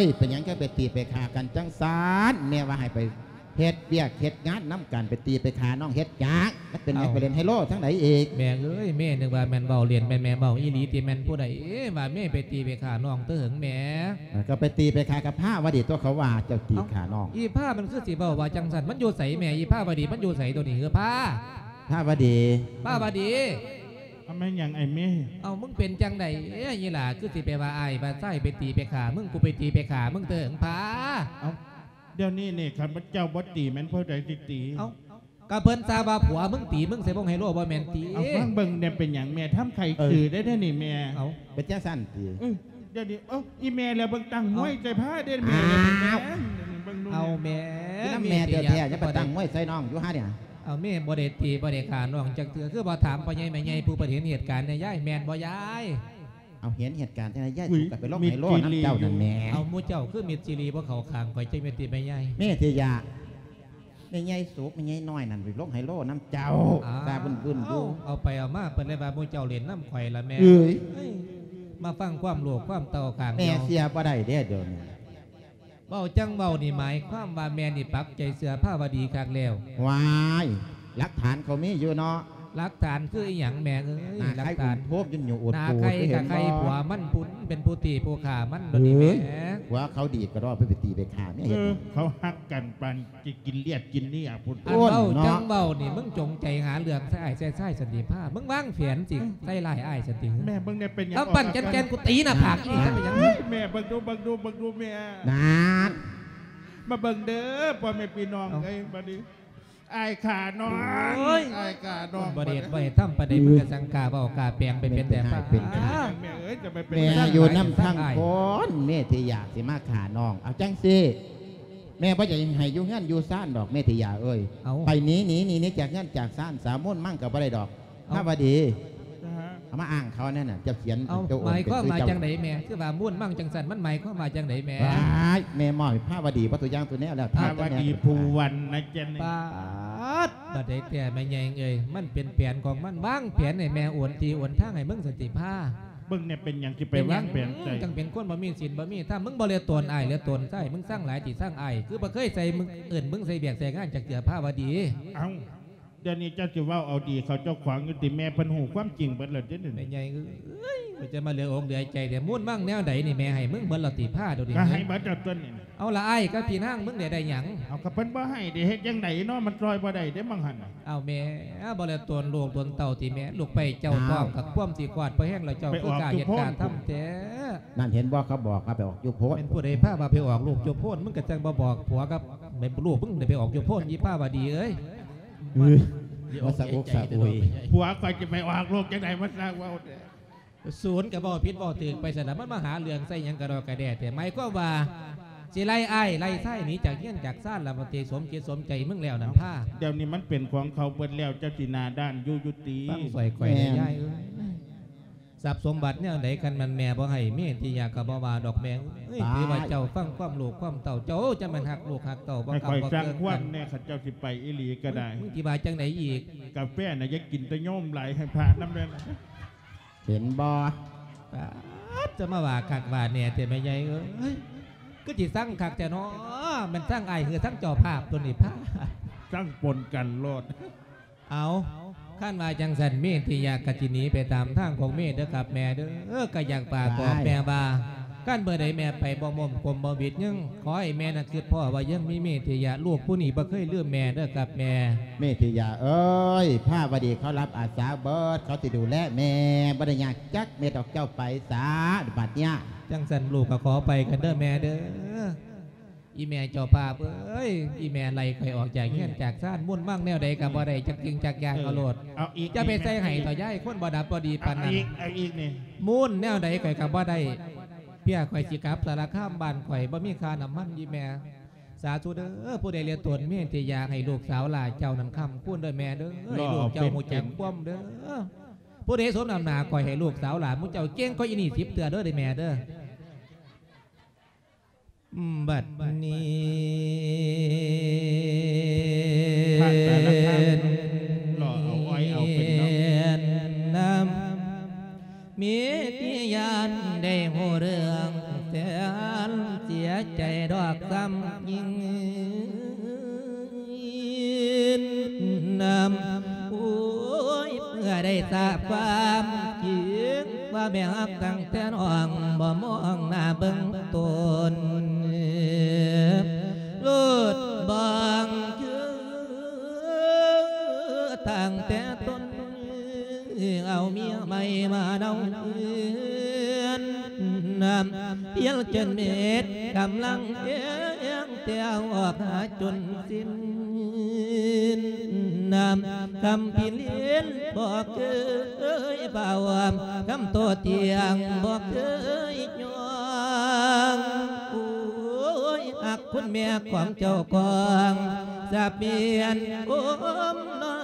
ີຍ ເປັນຫຍັງຈັ່ງໄປຕີໄປຂ້າກັນຈັ່ງຊັ້ນ? ແມ່ວ່າໃຫ້ໄປເຮັດວຽກເຮັດງານນຳກັນ ໄປຕີໄປຂ້ານ້ອງເຮັດຫຍັງ? ມັນເປັນຫຍັງ ໄປຫຼິ້ນໄຮໂລທາງໃດອີກ? ແມ່ເອີຍ ແມ່ນຶກວ່າແມ່ນເວົ້າຫຼິ້ນ ແມ່ນແມ່ເວົ້າອີ່ຫຼີຕິ? ແມ່ນຜູ້ໃດເອີຍວ່າແມ່ໄປຕີໄປຂ້ານ້ອງເຕີງແມ່? ເອີ ກໍໄປຕີໄປຂ້າກັບພາວະດີຕົວະ ເຂົາວ່າເຈົ້າຕີຂ້ານ້ອງ. ເອົ້າ ອີພາມັນຄືຊິເວົ້າວ່າຈັ່ງຊັ້ນ? ມັນຢູ່ໃສແມ່? ອີພາວະດີມັນຢູ່ໃສໂຕນີ້? ເອີ ພາ ພາວະດີ ພາວະດີ. ເອົາ ແມ່ນຫຍັງໄອ້ເມ? ເອົາ ມຶງເປັນຈັ່ງໃດ? ເອີ ອີຫຼ້າ ຄືຊິໄປວ່າອ້າຍວ່າຊາຍໄປຕີໄປຂ້າມຶງ ກູໄປຕີໄປຂ້າມຶງເຕີງພາ. ເອົ້າ ດຽວນີ້ນີ້ ຄັນເຈົ້າບໍ່ຕີ ແມ່ນຜູ້ໃດຊິຕີ? ເອົ້າ ກໍເພິ່ນຊາບວ່າຜົວມຶງຕີມຶງໃສ່ວົງໄຮໂລ ບໍ່ແມ່ນຕິ? ເອົາ ຟັງເບິ່ງແດ່ ເປັນຫຍັງແມ່ທຳໄຄຄືໄດ້ເດ້ນີ້ແມ່? ເອົ້າ ເປັນຈັ່ງຊັ້ນຕິ? ເອີ ດຽວນີ້ ເອີ ອີແມ່ລະເບິ່ງຕັ້ງມວຍໃສ່ພາເດ້ແມ່. ອ້າວ ເບິ່ງດູ ເອົາແມ່ ແມ່ແທ້ໆ ຍັງໄປຕັ້ງມວຍໃສ່ນ້ອງຢູ່ຫານີ້. ເອົາ ແມ່ບໍ່ໄດ້ຕີບໍ່ໄດ້ຂ້ານ້ອງຈັກເທື່ອ ຄືບໍ່ຖາມພໍ່ໃຫຍ່ແມ່ໃຫຍ່ຜູ້ເພິ່ນເຫັນເຫດການແດ່ຍາຍ ແມ່ນບໍ່ຍາຍ? ເອົາ ເຫັນເຫດການຈັ່ງໃດຍາຍ? ສູກໍໄປລົງໄຮໂລນຳເຈົ້ານັ້ນແໝ່. ເອົາ ໝູ່ເຈົ້າຄືມິດຊີຣີບໍ່ເຂົ້າຂ້າງຂ້ອຍ ຈັ່ງແມ່ນຕິແມ່ຍາຍ? ເມທິຍະ ແມ່ໃຫຍ່ສຸກ ແມ່ໃຫຍ່ນ້ອຍນັ້ນ ໄປລົງໄຮໂລນຳເຈົ້າ ອ້າວ ຊາບຶ້ນໆຢູ່. ເອົາໄປເອົາມາ ເພິ່ນເລີຍວ່າ ໝູ່ເຈົ້າຫຼິ້ນນຳຂ້ອຍລະແມ່. ເອີຍ ເອີຍ ມາຟັງຄວາມລູກຄວາມເຕົ້າຂ້າງ ແມ່ເຊື່ອບໍ່ໄດ້ເດ້ດຽວນີ້. ເວົ້າຈັ່ງເວົ້ານີ້ ໝາຍຄວາມວ່າແມ່ນີ້ປັກໃຈເຊື່ອພາວະດີຄັກແລ້ວ. ວ້າຍ ຫຼັກຖານເຂົາມີຢູ່ເນາະ. ຫຼັກຖານຄືອີຫຍັງແມ່ເອີຍ? ໜ້າໄຄອຸນໂທມຢູ່ໂອດໂປ ໜ້າໄຄກະໄຄ ຄືເຫັນບໍ່? ຜົວມັນພຸ້ນເປັນຜູ້ຕີຜູ້ຂ້າມັນໂລດນີ້ແມ່. ເອີຍ ຜົວເຂົາດີກໍລອກໄປຕີໄປຂ້າແມ່. ເອີ ເຮັດຫຍັງ? ເຂົາຮັກກັນປານ ຊິກິນລຽດກິນເນຍພຸ້ນ. ອັນເວົ້າ ໂອ້ຍເນາະ ຈັ່ງເວົ້ານີ້ ມຶງຈົງໃຈຫາເລື່ອງໃສ່ອ້າຍໃສ່ຊາຍສັນຕິພາ ມຶງວາງແຜນຊິ ອືມ ໃສ່ຮ້າຍອ້າຍສັນຕິ. ແມ່ເບິ່ງແດ່ເປັນຫຍັງ ກຳປັ້ນແກ່ນໆ ກູຕີໜ້າຜາກອີ່ນີ້ ເປັນຫຍັງ? ແມ່ເບິ່ງດູ ເບິ່ງດູ ເບິ່ງດູແມ່. ນັ້ນ ມາເບິ່ງເດີພໍ່ແມ່ພີ່ນ້ອງເອີຍ ເອົ້າ ບັດນີ້ອ້າຍຂ້ານ້ອງ ໂອ້ຍ ອ້າຍຂ້ານ້ອງ ບໍ່ໄດ້ເຮັດບໍ່ໄດ້ທຳປານໃດ ມຶງກະສັງກາເວົ້າກາແປງໄປເປັນແຕ່ ເປັນ ເປັນ ແມ່ເອີຍ ຈະໄປເປັນ ແມ່ຢູ່ນຳທາງຄົນ ເມທິຍາຊິມາຂ້ານ້ອງ. ເອົາຈັ່ງຊີ້ ແມ່ບໍ່ຢາກໃຫ້ຢູ່ເຮືອນຢູ່ຊານດອກ ເມທິຍາເອີຍ. ເອົ້າ ໄປໜີ ໜີ ໜີ ໜີຈາກເຮືອນຈາກຊານ ສາວມົນມັງກໍບໍ່ໄດ້ດອກ. ເອົ້າ ພາວະດີ ເອົາມາອ້າງເຂົາແນ່ນະ ເຈົ້າຂຽນ ເອົ້າ ໂຕ ໝາຍຄວາມວ່າຈັ່ງໃດແມ່? ຄືວ່າມົນມັງຈັ່ງຊັ້ນ ມັນໝາຍຄວາມວ່າຈັ່ງໃດແມ່? ວ້າຍ ແມ່ມອບໃຫ້ພາວະດີເບິດທຸກຢ່າງທຸກແນວແລ້ວ. ພາວະດີພູວັນນະ ເຈັນ ປາດ ບັດໃດແທ້ແມ່ໃຫຍ່ເອີຍ ມັນເປັນແຜນຂອງມັນ ວາງແຜນໃຫ້ແມ່ໂອນທີ່ໂອນທາງໃຫ້ມຶງສັນຕິພາ. ເບິ່ງແນ່ເປັນຫຍັງຊິໄປວາງແຜນໃສ່ ຈັ່ງເປັນຄົນບໍ່ມີສິນບໍ່ມີທຳ. ມຶງບໍ່ເຫຼືອຕົນອ້າຍເຫຼືອຕົນຊາຍ ມຶງຊັງຫຼາຍຕິຊັງອ້າຍ ຄືບໍ່ເຄີຍໃສ່ມຶງ ເອີ້ນມຶງໃສ່ວຽກໃສ່ງານຈັກເທື່ອພາວະດີ. ເອົ້າ ດຽວນີ້ເຈົ້າຊິເວົ້າເອົາດີເຂົາເຈົ້າຂວາງຢູ່ຕິ? ແມ່ເພິ່ນຮູ້ຄວາມຈິງເບິດແລ້ວເດ້ນີ້. ແມ່ໃຫຍ່ເອີຍ ຈະມາເຫຼືອອົກເຫຼືອໃຈແທ້ ມູນມັງແນວໃດນີ້ ແມ່ໃຫ້ມຶງເບິດແລ້ວຕິພາ ດຽວນີ້? ກໍໃຫ້ເບິດແລ້ວຕົວນີ້. ເອົາລະອ້າຍກັບພີ່ນາງມຶງໄດ້ ໄດ້ຫຍັງ? ເອົາ ກໍເພິ່ນບໍ່ໃຫ້ເດ້ ເຮັດຈັ່ງໃດເນາະ ມັນຊ່ອຍບໍ່ໄດ້ເດ້ ມັງຫັ້ນ. ເອົາແມ່ ບໍ່ໄດ້ຕົນລູກຕົນເຕົ້າຕິແມ່? ລູກໄປເຈົ້າ ອ້າວ ທ້ອງກໍຄວາມຊິຄອດພໍແຮງແລ້ວ ເຈົ້າຄືກ້າເຮັດກ້າທຳແທ້. ນັ້ນເຫັນບໍ່ ເຂົາບອກວ່າໄປອອກຢູ່ໂພນ. ແມ່ນຜູ້ໃດພາວ່າໄປອອກລູກຢູ່ໂພນ? ມຶງກໍຈັ່ງບໍ່ບອກຜົວກັບແມ່ນລູກ ມຶງໄດ້ໄປອອກຢູ່ໂພນ ອີພາວະດີເອີຍ. ເອີຍ ມາສະອົກສະອຸຍ ຜົວຂ້ອຍຈະໄປອອກລູກຈັ່ງໃດ ມາສ້າງເວົ້າແທ້. ສູນກໍເວົ້າຜິດເວົ້າຖືກໄປຊັ້ນລະ ມັນມາຫາເລື່ອງໃສ່ຫຍັງກະດອກກະແດ່ແທ້? ໝາຍຄວາມວ່າຊິໄລ່ອ້າຍໄລ່ຊາຍໜີຈາກເຮືອນຈາກຊານລະ ມັນຊິສົມຈິດສົມໃຈມຶງແລ້ວນັ້ນພາ. ດຽວນີ້ມັນເປັນຂອງເຂົາເບິດແລ້ວ ເຈົ້າຊິໜ້າດ້ານຢູ່ຢູ່ຕິ? ຟັງຊ່ອຍຂ້ອຍແດ່ ແມ່ນ ຍາຍເອີຍ. ຊັບສົມບັດແນວໃດ ຄັນແມ່ນແມ່ບໍ່ໃຫ້ ເມທິຍາກໍບໍ່ວ່າດອກແມ່ເອີຍ. ຕາຍ ຖືວ່າເຈົ້າຟັງຄວາມລູກຄວາມເຕົ້າ ເຈົ້າຈະແມ່ນຮັກລູກຮັກເຕົ້າ ບໍ່ ໃຫ້ຂ້ອຍສ້າງຄວາມແນ່ ຄັນເຈົ້າຊິໄປອີ່ຫຼີກໍໄດ້. ມຶງຊິວ່າຈັ່ງໃດອີກ? ກາແຟນະຢ່າກິນ ແຕ່ໂຍມຫຼາຍ ໃຫ້ພະນຳແດ່. ເຫັນບໍ່? ປາດ ຈະມາວ່າຄັກວ່າແນ່ແທ້ແມ່ໃຫຍ່ເອີຍ. ຄືຊິຊັງຄັກແທ້ເນາະ ແມ່ນຊັງອ້າຍ ຄືຊັງເຈົ້າພາບຕົວນີ້ພາ. ຊັງປົນກັນໂລດ. ເອົາ ຄັນວ່າຈັ່ງຊັ້ນ ເມທິຍາກໍຊິໜີໄປຕາມທາງຂອງເມເດີຄັບແມ່ເດີ. ກໍຢາກຝາກບອກແມ່ວ່າ ຄັນເມື່ອໃດແມ່ໄປບໍ່ມ້ອມກົມບໍ່ຫວິດຍັງ ຂໍໃຫ້ແມ່ນັ້ນຄິດພໍ້ວ່າຍັງມີເມທິຍາ ລູກຜູ້ນີ້ບໍ່ເຄີຍລືມແມ່ເດີຄັບແມ່. ເມທິຍາເອີຍ ພາວະດີເຂົາຮັບອາສາເບິດ ເຂົາຊິດູແລແມ່ ບໍ່ໄດ້ຍາກຈັກເມັດດອກ ເຈົ້າໄປສາບັດເນຍ. ຈັ່ງຊັ້ນລູກກໍຂໍໄປກັນເດີແມ່ເດີ. ອີແມ່ເຈົ້າພາບເອີຍ ອີແມ່ໄລ່ຂ້ອຍອອກຈາກເຮືອນຈາກຊານ ມຸນມັງແນວໃດກໍບໍ່ໄດ້ຈັກສິ່ງຈັກຢ່າງ. ເອີ ເອົາໂລດ ເອົາອີກ ຢ່າໄປໃສ່ໃຫ້ເຖົ້າຍາຍ ຄົນບໍ່ດັບບໍ່ດີປານນັ້ນ. ເອົາອີກ ເອົາອີກນີ້ ມຸນແນວໃດຂ້ອຍກໍບໍ່ໄດ້ ເພື່ອຂ້ອຍຊິກັບສາລະຄາມບ້ານຂ້ອຍ ບໍ່ມີຄ່ານ້ຳມັນ ອີແມ່. ສາທຸເດີ ຜູ້ໃດເຫຼືອຕົນເມທິຍາ ໃຫ້ລູກສາວຫຼ້າເຈົ້ານັ້ນຄ້ຳຄູນເດີແມ່ເດີ ໃຫ້ລູກເຈົ້າຮູ້ຈັກຄວາມເດີ. ຜູ້ໃດສົມນ້ຳໜ້າຂ້ອຍ ໃຫ້ລູກສາວຫຼ້າໝູ່ເຈົ້າເກັ່ງກວ່າອີນີ້ສິບເທື່ອເດີ ເດີແມ່ເດີ. ບັດນີ້ ພະຕາລະຄາມ ຫຼໍ່ເອົາອ້ອຍເອົາເປັນເນາະ ນຳ ເມຕິຍາໄດ້ຮູ້ເລື່ອງແສນເສຍໃຈດອກຊ້ຳຍິ່ງ. ນຳ ໂອ້ຍ ເມື່ອໄດ້ຊາບຄວາມຈິງ ວ່າແມ່ຮັກຕັ້ງແຕ່ນ້ອງ ບໍ່ມອງໜ້າເບິ່ງຕົນ ໂລດບອງຄື ຕັ້ງແຕ່ຕົ້ນ ເອົາເມຍໃໝ່ມາເນົາເຮືອນ ນຳ ພຽງຈົນເມັດກຳລັງແຮງ ແຕ່ອອກຫາຈົນສິ້ນ ນຳ ຄຳພິລິນບໍ່ເຄີຍເຝົ້າ ຄຳໂຕຕຽງບໍ່ເຄີຍຍອງ. ໂອ້ຍ ຮັກຄຸນແມ່ຂອງເຈົ້າຂອງ ສະບຽນໂອມນອ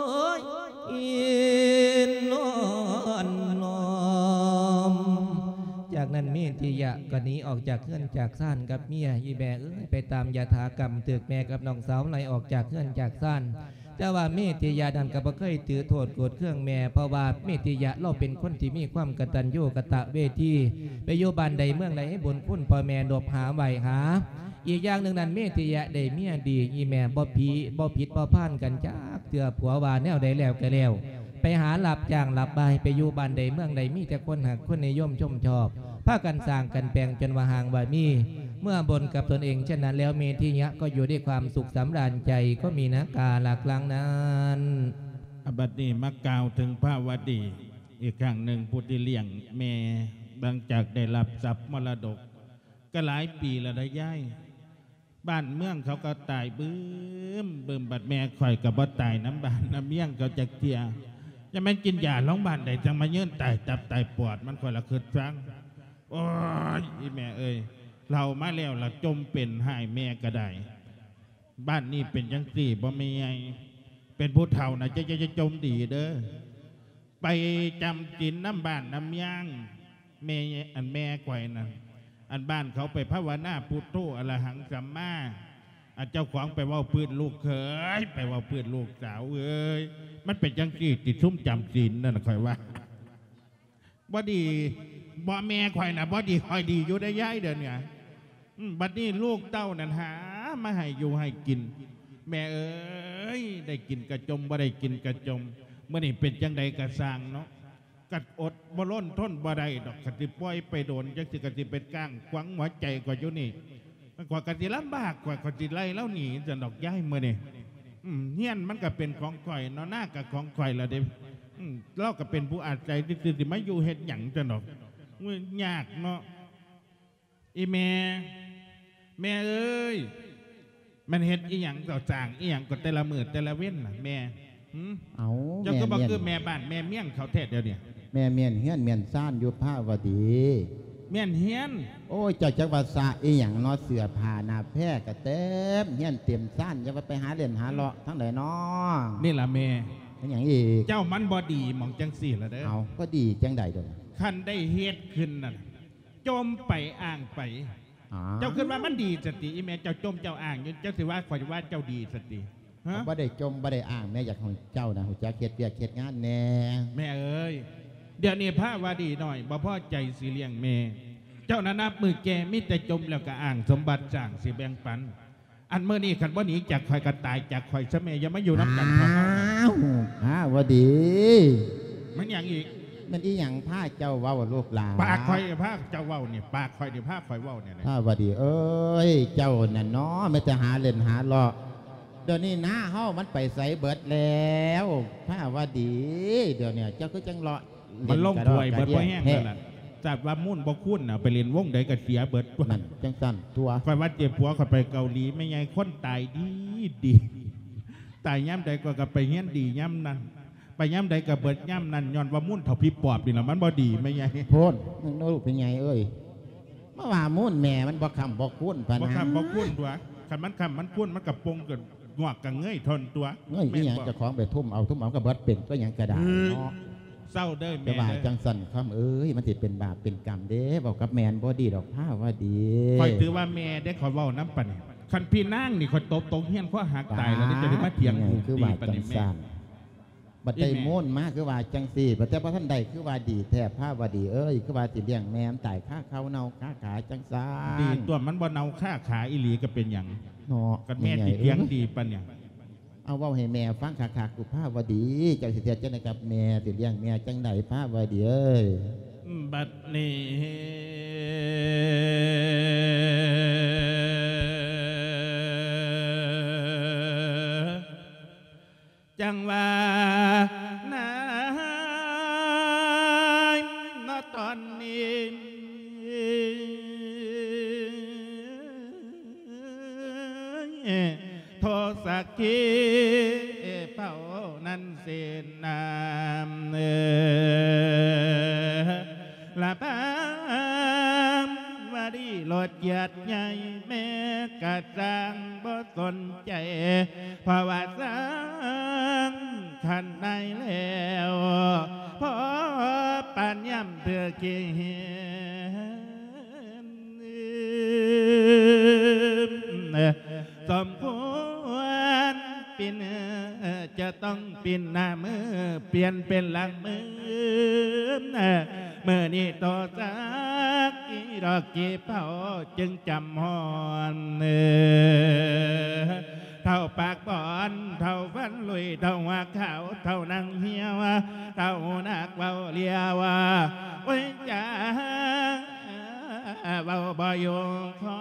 ຍ ນອນນ້ອມ. ຈາກນັ້ນເມດທິຍະກໍໜີອອກຈາກເຮືອນຈາກຊານກັບເມຍ. ອີແມ່ເອີຍ ໄປຕາມຍະຖາກຳ ຖືກແມ່ກັບນ້ອງສາວໄລ່ອອກຈາກເຮືອນຈາກຊານ. ແຕ່ວ່າເມດທິຍະນັ້ນກໍບໍ່ເຄີຍຖືໂທດໂກດເຄືອງແມ່ ເພາະວ່າເມດທິຍະລາວເປັນຄົນທີ່ມີຄວາມກະຕັນຍູກະຕະເວທີ ໄປຢູ່ບ້ານໃດເມືອງໃດ ໃຫ້ບຸນຄຸນພໍ່ແມ່ນົບຫາໄຫວ້ຫາ. ອີກຢ່າງໜຶ່ງນັ້ນ ເມດທິຍະໄດ້ເມຍດີ ອີແມ່ບໍ່ຜີ ບໍ່ຜິດບໍ່ພານກັນຈັກເທື່ອ. ຜົວວ່າແນວໃດແລ້ວກໍແລ້ວ ໄປຫາຮັບຈ້າງຮັບບ່າຍ ໄປຢູ່ບ້ານໃດເມືອງໃດ ມີແຕ່ຄົນຮັກຄົນນິຍົມຊົມຊອບ ພາກັນສ້າງກັນແປງຈົນວ່າຮ່າງວ່າມີ. ເມື່ອບົນກັບຕົນເອງເຊັ່ນນັ້ນແລ້ວ ເມທິຍະກໍຢູ່ດ້ວຍຄວາມສຸກສຳລານໃຈ ກໍມີນາກາລັກຫຼັງນັ້ນ. ອາ ບັດນີ້ມາກ່າວເຖິງພະວະດີອີກຄັ້ງໜຶ່ງ ຜູ້ທີ່ລ້ຽງແມ່ ຫຼັງຈາກໄດ້ຮັບຊັບມໍລະດົກ ກໍຫຼາຍປີແລ້ວນະຍາຍ. ບ້ານເມືອງເຂົາກໍຕາຍບຶ້ມບຶ້ມ ບັດແມ່ຂ້ອຍກໍບໍ່ຕາຍນຳບ້ານນຳເມືອງເຂົາຈັກເທື່ອ. ຢ່າແມ່ນກິນຢາໂລງບານໃດ ຈັ່ງມາຍືນຕາຍຕັບຕາຍປອດ ມັນຂ້ອຍລະຄຶດຊັງ. ໂອ້ຍ ອີແມ່ເອີຍ ເຖົ້າມາແລ້ວລະຈົ່ມເປັນ ຫາຍແມ່ກໍໄດ້. ບ້ານນີ້ເປັນຈັ່ງຊີ້ບໍ່ແມ່ໃຫຍ່ ເປັນຜູ້ເຖົ້ານະ ຈະ ຈະ ຈະຈົ່ມດີເດີ້. ໄປຈຳສິນນຳບ້ານນຳເມືອງ ແມ່ ອັນແມ່ຂ້ອຍນັ້ນ ອັນບ້ານເຂົາໄປພາວະນາ ພຸດໂທ ອະລະຫັງ ສຳມາ ອັນເຈົ້າຂອງໄປເວົ້າພື້ນລູກເຂີຍ ໄປເວົ້າພື້ນລູກສາວເອີຍ. ມັນເປັນຈັ່ງຊີ້ຕິ ຊຸມຈຳສິນນັ້ນ ຂ້ອຍວ່າ ບໍ່ດີ ບໍ່ ແມ່ຂ້ອຍນະບໍ່ດີ ຂ້ອຍດີຢູ່ໄດ໋ຍາຍ ດຽວນີ້. ອືມ ບັດນີ້ລູກເຕົ້ານັ້ນຫາມາໃຫ້ຢູ່ໃຫ້ກິນ ແມ່ເອີຍ ໄດ້ກິນກະຈົ່ມ ບໍ່ໄດ້ກິນກະຈົ່ມ. ມື້ນີ້ເປັນຈັ່ງໃດກະຊ່າງເນາະ ກະອົດບໍ່ລົ້ນທົນບໍ່ໄດ້ດອກ. ຄັນຊິປ່ອຍໄປໂດນຈັ່ງຊີ້ ກະຊິເປັນກ້າງຂວາງຫົວໃຈຂ້ອຍຢູ່ນີ້. ຂ້ອຍກໍຊິລຳບາກ ຂ້ອຍ ຂ້ອຍຊິໄລ່ລາວໜີຊັ້ນດອກຍາຍ ມື້ນີ້. ອືມ ເຮືອນມັນກໍເປັນຂອງຂ້ອຍເນາະ ນາກໍຂອງຂ້ອຍລະເດ້. ອືມ ລາວກໍເປັນຜູ້ອາໄສຊື່ໆ ຊິມາຢູ່ເຮັດຫຍັງຊັ້ນດອກ. ໂອ້ຍ ຍາກເນາະ. ອີແມ່ ແມ່ເອີຍ ແມ່ນເຮັດອີຫຍັງ ເຈົ້າສ້າງອີຫຍັງກໍແຕ່ລະມື້ແຕ່ລະເວັນນະແມ່? ຫື ເອົ້າ ເຈົ້າຄືບໍ່ຄືແມ່ບ້ານແມ່ເມືອງເຂົາແທ້ດຽວນີ້? ແມ່ມ້ຽນເຮືອນມ້ຽນຊານຢູ່ພະວະດີ. ມ້ຽນເຮືອນ? ໂອ້ຍ ເຈົ້າຈັກວ່າສະອີຫຍັງເນາະ ເສື້ອຜ້າໜ້າແພກະເຕັມເຮືອນເຕັມຊານ ຢ່າວ່າໄປຫາຫຼິ້ນຫາເລາະທາງໃດເນາະ. ນີ້ລະແມ່. ເປັນຫຍັງອີກ? ເຈົ້າມັນບໍ່ດີໝ່ອງຈັ່ງຊີ້ລະເດີ້. ເອົ້າ ບໍ່ດີຈັ່ງໃດດຽວນີ້? ຄັນໄດ້ເຮັດຂຶ້ນນັ້ນ ຈົ່ມໄປອ້າງໄປ. ອາ ເຈົ້າຄິດວ່າມັນດີຊັ້ນຕິ? ອີແມ່ເຈົ້າຈົ່ມເຈົ້າອ້າງຢູ່ ເຈົ້າຊິວ່າຂ້ອຍວ່າເຈົ້າດີຊັ້ນຕິ? ຮະ ບໍ່ໄດ້ຈົ່ມບໍ່ໄດ້ອ້າງ ແມ່ຢາກໃຫ້ເຈົ້ານະຮູ້ຈັກເຮັດວຽກເຮັດງານແດ່. ແມ່ເອີຍ ດຽວນີ້ພະວະດີນ້ອຍບໍ່ພໍໃຈຊິລ້ຽງແມ່ ເຈົ້ານະນັບມື້ແກ່ມີແຕ່ຈົ່ມແລ້ວກໍອ້າງສົມບັດສ້າງຊິແບ່ງປັນ. ອັນມື້ນີ້ຄັນບໍ່ໜີຈາກຂ້ອຍກໍຕາຍຈາກຂ້ອຍຊະແມ່ ຢ່າມາຢູ່ນຳກັນເຖາະ. ອ້າວ ພະວະດີ ມັນຫຍັງອີກ? ແມ່ນອີຫຍັງພາເຈົ້າເວົ້າລູກຫຼານ? ປາກຂ້ອຍພາເຈົ້າເວົ້ານີ້ ປາກຂ້ອຍນີ້ພາຂ້ອຍເວົ້ານີ້. ພະວະດີເອີຍ ເຈົ້ານັ້ນເນາະ ມີແຕ່ຫາຫຼິ້ນຫາເລາະ. ດຽວນີ້ນາເຮົາມັນໄປໃສເບິດແລ້ວ ພະວະດີ? ດຽວນີ້ເຈົ້າຄືຈັ່ງເລາະ ມັນລົງຖ້ວຍເບິດພໍແຮງແລ້ວລະ. ຈັດວ່າມູນບໍ່ຄູນນະ ໄປຫຼິ້ນວົງໃດກໍເສຍເບິດ. ນັ້ນ ຈັ່ງຊັ້ນຕົວະ. ຂ້ອຍວ່າເຈັບຜົວຂ້ອຍໄປເກົາຫຼີ ແມ່ໃຫຍ່ຄົນຕາຍດີດີ ຕາຍຍາມໃດຂ້ອຍກໍໄປຮຽນດີຍາມນັ້ນ ໄປຍາມໃດກໍເບິດຍາມນັ້ນ ຍ້ອນວ່າມູນເຖົ້າຜີປອບນີ້ລະ ມັນບໍ່ດີແມ່ໃຫຍ່. ໂພດ ລູກແມ່ໃຫຍ່ເອີຍ ມາວ່າມູນແມ່ມັນບໍ່ຄ້ຳບໍ່ຄູນປານນັ້ນ. ບໍ່ຄ້ຳບໍ່ຄູນຕົວະ ຄັນມັນຄ້ຳມັນຄູນ ມັນກະປົງກະງອກກະເງີຍທົ່ນຕົວະ. ເງີຍອີຫຍັງ ເຈົ້າຂອງໄປທຸ່ມເອົາ ທຸ່ມເອົາກໍເບິດເປັນຕົວະ ຫຍັງກະດາຍເນາະ. ເຊົາເດີແມ່ເດີ. ຢ່າວ່າຈັ່ງຊັ້ນຄຳເອີຍ ມັນຊິເປັນບາບເປັນກຳເດ້ ເວົ້າກັບແມ່ບໍ່ດີດອກພະວະດີ. ຂ້ອຍຖືວ່າແມ່ເດ້ ຂ້ອຍເວົ້ານຳປານນີ້ ຄັນພີ່ນາງນີ້ຂ້ອຍຕົບຕົກຮຽນຄໍຫັກຕາຍແລ້ວເດ້. ເຈົ້າໄດ້ມາຖຽງລູກດີປານນີ້ແມ່. ບັດໄດ້ໂມນມາຄືວ່າຈັ່ງຊີ້ ບັດແຕ່ບໍ່ທັນໄດ້ຄືວ່າດີແທ້ພະວະດີເອີຍ ຄືວ່າຊິລ້ຽງແມ່ມັນຕາຍຄາເຂົ້າເນົ່າຄາຂາຈັ່ງຊັ້ນ. ດີຕົວະ ມັນບໍ່ເນົ່າຄາຂາອີ່ຫຼີກໍເປັນຫຍັງເນາະ ຄັນແມ່ຊິຖຽງດີປານຫຍັງ. ເອົາເວົ້າໃຫ້ແມ່ຟັງຄັກໆ ພະວະດີ ເຈົ້າຊິເຮັດຈັ່ງໃດກັບແມ່ ຊິລ້ຽງແມ່ຈັ່ງໃດພະວະດີເອີຍ? ບັດນີ້ ຈັ່ງວ່ານາຍເນາະຕອນນີ້ ໂທສັກຂີເພົານັ້ນເສນນາມ ລະພາວະດີໂລດກຽດໃຫຍ່ ແມ່ກະຊ່າງບໍ່ສົນໃຈ ເພາະວ່າສ້າງຂັນໃນແລ້ວ ພໍປານຍາມຖືກເກນ ສົມຄວນປິ່ນ ຈະຕ້ອງປິ່ນໜ້າມື ປ່ຽນເປັນຫຼັງມື ມື້ນີ້ໂຕຈັກກີດອກກີເພົາ ຈຶ່ງຈຳຮອນ ເຖົ້າປາກບອນ ເຖົ້າຟັນລຸຍ ເຖົ້າຫົວຂາວ ເຖົ້າໜັງຫ່ຽວ ເຖົ້າໜັກເວົ້າລຽວ ໂອ້ຍ ຈາເວົ້າບໍ່ຢູ່ຄໍ.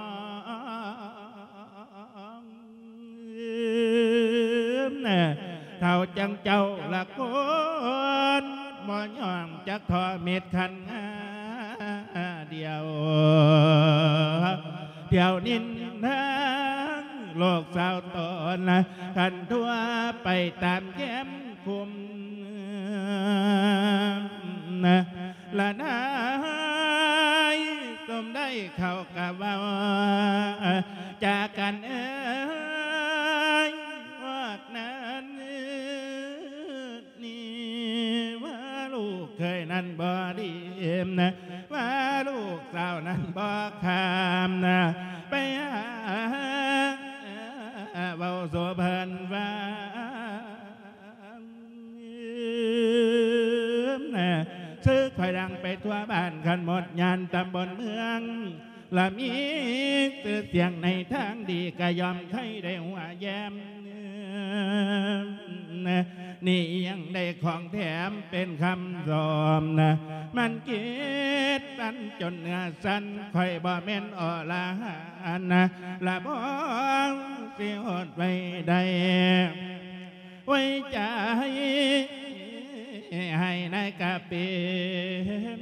ເທົ່າຈັ່ງເຈົ້າລະຄົນ ບໍ່ຍອມຈັກທໍ້ເມັດຂັນງາດຽວ ທ່ຽວນິນທາໂລກສາວຕອນ ຄັນທົ່ວໄປຕາມແຄມຄຸ້ມ ລະນາຍສົມໄດ້ເຂົາກະເວົ້າ ຈາກັນເອີຍ ພວກນັ້ນນີ້ ວ່າລູກເຂີຍນັ້ນບໍ່ດີນະ ວ່າລູກສາວນັ້ນບໍ່ຄາມນະ ໄປຫາເວົ້າສູ່ເພິ່ນຟັງ ຊື່ຂ້ອຍດັງໄປທົ່ວບ້ານ ຄັນໝົດຍານຕຳບົນເມືອງ ລະມີຊື່ສຽງໃນທາງດີ ກະຍອມໃຫ້ໄດ້ຫົວແຍ້ມ ນີ້ຍັງໄດ້ຂອງແຖມເປັນຄຳຊອມນະ ມັນເກດປັນຈົນເນື້ອສັ່ນ ຂ້ອຍບໍ່ແມ່ນອໍລະຫັນນະ ລະບໍ່ຊິອົດໄວ້ໄດ້ ໄວ້ໃຈໃຫ້ນາຍກະເປັນ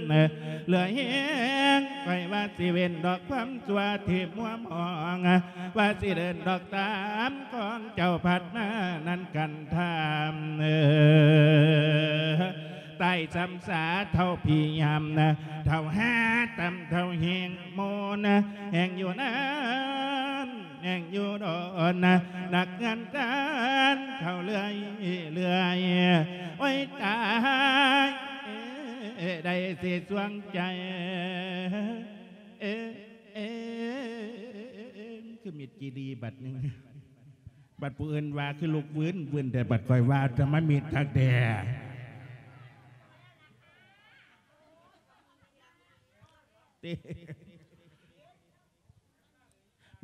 ເຫຼືອແຮງ ຂ້ອຍວ່າຊິເວັ້ນດອກຄວາມຊົ່ວທີ່ມົວມອງ ວ່າຊິເດີນດອກຕາມຂອງເຈົ້າພັດມານັ້ນກັນທາມ ເອີ ຕາຍສຳສາເທົ່າຜີຍາມນະ ເທົ່າຫາຕຳເທົ່າແຮງໂມນະ ແຮງຢູ່ນານ ແຮງຢູ່ດົນນະ ນັກງານການເຂົ້າເລື້ອຍເລື້ອຍ ໂອ້ຍຕາຍ ເອີ ໄດ້ຊິສວງໃຈ ເອີ ເອີ ຄືມິດຈີດີບັດໜຶ່ງ ບັດຜູ້ອື່ນວ່າຄືລຸກວືນວືນ ແຕ່ບັດຂ້ອຍວ່າທຳມະມິດຄັກແທ້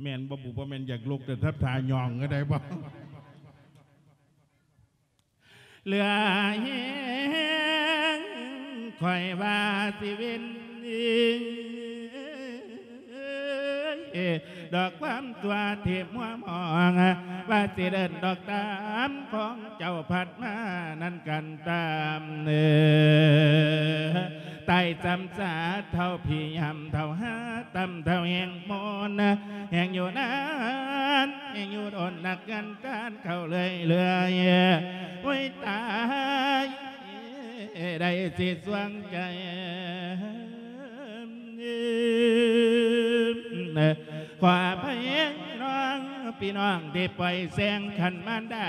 ແມ່ນບໍ່ບຸ? ບໍ່ແມ່ນຢາກລຸກ ແຕ່ທັບທ່າຍ່ອງກໍໄດ້ບໍ່? ເຫຼືອແຮງຂ້ອຍວ່າຊິເວັ້ນ ດອກຄວາມຕົວທີ່ມົວມອງ ວ່າຊິເດີນດອກຕາມຂອງເຈົ້າພັດມານັ້ນກັນຕາມ ເອີ ຕາຍສຳສາເທົ່າຜີຍາມ ເທົ່າຫາຕຳເທົ່າແຮງໂມນ ແຮງຢູ່ນານ ແຮງຢູ່ດົນ ນັກງານການເຂົ້າເລື້ອຍເລື້ອຍ ໂອ້ຍຕາຍ ໄດ້ຊິສວງໃຈ ຂໍອະໄພນ້ອງ ພີ່ນ້ອງທີ່ປ່ອຍແສງຄັນມານດາ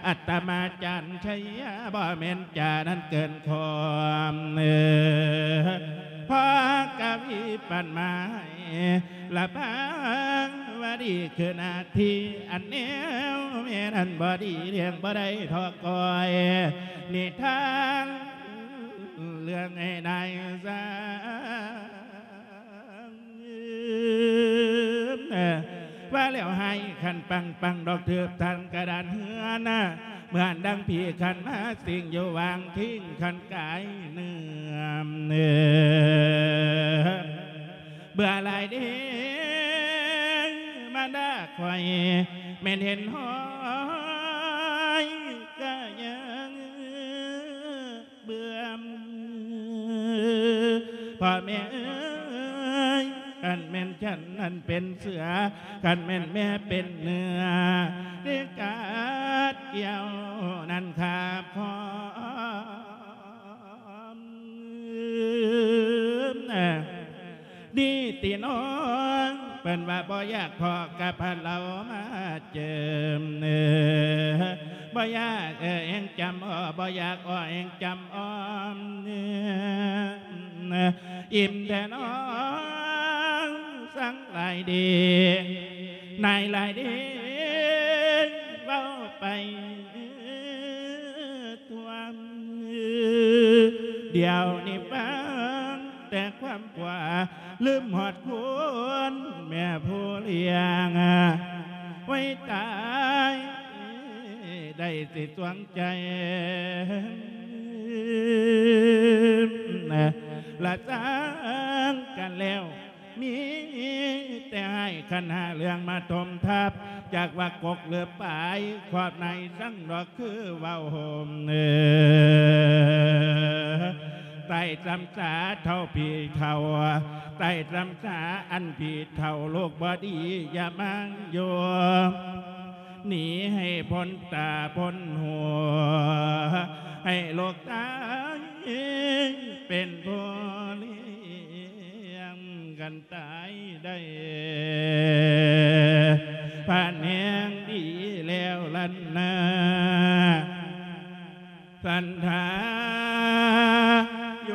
ອາດຕະມາຈານໄຊຍາ ບໍ່ແມ່ນຈານັ້ນເກີນຄວາມ ເອີ ພໍກະວີປັນມາໃຫ້ ລະພາວະດີຄືນາທີ ອັນແນວແມ່ນັ້ນບໍ່ດີ ລ້ຽງບໍ່ໄດ້ທໍ້ກ້ອຍ ນິທານເລື່ອງໄອ້ນາຍຊ່າງ ວ່າແລ້ວໃຫ້ຄັນປັງປັງດອກຖືບທາງກະດານເຮືອນ ເໝືອນດັ່ງຜີຄັນມາສິງຢູ່ຫວ່າງທິງຄັນກາຍເໜືອມ ເບື່ອຫຼາຍເດ້ມານດາຂ້ອຍ ແມ່ນເຫັນຫ້ອຍກະຍັງເບື່ອມ ພໍ່ແມ່ເອີຍ ຄັນແມ່ນສັນນັ້ນເປັນເສືອ ຄັນແມ່ນແມ່ເປັນເນື້ອ ໄດ້ກາດກ່ຽວນັ້ນຄາບຄອມ ດີຕິນ້ອງ ເພິ່ນວ່າບໍ່ຢາກພໍ້ກັບພະເລົາມາເຈີມ ບໍ່ຢາກເອີ່ແຮງຈຳອໍ ບໍ່ຢາກອໍແຮງຈຳອ້ອມ ອີ່ມແທ້ນ້ອງ ສັງຫຼາຍເດ ນາຍຫຼາຍເດ ເວົ້າໄປ ຖ້ວມ ດຽວນີ້ຟັງແຕ່ຄວາມກວ່າ ລືມຮອດຄຸນແມ່ຜູ້ລ້ຽງ ໄວ້ຕາຍ ໄດ້ຊິສວງໃຈ ລະສ້າງກັນແລ້ວ ມີແຕ່ໃຫ້ຂັນຫ້າເລື່ອງມາຖົມທັບ ຈັກວ່າກົກຫຼືປາຍ ຄວາມໃນສັງດອກຄືເວົ້າໂຮມເອີ ໃຕ້ສຳສາເຖົ້າຜີເຖົ້າ ໃຕ້ສຳສາອັນຜີເຖົ້າ ລູກບໍ່ດີຢ່າມາຢູ່ ໜີໃຫ້ພົ້ນຕາພົ້ນຫູ ໃຫ້ລູກຊາຍເປັນຜູ້ລ້ຽງກັນຕາຍໄດ້ ພານແຮງດີແລ້ວລັນນາ ສັນທາໂຍ.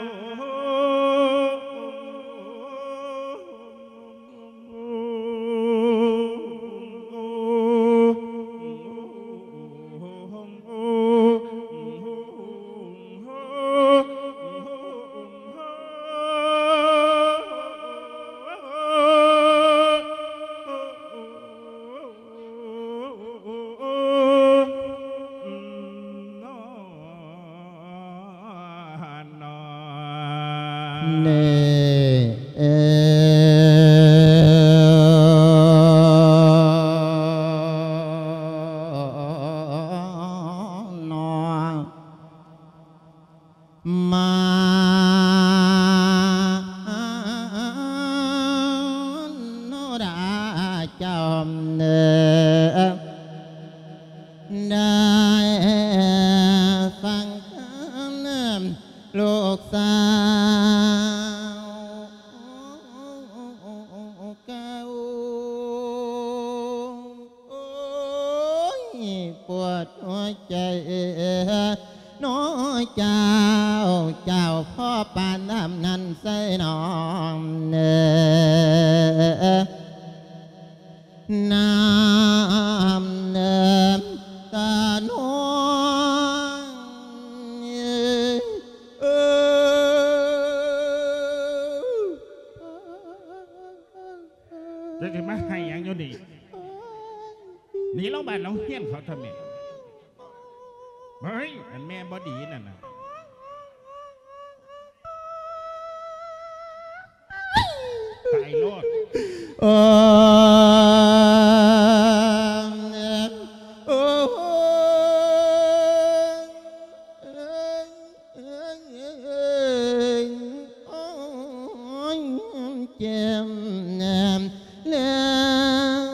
ເນ ເອີ ນອ ມາໂນດາເຈົ້າເອີ ໄດ້ຟັງຄຳລູກສາວເກົ່າ ໂອ້ຍ ປວດຫົວໃຈ ນ້อเจ้า เจ้าพ่อปานน้ำนั้นใส่น้องเนอ น้ำเนิมตาน้องเออ เจ้าสิมาให้หยังอยู่นี่ หนีลงบ้านลงเฮือนเขาเถาะแม่ เฮ้ย อันแม่บ่ดีนั่นน่ะ ตายโลด โอ้ โอ้ เจ็บแน่แล้ว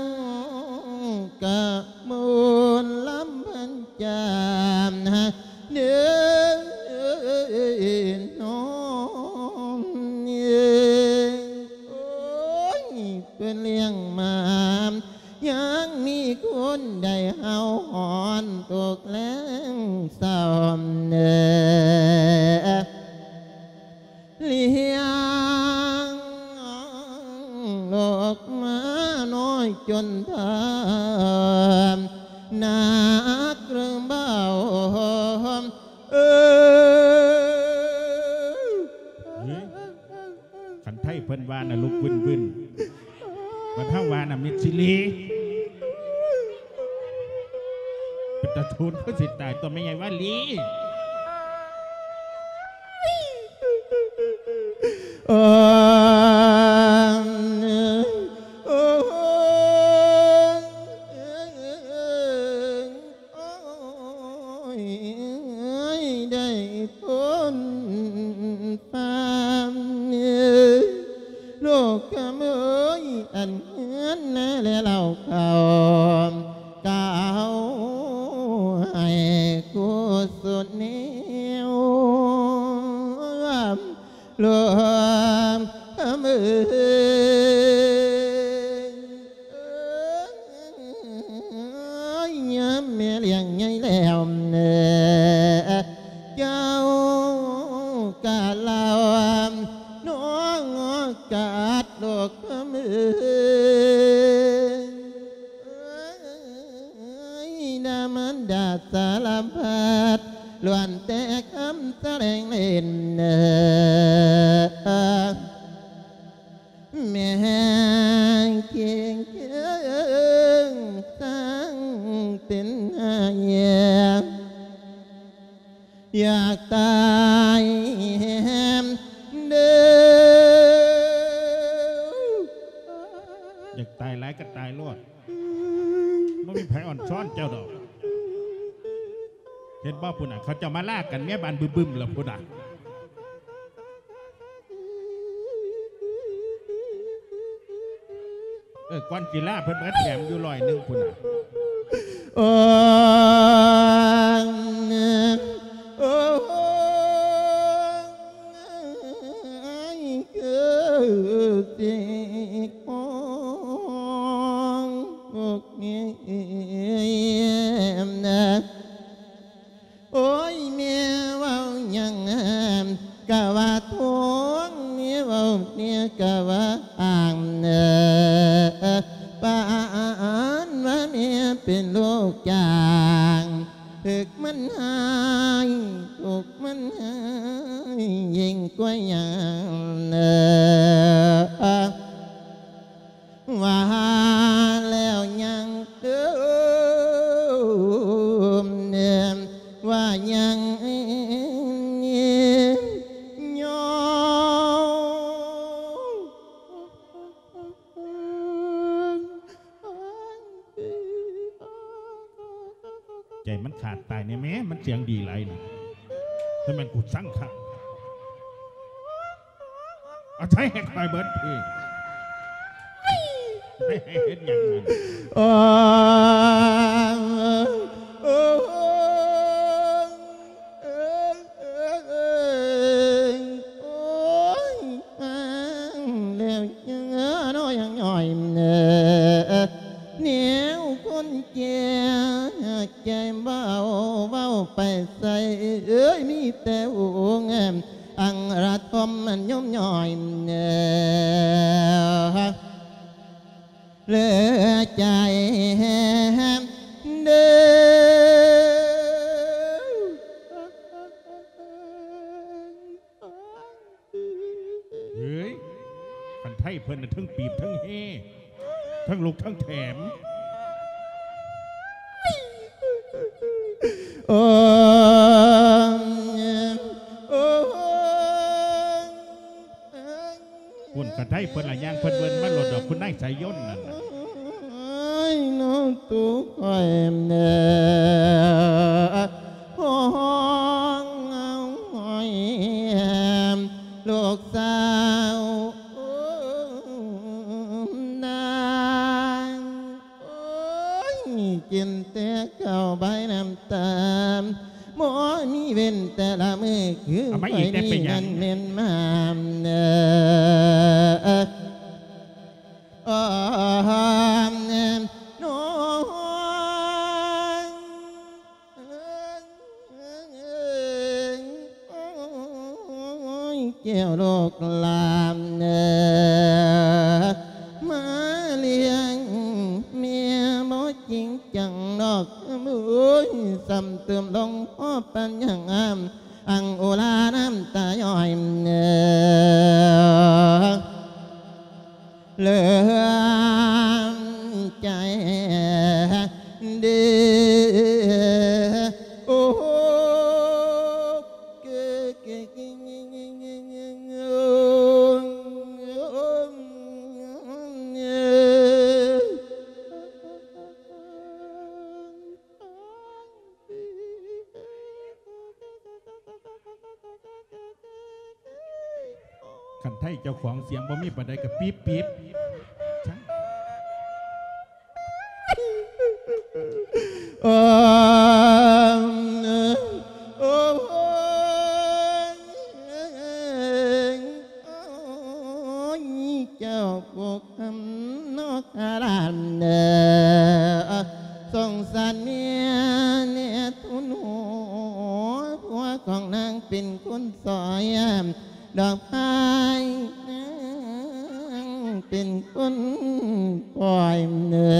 กะมูลลำพันจามเด้อน้องเอ้ย โอ้ย เพิ่นเลี้ยงมา ยังมีคนได้เฮาฮ้อนตกแลงซ้อมเนอ เลี้ยงลูกมาน้อยจนเฒ่า หนักหรือเบา เอ้ย เฮ้ย คันไทเพิ่นว่าน่ะ ลุกวึนๆ บัดเฮาว่าน่ะ มิดซิลี เป็นตาทูนคือสิตาย ตัวแม่ใหญ่วาลี เออ เออ โอ้ย ได้พ้นฟ้า โลกคำเอ้ย อันเฮือนนาและเหล่าเขา กล่าวให้กุศลแนว หลวงเมือง ยามแม่เลี้ยงใหญ่แล้ว เจ้ากะเล่าน้องกัดลูกเมือง นามารดาสารพัด ล้วนแต่คำแสลงเล่น แม่เคียงเคียงสร้างเป็นหาย อยากตายแฮมเด้อ ກໍຕາຍໂລດ ບໍ່ມີໃຜອ່ອນຊ້ອນເຈົ້າດອກ. ເຫັນບໍ່ພຸ້ນນະ ເຂົາເຈົ້າມາລາກັນເມຍບ້ານບຶມໆແລ້ວພຸ້ນນະ. ເອີ ກ່ອນຊິລາເພິ່ນມາແຖມຢູ່ຮ້ອຍໜຶ່ງພຸ້ນນະ. ໂອ້ຍ ໂອ້ຍ ຄືຊິຄອງ ໂອ້ຍ ແມ່ເວົ້າຫຍັງກະວ່າທວງ ແມ່ເວົ້າແມ່ກະວ່າອ້າງ ປານວ່າແມ່ເປັນລູກຈ້າງ ຖືກມັນຮ້າຍ ຖືກມັນຮ້າຍ ຍິ່ງກວ່າຫຍັງ ວ່າແລ້ວຍັງຕື່ມ ວ່າຍັງຍ້ອງ ໃຈມັນຂາດຕາຍແນ່ແມ້ ມັນສຽງດີຫຼາຍນະ ແຕ່ແມ່ນກູຊັງຄັກ. ເອົາໃຊ້ໃຫ້ຂ້ອຍເບິດພີ້ ເຮັດຫຍັງຫັ້ນ? ໂອ້ຍ ໂອ້ຍ ໂອ້ຍ ໂອ້ຍ ມາແລ້ວເນາະ ຍັງໜ້ອຍເນາະ ແນວຄົນແກ່ ໃຈເວົ້າ ເວົ້າໄປໃສ ເອີຍ ມີແຕ່ຫູງ ອັງລະທົມມັນຍົມຍ່ອຍ ເຫຼືອໃຈເດີ. ເຮີ້ຍ ຄັນໄທເພິ່ນນະ ເທິງປີບເທິງເຮ ເທິງລຸກເທິງແຖມ. ໂອ້ຍ ໂອ້ຍ ພຸ້ນ ຄັນໄທເພິ່ນລະຍ່າງເພິ່ນເວີນມາໂລດດອກ ຄຸນນາຍສາຍຍົນນັ້ນນະ. ໂອ້ຍ ນ້ອງຕູຂ້ອຍເດີ ຮ້ອງເອົາຫ້ອຍແຮມ ລູກສາວນາງ ໂອ້ຍ ກິນແຕ່ເຂົ້າບາຍນ້ຳຕາ ບໍ່ມີເວັ້ນແຕ່ລະມື້ຄື ເອົາມາອີກແດ່ເປັນຫຍັງ? ຂ້ອຍນີ້ນັ້ນແມ່ນມາມເດີ ນ້ອງ ໂອ້ຍ ແກ້ວລູກຫຼານເອີ ມາລ້ຽງແມ່ບໍ່ຈິງຈັງດອກ ໂອ້ຍ ຊ້ຳຕື່ມລົງພໍປານຫຍັງ ອັງອຸລານ້ຳຕາຍ້ອຍເອີ. ເຫຼືອໃຈເດີ ໂອ້ ຄັນໄທເຈົ້າຂອງສຽງບໍ່ມີປານໃດກໍປີບໆ ໂອ້ ໂອ້ ຍ ເຈົ້າຜູ້ຄຳນອກອາລາມເດີ ສົງສານແມ່ແນ່ທຸນຫົວ ຜົວຂອງນາງເປັນຄົນຊອຍ ດອກໄມ້ນາງເປັນຄົນປ່ອຍເນີ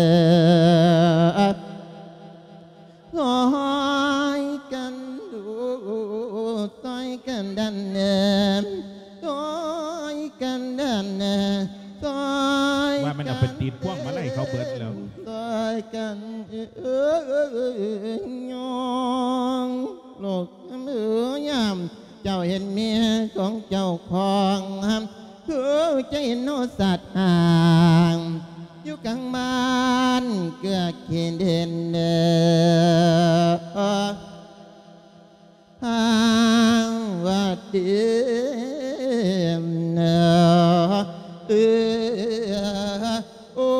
ຊ່ອຍກັນດູ ຊ່ອຍກັນດັນແນມ ຊ່ອຍກັນດັນແນມ ຊ່ອຍ ວ່າມັນເອົາໄປຕິດພວງມາໄລເຂົາເບິດແລ້ວ ຊ່ອຍກັນເອີຍ ຍ້ອງລູກເອີຍ ຍາມເຈົ້າເຫັນເມຍຂອງເຈົ້າຂອງ ຄືຈະເຫັນໂນສັດຫ່າງ ຢູ່ກາງບ້ານເກືອກຂີ້ດິນເດີ ທາງວັດເດນເດີ ໂອ້.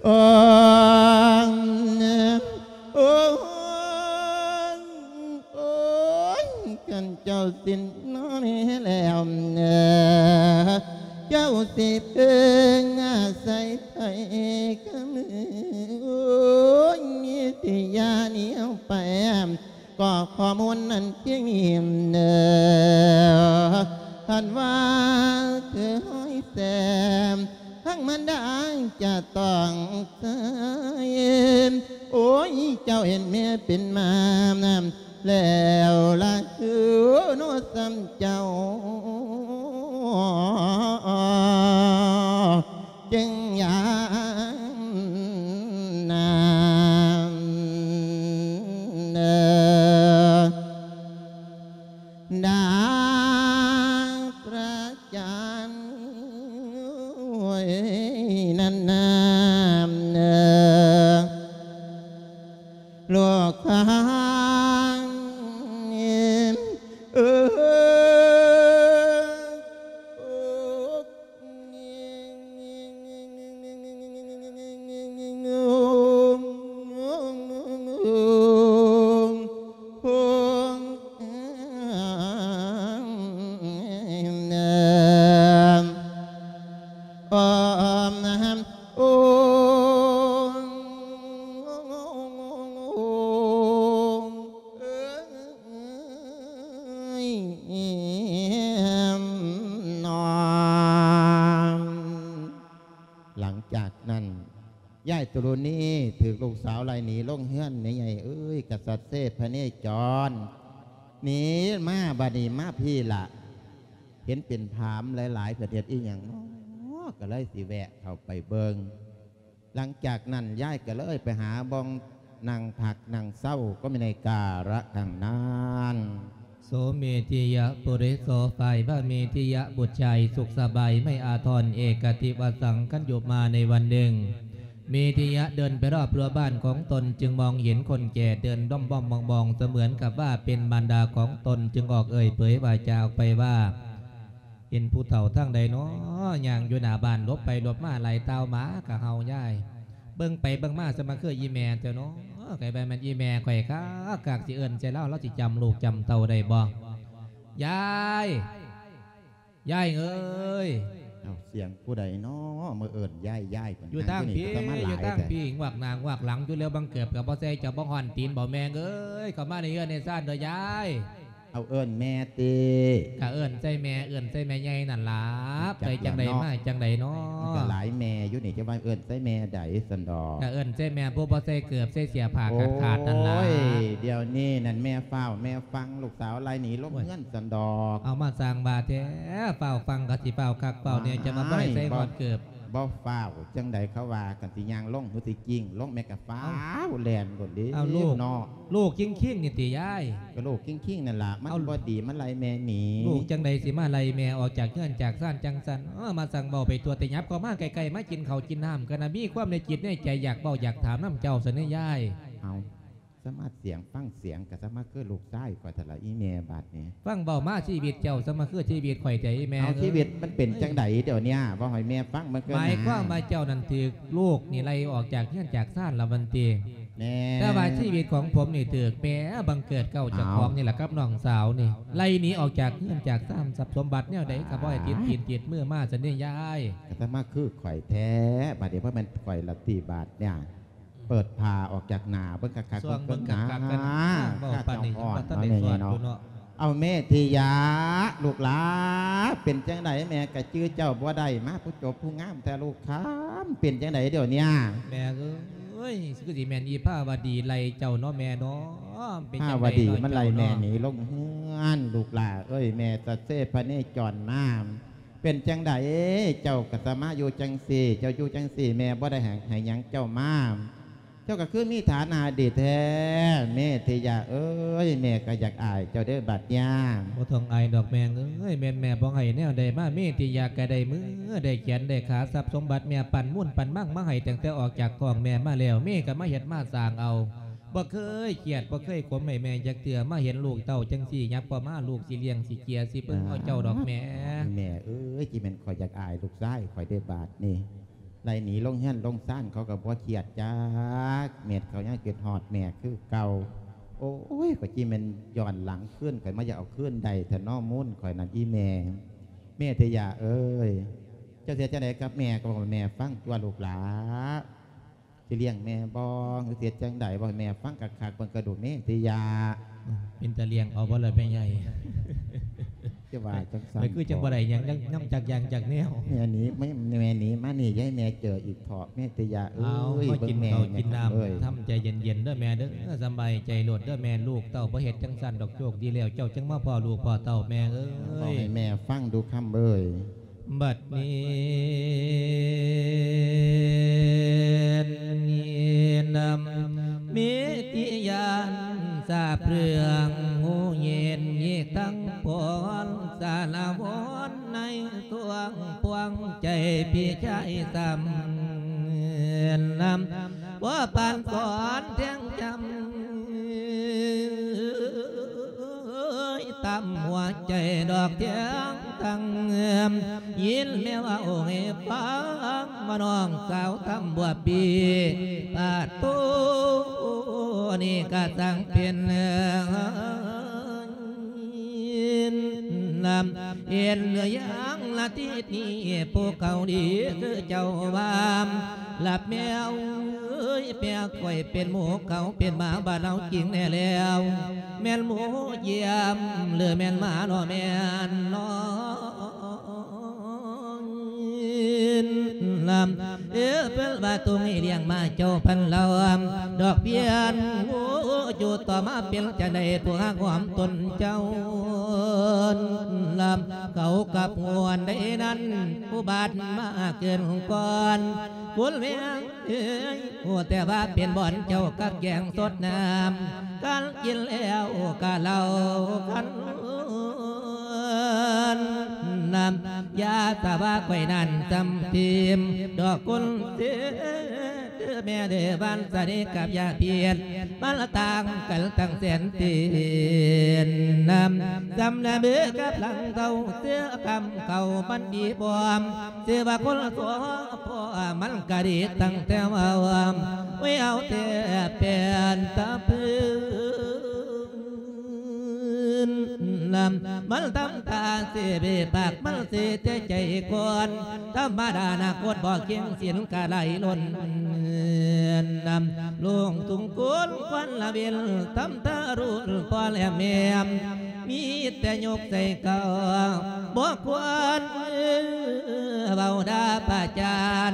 ໂອ້ຍ ໂອ້ຍ ຄັນເຈົ້າສິ້ນນອນແລ້ວ ເຈົ້າຊິເພິ່ງອາໄສໃຜກະມື ໂອ້ຍ ມີທີ່ຢາໜີອອກໄປ ກໍຂໍ້ມູນນັ້ນພຽງນີ້ເດີ ທ່ານວ່າຄືຫ້ອຍແຊມ ທັງມານດາຈະຕ້ອງເຊີຍ ໂອ້ຍ ເຈົ້າເຫັນແມ່ເປັນໝາແລ້ວລະເອີ ໂນ ສ່ຳເຈົ້າ ຈຶ່ງຢ່າງນັ້ນເດີ ນາງພະຈັນ ໂອ້ຍ ນັ້ນນາເດີ ລູກຂອງ ເອີ ຫຼັງຈາກນັ້ນ ຍາຍຕຸລຸນີຖືກລູກສາວໄລ່ໜີລົງເຮືອນ ແມ່ໃຫຍ່ເອີຍ ກະສັດເຊພະເນຈອນ ໜີມາ ບາດນີ້ມາພີ້ລະ ເຫັນເປັນຜາມຫຼາຍໆ ເພິ່ນເຮັດອີ່ຫຍັງເນາະ ກະເລີຍຊິແວະເຂົ້າໄປເບິ່ງ. ຫຼັງຈາກນັ້ນ ຍາຍກະເລີຍໄປຫາບ່ອນນັ່ງພັກນັ່ງເຊົາ ກໍມີໃນກາລະຄັ້ງນັ້ນ. ໂສເມທິຍະ ປຸລິໂສ ຝ່າຍພະເມທິຍະບຸດຊາຍສຸກສະບາຍ ໄມ່ອາທອນ ເອກະທິວະສັງ ຄັນຢູ່ມາໃນວັນໜຶ່ງ ເມທິຍະເດີນໄປຮອບຮົ້ວບ້ານຂອງຕົນ ຈຶ່ງມອງເຫັນຄົນແກ່ເດີນດ້ອມໆມອງໆ ສະເໝືອນກັບວ່າເປັນມານດາຂອງຕົນ ຈຶ່ງອອກເອີ່ຍເຜີຍວາຈາອອກໄປວ່າ ເຫັນຜູ້ເຖົ້າທາງໃດນໍ ຍ່າງຢູ່ໜ້າບ້ານ ຫຼົບໄປຫຼົບມາ ໄລ່ຕ່າວໝາກະເຫົ່າຍາຍ ເບິ່ງໄປເບິ່ງມາ ສະມາຄືອີ່ແມ່ແທ້ນໍ ກະແມ່ນອີ່ແມ່ຂ້ອຍຄັກໆ ຊິເອີ້ນໃສ່ລາວ ລາວຊິຈຳລູກຈຳເຕົ້າໄດ້ບໍ່ ຍາຍ ຍາຍເອີຍ. ເອົ້າ ສຽງຜູ້ໃດນໍ ມາເອີ້ນຍາຍໆ ຢູ່ທາງພີ້ ຢູ່ທາງພີ້ ງວກໜ້າງວກຫຼັງຢູ່ແລ້ວ ບັງເກີບກະບໍ່ໃສ່ ເຈົ້າບໍ່ຮ້ອນຕີນບໍ່ແມ່ເອີຍ ເຂົ້າມາໃນເຮືອນໃນຊານເດີຍາຍ. ເອົາເອີ້ນແມ່ຕິ ກະເອີ້ນໃສ່ແມ່ ເອີ້ນໃສ່ແມ່ໃຫຍ່ນັ້ນລະ ໄປຈັ່ງໃດມາຈັ່ງໃດນໍ ມັນກະຫຼາຍແມ່ຢູ່ນີ້ ຈະວ່າເອີ້ນໃສ່ແມ່ໃດຊັ້ນດອກ ກະເອີ້ນໃສ່ແມ່ຜູ້ບໍ່ໃສ່ເກີບໃສ່ເສື້ອຜ້າຂາດໆນັ້ນລະ. ໂອ້ຍ ດຽວນີ້ນັ້ນແມ່ຟ້າວແມ່ຟັ່ງ ລູກສາວໄລ່ໜີລົງເຮືອນຊັ້ນດອກ. ເອົາ ມາສ້າງວ່າແທ້ ຟ້າວຟັ່ງກະຊິຟ້າວຄັກຟ້າວແນ່ ຈະມາບໍ່ໃຫ້ໃສ່ຮອດເກີບ. ບໍ່ຟ້າວຈັ່ງໃດ ເຂົາວ່າກັນ ຊິຍ່າງລົງ ຫຼື ຊິກິ້ງລົງ ແມ່ກະຟ້າວແລ່ນໂລດເດ້. ເອົາລູກ ເນາະ ລູກຄິງໆນີ້ຕິຍາຍ. ກະລູກຄິງໆນັ້ນລະ ມັນບໍ່ດີ ມັນໄລ່ແມ່ໜີ. ລູກຈັ່ງໃດຊິມາໄລ່ແມ່ອອກຈາກເຮືອນຈາກຊານຈັ່ງຊັ້ນ ເອີ ມາສັ່ງເວົ້າໄປທົ່ວ ແຕ່ຫຍັບເຂົ້າມາໃກ້ໆ ມາກິນເຂົ້າກິນນ້ຳ ກະນະມີຄວາມໃນຈິດໃນໃຈ ຢາກເວົ້າຢາກຖາມນຳເຈົ້າຊັ້ນເດ້ຍາຍ. ເອົາ ສາມາດສຽງ ຟັງສຽງກະສາມາດຄືລູກຊາຍຂ້ອຍຫັ້ນລະ ອີແມ່ບາດນີ້. ຟັງເວົ້າມາຊີວິດເຈົ້າ ສາມາດຄືຊີວິດຂ້ອຍແທ້ອີແມ່. ເອົາ ເອີຍ ຊີວິດມັນເປັນຈັ່ງໃດດຽວນີ້ ເວົ້າໃຫ້ແມ່ຟັງເບິ່ງເກີນ. ໝາຍຄວາມວ່າເຈົ້ານັ້ນຖືກລູກນີ້ໄລ່ອອກຈາກເຮືອນຈາກຊານລະແມ່ນຕິ? ແມ່ນ. ແຕ່ວ່າຊີວິດຂອງຜົມນີ້ຖືກແມ່ບັງເກີດເກົ່າເຈົ້າຂອງນີ້ລະ ກັບນ້ອງສາວນີ້ ໄລ່ໜີອອກຈາກເຮືອນຈາກຊານ ຊັບສົມບັດແນວໃດກະບໍ່ໃຫ້ຕິດຕີນຕິດມືມາຊັ້ນເດ້ຍາຍ. ກະສາມາດຄືຂ້ອຍແທ້ ບາດນີ້ບໍ່ແມ່ນຂ້ອຍລະຕິບາດນີ້. ເປີດຜ້າອອກຈາກໜ້າເບິ່ງຄັກໆ ເບິ່ງເບິ່ງຄັກໆ ເບິ່ງນາ ເວົ້າປານນີ້ຍັງບໍ່ທັນໄດ້ສອດຢູ່ເນາະ. ເອົາ ເມທິຍະ ລູກຫຼາ ເປັນຈັ່ງໃດ ແມ່ກະຈື່ເຈົ້າບໍ່ໄດ້ ມາຜູ້ຈົບຜູ້ງາມແທ້ລູກຄຳ ເປັນຈັ່ງໃດດຽວນີ້? ແມ່ເອີຍ ໂອ້ຍ ຄືຊິແມ່ນອີພາວະດີໄລ່ເຈົ້າເນາະແມ່ເນາະ ເປັນຈັ່ງໃດເນາະ ພາວະດີມັນໄລ່ແມ່ໜີລົງເຮືອນ ລູກຫຼ້າເອີຍ ແມ່ສັດເຊພະເນຈອນມາ ເປັນຈັ່ງໃດ ເຈົ້າກໍສາມາດຢູ່ຈັ່ງຊີ້ ເຈົ້າຢູ່ຈັ່ງຊີ້ ແມ່ບໍ່ໄດ້ໃຫ້ ໃຫ້ຫຍັງເຈົ້າມາ ເຈົ້າກໍຄືມີຖານະດີແທ້ ເມທິຍາເອີຍ ແມ່ກໍຢາກອາຍເຈົ້າເດີ້ບາດຍາມ. ບໍ່ຕ້ອງອາຍດອກແມ່ເອີຍ ແມ່ນແມ່ບໍ່ໃຫ້ແນວໃດມາ ເມທິຍາກໍໄດ້ມືໄດ້ແຂນໄດ້ຂາ ຊັບສົມບັດແມ່ປັນມູນປັນມັງມາໃຫ້ ຕັ້ງແຕ່ອອກຈາກທ້ອງແມ່ມາແລ້ວ ເມກໍມາເຮັດມາສ້າງເອົາ ບໍ່ເຄີຍຄຽດບໍ່ເຄີຍຂົມໃຫ້ແມ່ຈັກເທື່ອ ມາເຫັນລູກເຕົ້າຈັ່ງຊີ້ ຫຍັບເຂົ້າມາ ລູກຊິລ້ຽງຊິເຈຍ ຊິເບິ່ງເອົາເຈົ້າດອກແມ່. ແມ່ເອີຍ ຊິແມ່ນຂ້ອຍຢາກອາຍລູກຊາຍຂ້ອຍເດ້ບາດນີ້ ໄລ່ໜີລົງເຮືອນລົງຊານ ເຂົາກໍບໍ່ຄຽດຈັກເມັດ ເຂົາຍັງຄິດຮອດແມ່ຄືເກົ່າ. ໂອ້ຍ ຂ້ອຍຊິແມ່ນຍ້ອນຫຼັງຄືນ ຂ້ອຍມາຢາກເອົາຄືນໄດ້ແທ້ນໍມູນຂ້ອຍນັ້ນ ອີແມ່. ເມທິຍາເອີຍ ເຈົ້າຊິເຮັດຈັ່ງໃດກັບແມ່ ກໍບອກໃຫ້ແມ່ຟັງຕົວະລູກຫຼ້າ ຊິລ້ຽງແມ່ບໍ່ ຫຼືຊິເຮັດຈັ່ງໃດ ເວົ້າໃຫ້ແມ່ຟັງຄັກໆເບິ່ງກະດູ ເມທິຍາ. ເປັນຕາລ້ຽງເອົາບໍ່ລະແມ່ໃຫຍ່? ຈະວ່າຈັ່ງຊັ້ນ ຂ້ອຍຄືຈັ່ງບໍ່ໄດ້ຫຍັງນຳຈັກຢ່າງຈັກແນວ. ແມ່ໜີ ແມ່ ແມ່ໜີມານີ້ ຢ່າໃຫ້ແມ່ເຈີອີກເຖາະ ເມທິຍາເອີຍ. ເອົາ ມາກິນເຂົ້າກິນນ້ຳ ເອີຍ ທຳໃຈເຢັນໆເດີແມ່ເດີ ສະບາຍໃຈໂລດເດີແມ່ ລູກເຕົ້າບໍ່ເຮັດຈັ່ງຊັ້ນດອກ ໂຊກດີແລ້ວ ເຈົ້າຈຶ່ງມາພໍ້ລູກພໍ້ເຕົ້າແມ່ເອີຍ. ເວົ້າໃຫ້ແມ່ຟັງດູຄຳເອີຍ. ບັດນີ້ນຳເມຕິຍານ ຊາບເລື່ອງຮູ້ເຫັນອີກທັງພອນ ສາລະວອນໃນຊ່ວງພວງໃຈພີ່ຊາຍຊ້ຳນຳ ບໍ່ປານສອນແທງຈຳ ເອີຍ ຕຳຫົວໃຈດອກທຽງທັງ ຍິນແມ່ເວົ້າໃຫ້ຟັງວ່ານ້ອງສາວຕຳບົວປີ ປາດໂທ ນີ້ກະຊ່າງເປັນ ນຳ ເຫັນຫຼືຍັງລະທີນີ້ ຜູ້ເຂົາດີຄືເຈົ້າວ່າ ລະແມ່ເອີຍ ແມ່ຂ້ອຍເປັນໝູເຂົາ ເປັນໝາບ້ານເຮົາຈິງແນ່ແລ້ວ ແມ່ນໝູຢ້ຽມ ຫຼືແມ່ນໝາເນາະ ແມ່ນເນາະ ນຳ ເອີ ເພິ່ນວ່າຕ້ອງໃຫ້ລ້ຽງໝາເຈົ້າພັນລຳ ດອກພຽນ ໂອ້ ຢູ່ຕໍ່ມາເປັນຈັ່ງໃດ ຜູ້ຮັກຫອມຕົນເຈົ້າ ນຳ ເຂົາກັບຫວນໃດນັ້ນ ອຸບັດມາເກີນກ່ອນ ຄຸນແມ່ເອີຍ ຮູ້ແຕ່ວ່າເປັນບ່ອນເຈົ້າກັກແກງສົດນ້ຳ ການກິນແລ້ວກະເຫຼົ້າຄັນ ນຳ ຢ່າສາວ່າຂ້ອຍນັ້ນຈຳທີມ ດອກຄົນເສຍ ເດີແມ່ເດີ ບ້ານສະເດກັບຢາພຽນ ມັນລະຕ່າງກັນຕັ້ງແສນຕີນນຳ ຈຳລະເບີກັບຫຼັງເຕົາ ເສືອຄຳເຂົາມັນດີບອມ ຊື່ວ່າຄົນສອພອ ມັນກະດີຕັ້ງແຕ່ເວົ້າ ໄວ້ເອົາແທ້ແປນຕາເພິ່ນ ມັນທຳທ່າຊິເບປາກ ມັນຊິແຕ່ໃຈກ່ອນ ທຳມະດານາຄົດບໍ່ເຄັ່ງສິນກະໄຫຼລົ້ນ ນຳ ລຸງທຸງໂກນຄວັນລະເວັນ ທຳທ່າລຸນພໍແຫຼມແໝມ ມີແຕ່ຍົກໃສ່ເຂົາ ບໍ່ຄວນເວົ້າດ່າປະຈານ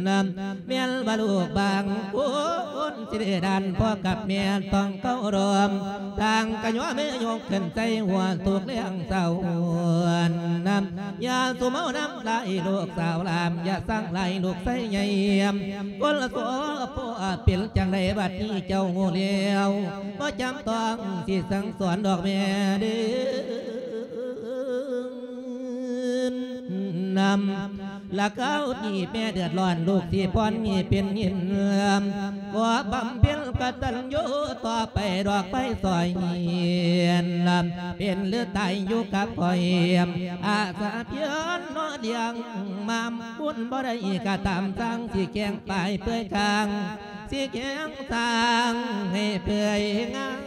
ນຳ ແມ່ນວ່າລູກບາງຄົນ ຊິໄດ້ດ່ານພໍ່ກັບແມ່ຕ້ອງເຄົາລົບ ຕ່າງກະຍົມມືຍົກຂຶ້ນໃສ່ຫົວທຸກແລງເຊົ້າ ນຳ ຢ່າສູ່ເມົານຳຫຼາຍລູກສາວຫຼານ ຢ່າສັງຫຼາຍລູກຊາຍໃຫຍ່ ຄົນລະໂສພໍ່ເປັນຈັ່ງໃດບັດນີ້ເຈົ້າຮູ້ແລ້ວ ບໍ່ຈຳຕ້ອງຊິສັ່ງສອນດອກແມ່ເດີ ນຳ ລະຄາວນີ້ແມ່ເດືອດຮ້ອນ ລູກທີ່ພອນມີເປັນຍິນ ຂໍບຳເພັນກະຕັນຍູຕໍ່ໄປດອກໄຟສອຍ ເປັນຫຼືຕາຍຢູ່ກັບຂ້ອຍ ອາສາພຽນເນາະລ້ຽງມາ ບຸນບໍ່ໄດ້ກະຕາມ ຊ່າງຊິແຂງປາຍເປືອຍຄາງ ຊິແຂງຊ່າງໃຫ້ເປືອຍງາມ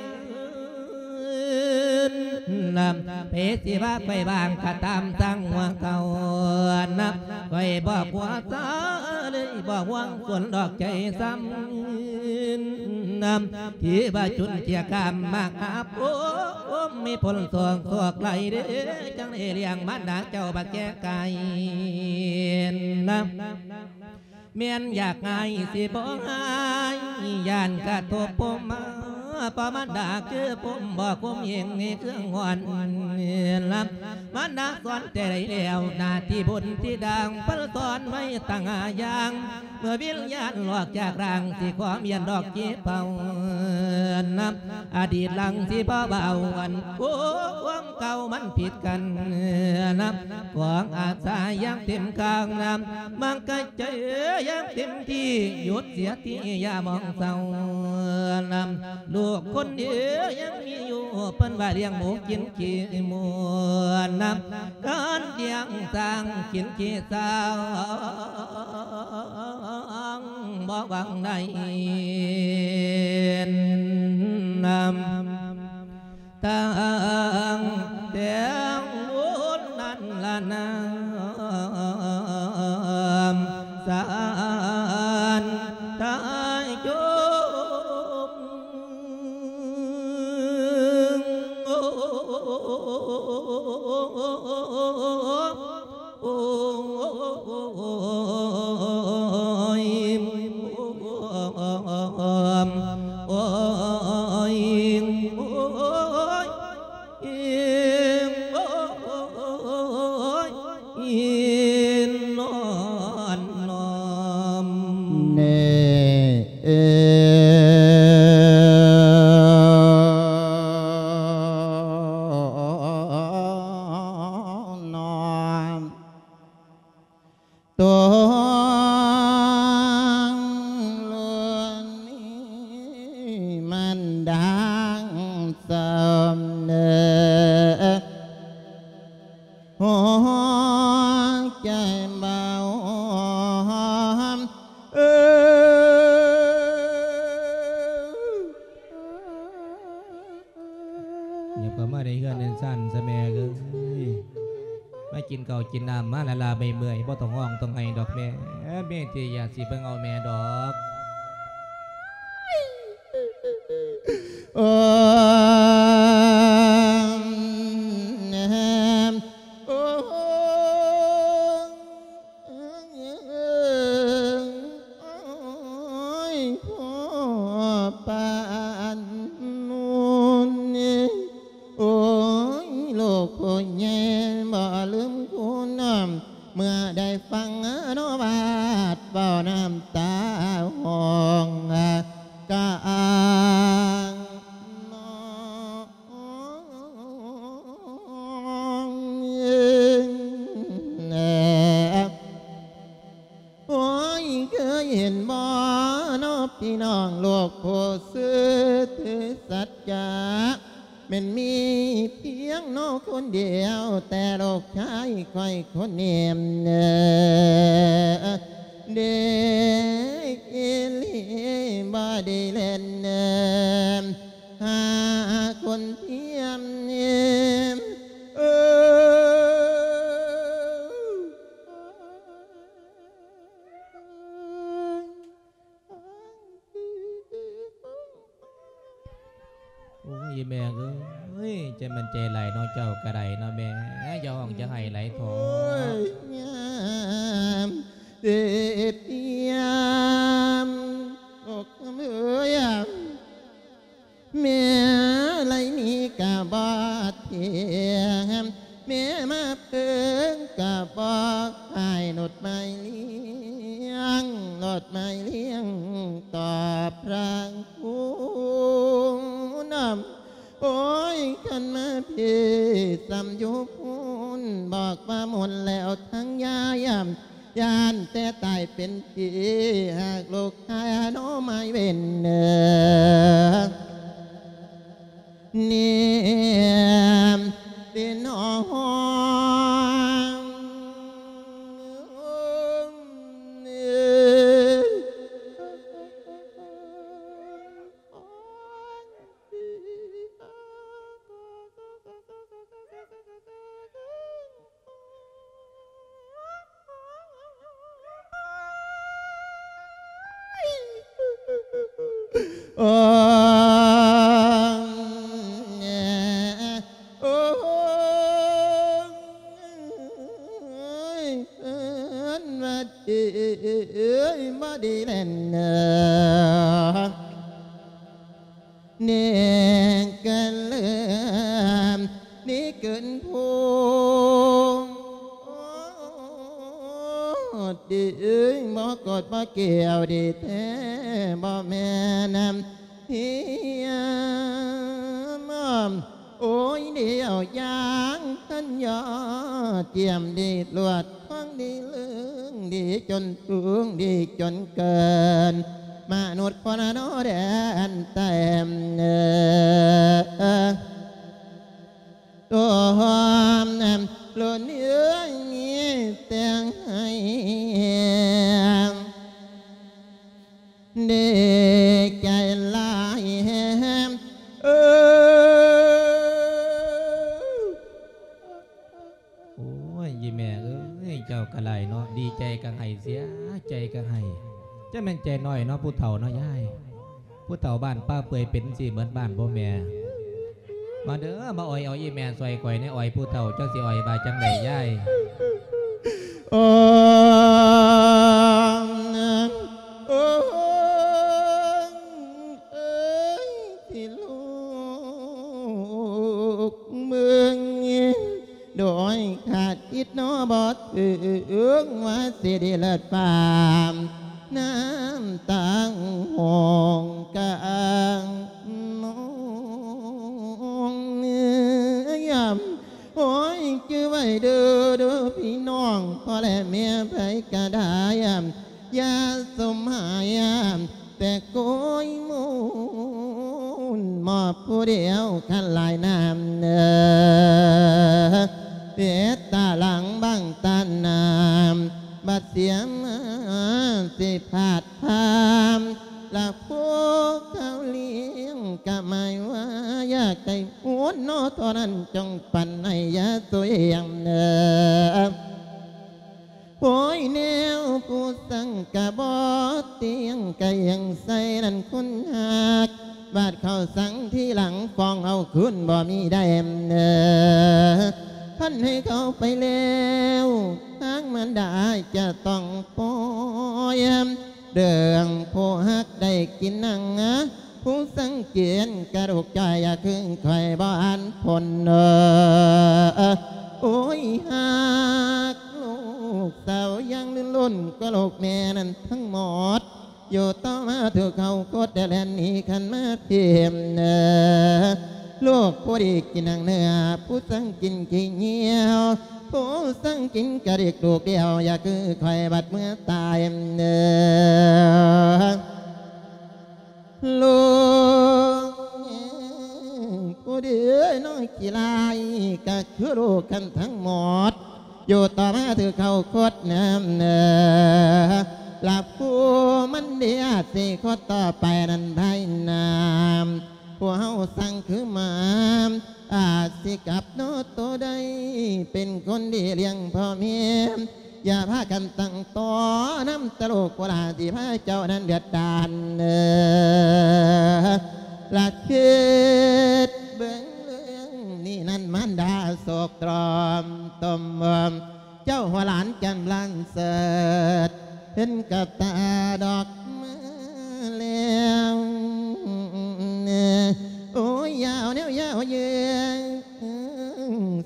ນຳ ໃຜຊິວ່າຂ້ອຍບາງກະຕາມ ຊ່າງຫົວເຂົານຳ ຂ້ອຍບໍ່ກົວຊາເລີຍ ບໍ່ຫວງສົນດອກໃຈຊ້ຳນຳ ທີ່ວ່າຈຸນເຈຍກາມມາຫາຜົມ ມີຜົນສອງສອກໄຫຼເດ້ ຈັ່ງໄດ້ລ້ຽງມານດາເຈົ້າບັກແກ່ໄກ່ນຳ ແມ່ນຢາກຫາຍຊິບໍ່ຫາຍ ຢ້ານກະທົບພົມມາ ເພາະມານດາຄືພົມບໍ່ຄຸມເອງໃນເຄື່ອງຫວນລຳ ມານດາສອນແຕ່ໃດແລ້ວ ໜ້າທີ່ບຸນທີ່ດາງ ເພິ່ນສອນໄວ້ຕັ້ງຫ້າຢ່າງ ເມື່ອວິນຍານອອກຈາກຮ່າງ ຊິຂໍມຽນດອກຈີເປົ່ານຳ ອະດີດຫຼັງຊິບໍ່ເວົ້າອັນ ໂອ້ ຄວາມເກົ່າມັນຜິດກັນນຳ ຂອງອາສາຢ່າງເຕັມກາງນຳ ມັນກະເຈີຢ່າງເຕັມທີ່ ຢຸດເສຍທີ່ຢ່າມອງເສົ້ານຳ ລູກຄົນເດີຍັງມີຢູ່ ເພິ່ນວ່າລ້ຽງໝູກິນຂີ້ໝູນຳ ການລ້ຽງຊ້າງກິນຂີ້ຊ້າງ ບໍ່ຫວັງໄດ້ນຳ ຕັ້ງແຕ່ບຸນນັ້ນລະນາມ ສານຕາຍຈົມ ໂອ້ຍ ໂອ້ຍ ໂອ້ຍ ໂອ້ຍ ໂອ້ຍ ນອນນອມ ເນ ເອີ ນອນ ຕົງລຸນນີ້ມັນດັງສຳເນີ ຫົວໃຈເບົາ ເອີ ຫຍັບເຂົ້າມາໃນເຮືອນໃນຊານຊະແມ່ເອີຍ ມາກິນເຂົ້າກິນນ້ຳມາລະລາເມື່ອຍໆ ບໍ່ຕ້ອງຮ້ອງຕ້ອງໄຫ້ດອກແມ່ ແມ່ທີ່ຢາກຊິເບິ່ງເອົາແມ່ດອກ ໂອ້ ແນມ ໂອ້ ໂອ້ຍ ພໍ່ປານນູນ ໂອ້ຍ ລູກຜູ້ໃຫຍ່ບໍ່ລືມຄຸນ ເມື່ອໄດ້ຟັງອະນຸບາດເວົ້ານ້ຳຕາຫ້ອງກາງ ໂອ້ຍ ເຄີຍເຫັນບໍ່ເນາະພີ່ນ້ອງ ລູກຜູ້ຊື່ຖືສັດຈະ ແມ່ນມີພຽງເນາະຄົນດຽວ ແຕ່ລູກຊາຍຂ້ອຍຄົນນີ້ ເດ ອີ່ຫຼີ ບໍ່ໄດ້ແລ່ນ ຫາຄົນທຽມ ເອີ ໂອ້ຍ ອີ່ແມ່ເອີຍ ຈະແມ່ນໃຈຫຼາຍເນາະ ເຈົ້າກະໄດ້ເນາະແມ່ ຢ່າຮ້ອງຢ່າໄຫ້ຫຼາຍເຖາະ ໂອ້ຍ ຍາມເຈັບຍາມ ລູກເອີຍ ແມ່ໄລນີ້ກະບໍ່ທຽມ ແມ່ມາເພິ່ງກະບໍ່ຂາຍ ລົດໄມ້ລ້ຽງ ລົດໄມ້ລ້ຽງຕອບພະຄຸນນຳ ໂອ້ຍ ຄັນມາພີ້ສ່ຳຢູ່ພຸ້ນ ບອກວ່າໝົດແລ້ວທັງຍາຍ ຢ້ານແຕ່ຕາຍເປັນຜີ ຫາກລູກຄ້າເນາະມາຍເວັນເນີ ເນມເປັນຫ້ອງ ເນກະເລີມ ນີ້ເກີນພູດດີ ບໍ່ກົດບໍ່ກ່ຽວດີແທ້ ບໍ່ແມ່ນເຮີຍມ ໂອ້ຍ ດຽວຢ່າງພັນຍອດ ຈຽມດີລວດ ຂອງດີເລີງ ດີຈົນສູງ ດີຈົນເກີນ ມະນຸດຄົນນະເນາະແດນແຕ້ມ ໂອ້ ລຸນເອີຍ ມີແຕ່ໃຫ້ ດີໃຈຫຼາຍແຮງ ເອີ ໂອ້ຍ ອີ່ແມ່ເອີຍ ເຈົ້າກະຫຼາຍເນາະ ດີໃຈກະໄຫ້ ເສຍໃຈກະໄຫ້ ຈະແມ່ນໃຈນ້ອຍເນາະ ຜູ້ເຖົ້າເນາະຍາຍ ຜູ້ເຖົ້າບ້ານປ່າເປື່ອຍເປັນຈັ່ງຊີ້ເໝິດບ້ານບໍ່ແມ່ ມາເດີ ມາອ່ອຍເອົາອີ່ແມ່ຊ່ອຍຂ້ອຍແດ່ ອ່ອຍຜູ້ເຖົ້າ ເຈົ້າຊິອ່ອຍວ່າຈັ່ງໃດຍາຍ ໂອ້ ໂອ້ ເອີຍ ທີ່ລູກເມືອງ ໂດຍຄາດຄິດເນາະບໍ່ເຖິງ ວ່າຊິໄດ້ເລີດຟ້າ ນ້ຳຕາງຫ້ອງກາງນອງ ໂອ້ຍ ຈື່ໄວ້ເດີ ເດີພີ່ນ້ອງ ພໍ່ແລະແມ່ໃຜກະໄດ້ ຢ່າສົມຫາຍ ແຕ່ໂກຍມູນມອບຜູ້ດຽວ ຄັນຫຼາຍນ້ຳເນີ ເຮັດຕາຫຼັງບັງຕານ້ຳ ບັດເສຍມາຊິພາດພາມ ລະພວກເຂົາລ້ຽງກະໝາຍວ່າ ຢາກໄດ້ບຸນເນາະ ເທົ່ານັ້ນຈົ່ງປັນໃຫ້ຢ່າສວຍງເນີ ໂອ້ຍ ແນວຜູ້ສັງກະບໍ່ຕຽງ ກະຍັງໃສ່ນັ້ນຄົນຮັກ ບາດເຂົາສັງທີຫຼັງ ຟ້ອງເອົາຄືນບໍ່ມີໄດ້ເນີ ຄັນໃຫ້ເຂົາໄປແລ້ວ ທາງມານດາຈະຕ້ອງປ່ອຍ ເລື່ອງຜູ້ຮັກໄດ້ກິນໜັງ ຜູ້ສັງກິນກະດູກຈ່ອຍ ຢ່າຄືຂ້ອຍບໍ່ອ່ານພົນເນີ ໂອ້ຍ ຮັກລູກສາວຢ່າງລົ້ນໆ ກວ່າລູກແມ່ນັ້ນທັງໝົດ ຢູ່ຕໍ່ມາຖືກເຂົາກົດ ແລນໜີຄັນມາພີມເນີ ລູກຜູ້ດີກິນໜັງເນື້ອ ຜູ້ສັງກິນຂີ້ຍ່ຽວ ຜູ້ສັງກິນກະດິກລູກດຽວ ຢ່າຄືຂ້ອຍບັດເມື່ອຕາຍເນີ ລູກຜູ້ດີນ້ອຍຂີ້ລ້າຍ ກະຄືລູກກັນທັງໝົດ ຢູ່ຕໍ່ມາຖືກເຂົາກົດນຳເນີ ລະຜູ້ມັນເດອາດຊິຄົດຕໍ່ໄປນັ້ນໄດ້ນຳ ພວກເຮົາສັງຄືມາ ອາດຊິກັບເນາະໂຕໄດ້ ເປັນຄົນດີລ້ຽງພໍ່ແມ່ ຢ່າພາກັນຕັ້ງຕໍນຳຕະໂລກໂຄລາ ທີ່ພາເຈົ້ານັ້ນເດືອດດານເນີ ລະຄິດເບິ່ງເລື່ອງນີ້ນັ້ນ ມານດາໂສກຕອມຕົມ ເຈົ້າຫົວຫຼານກຳລັງເສີດ ເຫັນກັບຕາດອກມາແລ້ວ ໂອ້ຍ ຍາວແນວຍາວເຍີ້ງ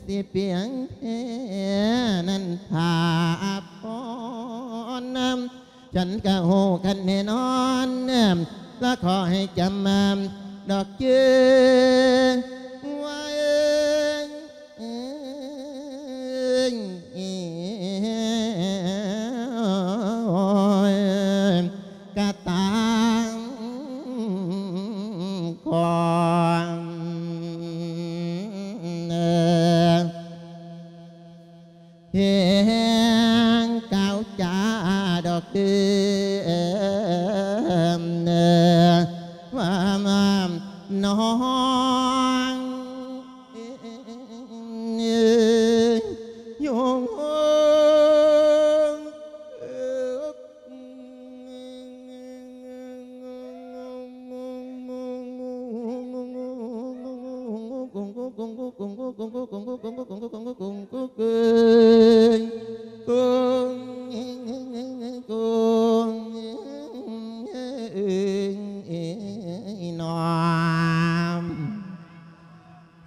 ຊິປຽງແທ້ນັ້ນພາພອນນຳ ສັນກະຮູ້ກັນແນ່ນອນ ລະຂໍໃຫ້ຈຳມາດອກເຈີ ວ່າເອີຍ ກະຕາງຂອງ ແຮງກ່າວຈາດອກເດີ ວ່ານ້ອງ ໂຍງ ນ້อง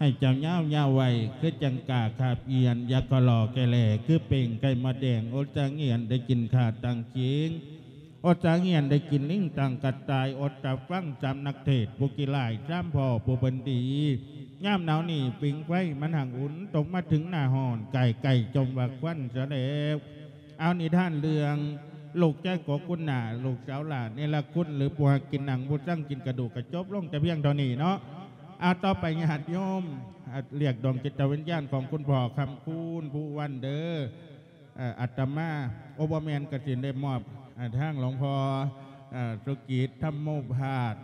ໃຫ້ເຈົ້າຍາວຍາວໄວ ຄືຈັ່ງກ້າຄາບອຽນ ຢາກກໍຫຼໍ່ແກ່ແຫຼ ຄືເປັງໄກ່ມາແດງ ອົດສາງຽນໄດ້ກິນຂ່າຕັ້ງຈິງ ອົດສາງຽນໄດ້ກິນລິງຕັ້ງກະຕ່າຍ ອົດຕາຟັງສາມນັກເທດ ຜູ້ຂີ້ລ້າຍສາມພໍ່ຜູ້ເພິ່ນດີ ຍາມໜາວນີ້ຟິງໄຟມັນຮັ່ງອຸ່ນ ຕົກມາເຖິງໜ້າຮ້ອນ ກາຍໄກ່ຈົ່ມວ່າຄວັນສະແລ້ວ. ເອົານິທານເລື່ອງລູກຊາຍໂກກຸນນາ ລູກສາວຫຼ້າເນລະຄຸນ ຫຼື ຜູ້ຮັກກິນໜັງ ຜູ້ຊັງກິນກະດູກ ກະຈົບລົງແຕ່ພຽງເທົ່ານີ້ເນາະ. ເອົາຕໍ່ໄປຍາດໂຍມ ເອີ ລຽກດວງຈິດຕະວິນຍານຂອງຄຸນພໍ່ຄຳຄູນ ພູວັນເດີ ເອີ ອາດຕະມາ ໂອ ບໍ່ແມ່ນ ກະສິໄດ້ມອບ ເອີ ທາງຫຼວງພໍ່ ເອີ ສຸກິດ ທຳໂມພາດ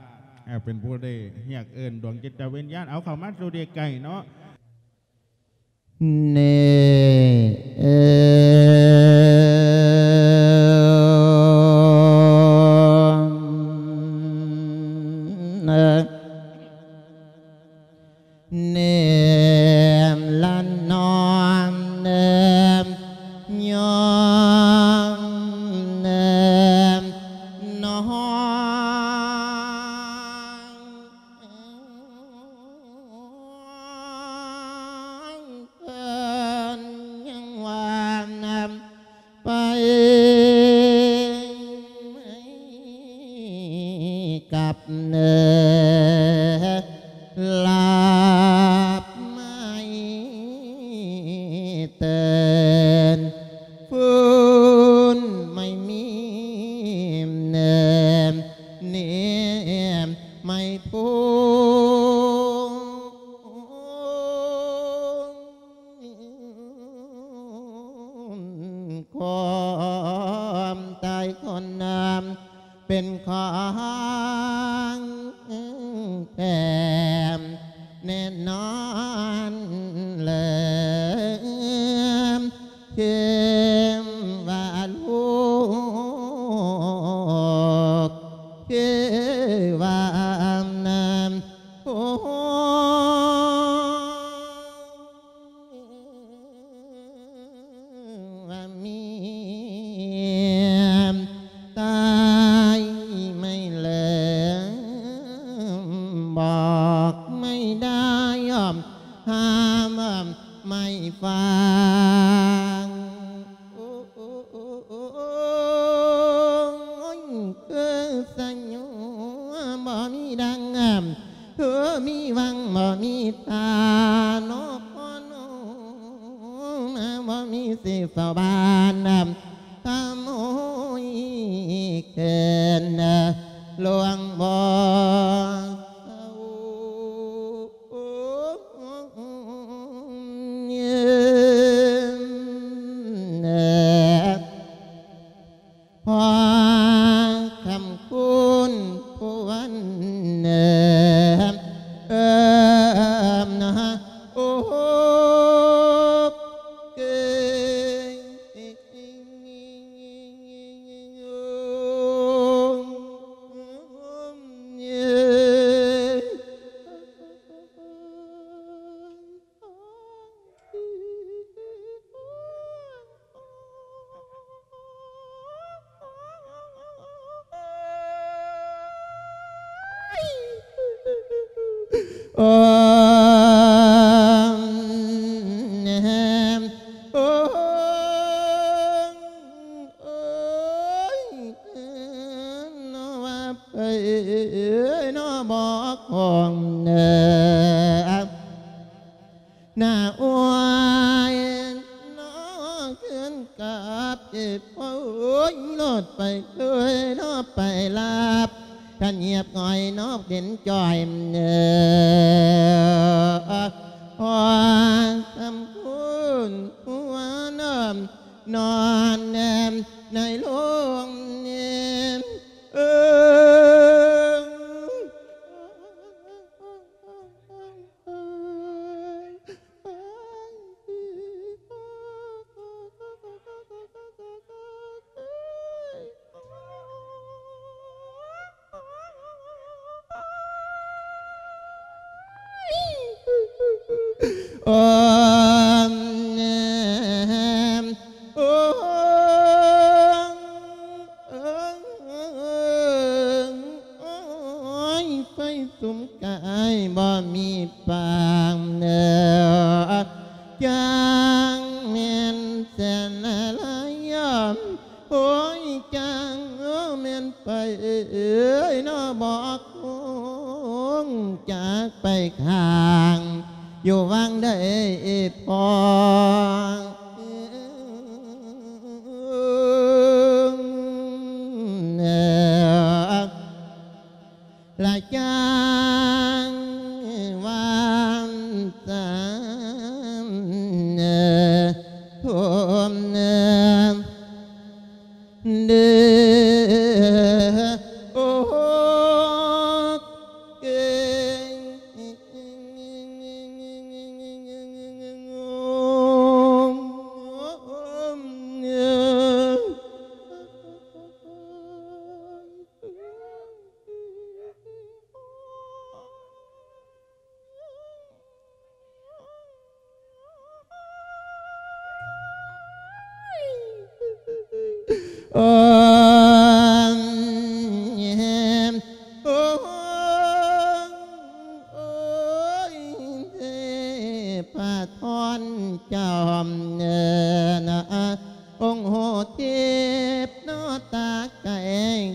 ເອີ ເປັນຜູ້ໄດ້ຮຽກເອີ້ນດວງຈິດຕະວິນຍານ ເອົາເຂົ້າມາສູ່ທີ່ໃກ້ເນາະ. ເນ ເອີ ເນມລະນອມ ເນມຍອມ ເນມນອງ ເພິ່ນຍັງວ່ານຳ ໄປກັບເນີ ລາບໄມ້ເຕີນ ຟື້ນໄມ້ມີເນີ ເນມໄມ້ພູ ຄວາມຕາຍຄົນນຳເປັນຂອງແທ້ແນ່ນອນເລີຍ ຄືວ່າລູກ ຄືວ່ານຳ ໂອ້ ວ່າເມຍຕາຍໄມ້ເລີມ ບອກໄມ້ໄດ້ຍອມ ຫ້າມໄມ້ຟັງ ໂອ້ຍ ຄືສະຫຍວມບໍ່ມີດັງ ເອີ ມີຫວັງບໍ່ມີທ່າ ນອກພໍນອມບໍ່ມີຊິເຝົ້າບ້ານ ຂະໂມຍເກີນ ລວງບໍ່ເຊົາ ພໍ່ຄຳຄູນ ຜູ້ວັນເນີ ເອີມນະ ໂອ ເກີຍ ໂອມ ໂອມ ໂອ້ຍ ເນາະວ່າໄປເນາະ ບໍ່ຂອງເນີ ໜ້າອວຍເນາະ ເຄື່ອນກັບເອບ ໂອ້ຍ ໂລດໄປເຄີຍເນາະ ໄປລາບ ຄັນຫຽບຫງອຍເນາະ ເປັນຈ່ອຍເນີ ພໍຄຳຄູນ ຫົວນອມ ນອນແນມໃນໂລງແນມ ເອີ. ໂອມ ໂອມ ໂອ້ຍ ໄຟສຸມກ ອ້າຍບໍ່ມີປາງເດີ ຈັ່ງແມ່ນແສນລາຍ ໂອ້ຍ ຈັ່ງແມ່ນໄປເອີຍເນາະ ບໍ່ຄົງຈາກໄປຂ້າງ ຢູ່ວັງໃດພໍ່ ລະຈັງວ່າຊັ້ນເດີ ໂທມເດີ ເດີ ໂອ້ ເອີຍ ໂອ້ຍ ໂອ້ຍ ໂອ້ຍ ເທພະທອນເຈົ້າເນີນະ ອົງໂຫເທບເນາະ ຕາໄກ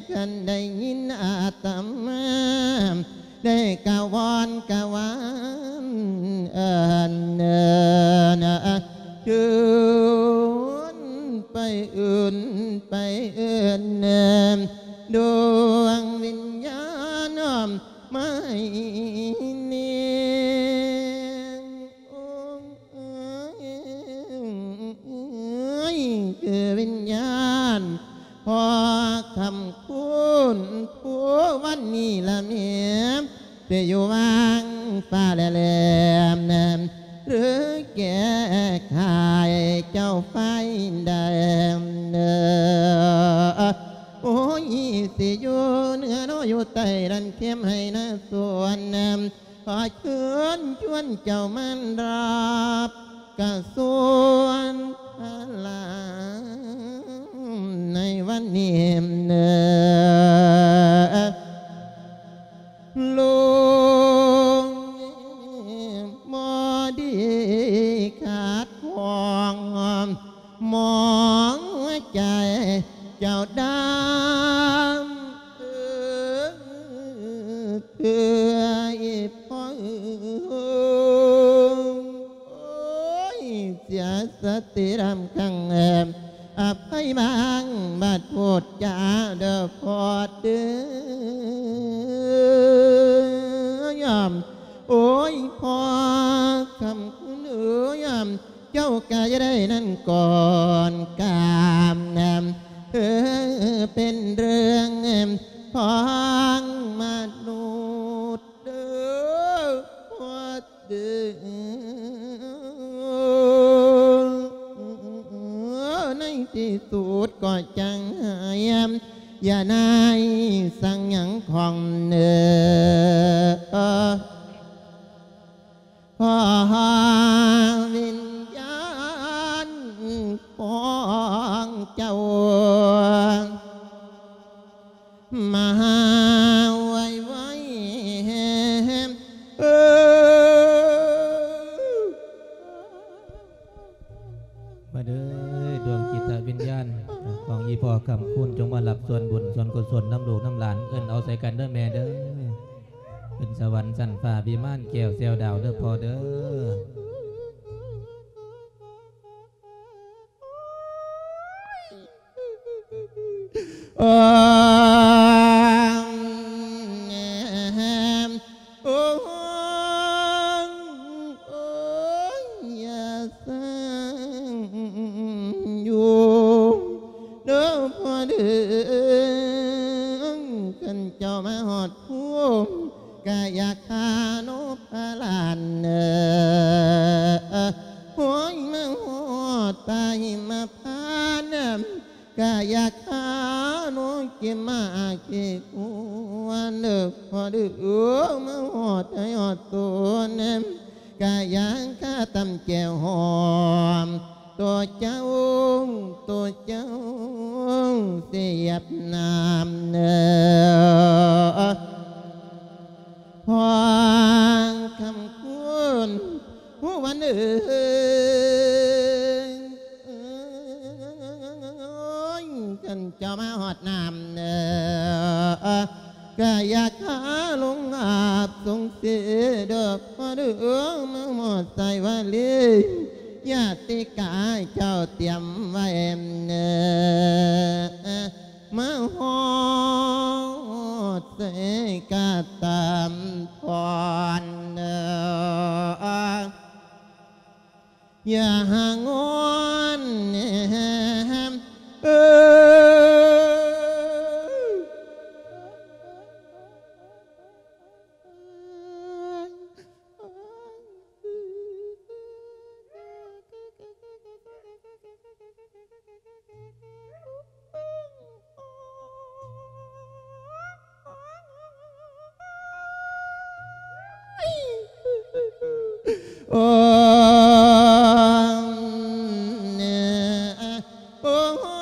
ຄັນໄດ້ຍິນອາດຕະມາ ໄດ້ກະວອນກະວານເອີ້ນເນີນະ ເຊີນໄປເອີ້ນ ໄປເອີ້ນເນີນ ດວງວິນຍານມາໃຫ້ແນງ ໂອ້ ເອີຍ ຄືວິນຍານພໍ່ຄຳຄູນ ຜູ້ວັນນີ້ລະແມ່ ໄປຢູ່ວັງຟ້າແລມ ຫຼືແກ້ໄຂເຈົ້າໄຟແດງ ໂອ້ຍ ຊິຢູ່ເໜືອເນາະ ຢູ່ໃຕ້ ນັ້ນເຂັມໄຮ່ນາສວນ ຂໍເຊີນຊວນເຈົ້າມາຮັບກະຊວນພະລາໃນວັນນີ້ເນີ ໂລງບໍ່ດີຂາດຂອງ ມອງໃຈເຈົ້າດຳ ເອີ ເອີ ອີ່ພໍ່ເອີຍ ໂອ້ຍ ເສຍສະຕິດຳຄັງ ອະໄພບາງບາດໂພດຈາເດີພໍ່ເດີ ໂອ້ຍ ພໍ່ຄຳຄຸນເອີຍ ເຈົ້າກະຢ່າໄດ້ນັ້ນກ່ອນກາມນຳ ເອີ ເປັນເລື່ອງຂອງມະນຸດເດີ ເດີ ໃນທີ່ສຸດກໍຈັ່ງໃຫ້ ຢ່ານາຍສັ່ງຫຍັງຂອງເນີ ຂໍວິນຍານຂອງເຈົ້າ ມາຫາໄວໆ ເອີ ມາເດີ ດວງຈິດຕະວິນຍານຂອງອີ່ພໍ່ຄຳຄູນ ຈົ່ງມາຮັບສ່ວນບຸນສ່ວນກຸສົນນຳລູກນຳຫຼານ ເອີ້ນເອົາໃສ່ກັນເດີແມ່ເດີ ຂຶ້ນສະຫວັນຊັ້ນຟ້າວິມານແກ້ວແຊວດາວເດີພໍ່ເດີ. ໂອ້ ໂອ້ ໂອ້ ຢ່າສ້າງຢູ່ເດີພໍ່ເດີ ຄັນເຈົ້າມາຮອດພູມ ກະຢ່າຄາໂນພະລານເອີ ໂອ້ຍ ມາຮອດປ່າຫິມະພານ ກະຢ່າຄາໂນເກມາເກກວນເດີພໍ່ເດີ ມາຮອດໃຫ້ຮອດໂຕນ ກະຢ່າຄາຕຳແຈ່ວຫອມ ໂຕເຈົ້າ ໂຕເຈົ້າສຽບນ້ຳເດີ. ພໍ່ຄຳຄູນ ຜູ້ວັນເອີຍ ຄັນເຈົ້າມາຮອດນ້ຳ ກະຢາກຫາລົງອາບສົງເສດອກ ພໍເດີມາຮອດສາຍວາລີ ຍາຕິກາເຈົ້າຕຽມໄວ້ ມາຮອດໃສກະຕາມພອນ ຢ່າຫາງອນແນມ ເອີ ໂອ້ ໂອ້ ໂອ້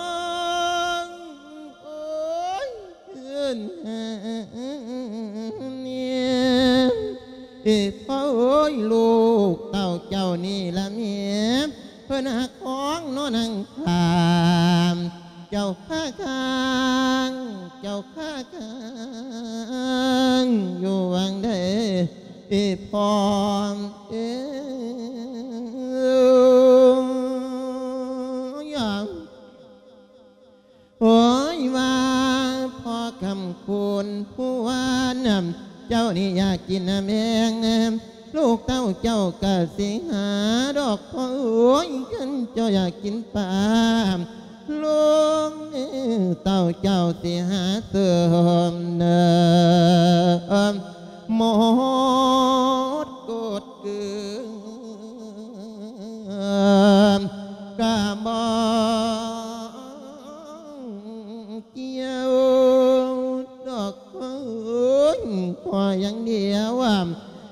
ຍ ເອີ ພໍ່ເອີຍ ລູກເຕົ້າເຈົ້ານີ້ລະແມ່ ເພິ່ນຫາຂອງເນາະນາງຂ້າ ເຈົ້າຂ້າຄ້າງ ເຈົ້າຂ້າຄ້າງ ຢູ່ຫວ່າງໃດ ພໍ່ເອີຍ ໂອ້ຍ ວ່າພໍ່ຄຳຄູນ ຜູ້ວ່ານຳ ເຈົ້ານີ້ຢາກກິນນ້ຳແຮງ ລູກເຕົ້າເຈົ້າກະຊິຫາດອກ ພໍ່ເອີຍ ຄັນເຈົ້າຢາກກິນປາ ລູກເຕົ້າເຈົ້າຊິຫາເສີມ ໝົດກົດເກືອ ກະບໍ່ກ່ຽວດອກ ຂໍຢ່າງດຽວ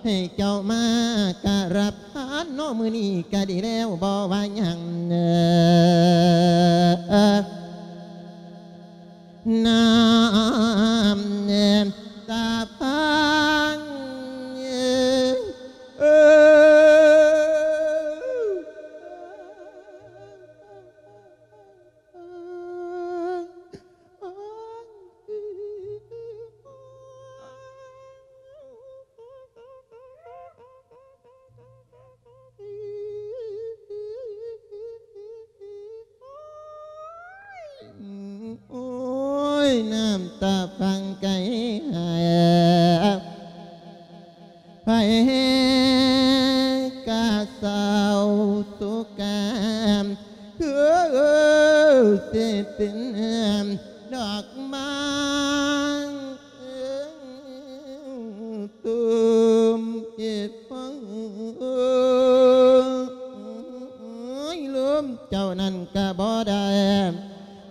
ໃຫ້ເຈົ້າມາກະຮັບທານເນາະ ມື້ນີ້ກະດີແລ້ວ ບໍ່ວ່າຫຍັງ ນ້ຳຕາຟັງ ໂອ້ຍ ນ້ຳຕາຟັງໄກຫາ ໃຜກະເສົ້າໂສກາ ຄືຊິເປັນດອກໄມ້ ຕູມເຈັບ ລົມເຈົ້ານັ້ນກະບໍ່ໄດ້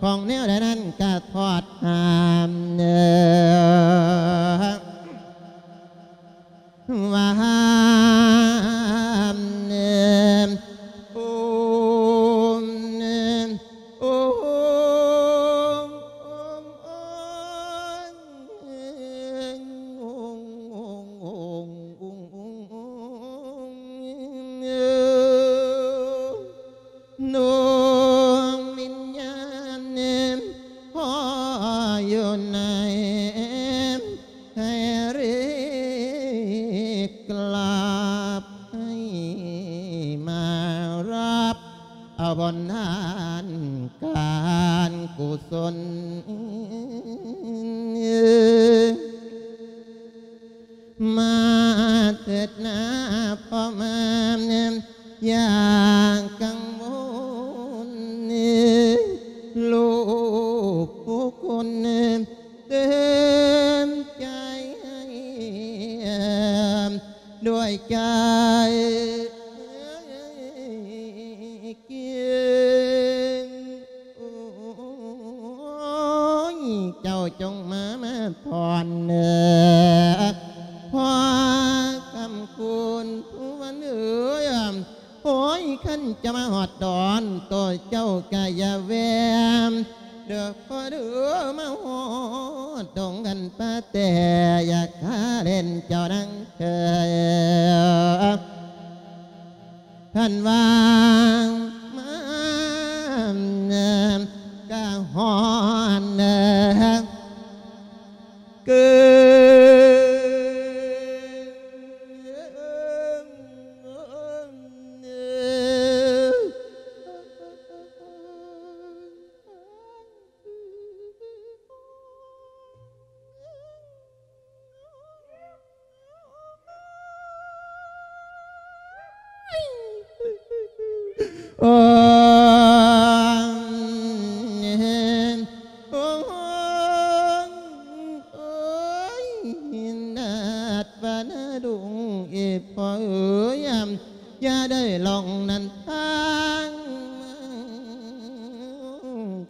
ຂອງແນວໃດນັ້ນກະທອດຫາມ ວ່າຫາມ ໂອມ ໂອມ ໂອມ ໂອມ ດວງວິນຍານ ພໍ່ຢູ່ໃນ ໃຫ້ເຣີກລັບ ໃຫ້ມາຮັບເອົາບຸນທານການກຸສົນ ມາເທີດນາພໍ່ມາ ຢ່າກັງວົນ ລູກຜູ້ຄົນ ເຕັມໃຈໃຫ້ ດ້ວຍໃຈ ເກັ່ງ ໂອ້ຍ ເຈົ້າຈົ່ງມາ ມາພອນເດີ ພໍ່ຄຳຄູນ ຜູ້ວັນເອີຍ ໂອ້ຍ ຄັນຈະມາຮອດດອນ ໂຕເຈົ້າກະຢ່າແວ່ ເດີພໍ່ເດີ ມາຮອດດົງກັນປາແຕ່ ຢາກຫາເຫຼັ້ນເຈົ້ານາງ ທ່ານວ່າມາກະຮອດເກີນ ໂອ້ ໂອ້ຍ ນັດວ່ານະດຸງເອ ພໍ່ເອີຍ ຢ່າໄດ້ລອງນັ້ນທາງ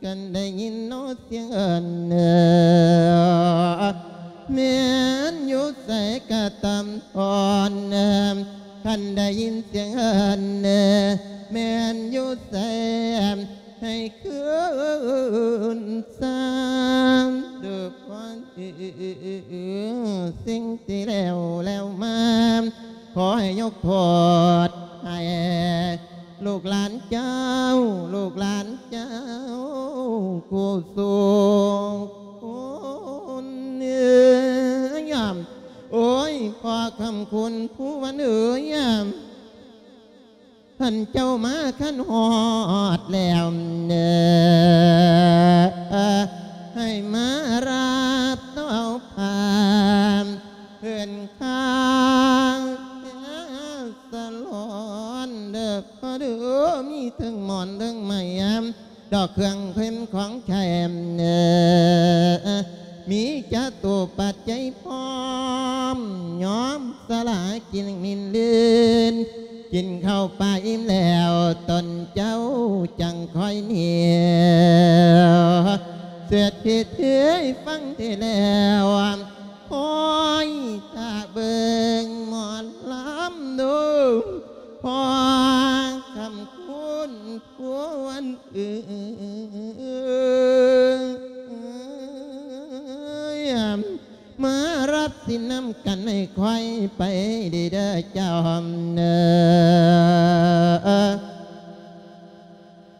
ຄັນໄດ້ຍິນເນາະສຽງເອີ້ນ ແມ່ນຢູ່ໃສກະຕາມທອນ ຄັນໄດ້ຍິນສຽງເອີ້ນ ແມ່ນຢູ່ໃສໃຫ້ຄືນຊາ ເດີພອນ ສິ່ງທີ່ແລ້ວແລ້ວມາ ຂໍໃຫ້ຍົກໂທດໃຫ້ລູກຫຼານເຈົ້າ ລູກຫຼານເຈົ້າຄູ່ສູ່ຄົນ ໂອ້ຍ ພໍ່ຄຳຄຸນພູວັນເອີຍ ທ່ານເຈົ້າມາຄັນຮອດແລ້ວເດີ ໃຫ້ມາຮັບເອົາຜ້າເພິ່ນຄາສະຫຼອນເດີພໍ່ເດີ ມີເທິງໝອນເທິງໄມ້ ດອກເຄື່ອງເຄັມຂອງໃຊ້ ມີຈະຕຸປັດໄຈພ້ອມ ຍອມສະຫຼາກິນມິນລື່ນ ກິນເຂົ້າປາອີ່ມແລ້ວ ຕົນເຈົ້າຈັ່ງຄ່ອຍໜີ ເສດພິທີຟັງເທດແລ້ວ ຄອຍຖ້າເບິ່ງໝໍລຳດູ ພໍ່ຄຳຄຸນ ຜູ້ວັນເອີຍ ມາຮັບສິນນຳກັນໃຫ້ຂ້ອຍໄປດີເດີເຈົ້າເດີ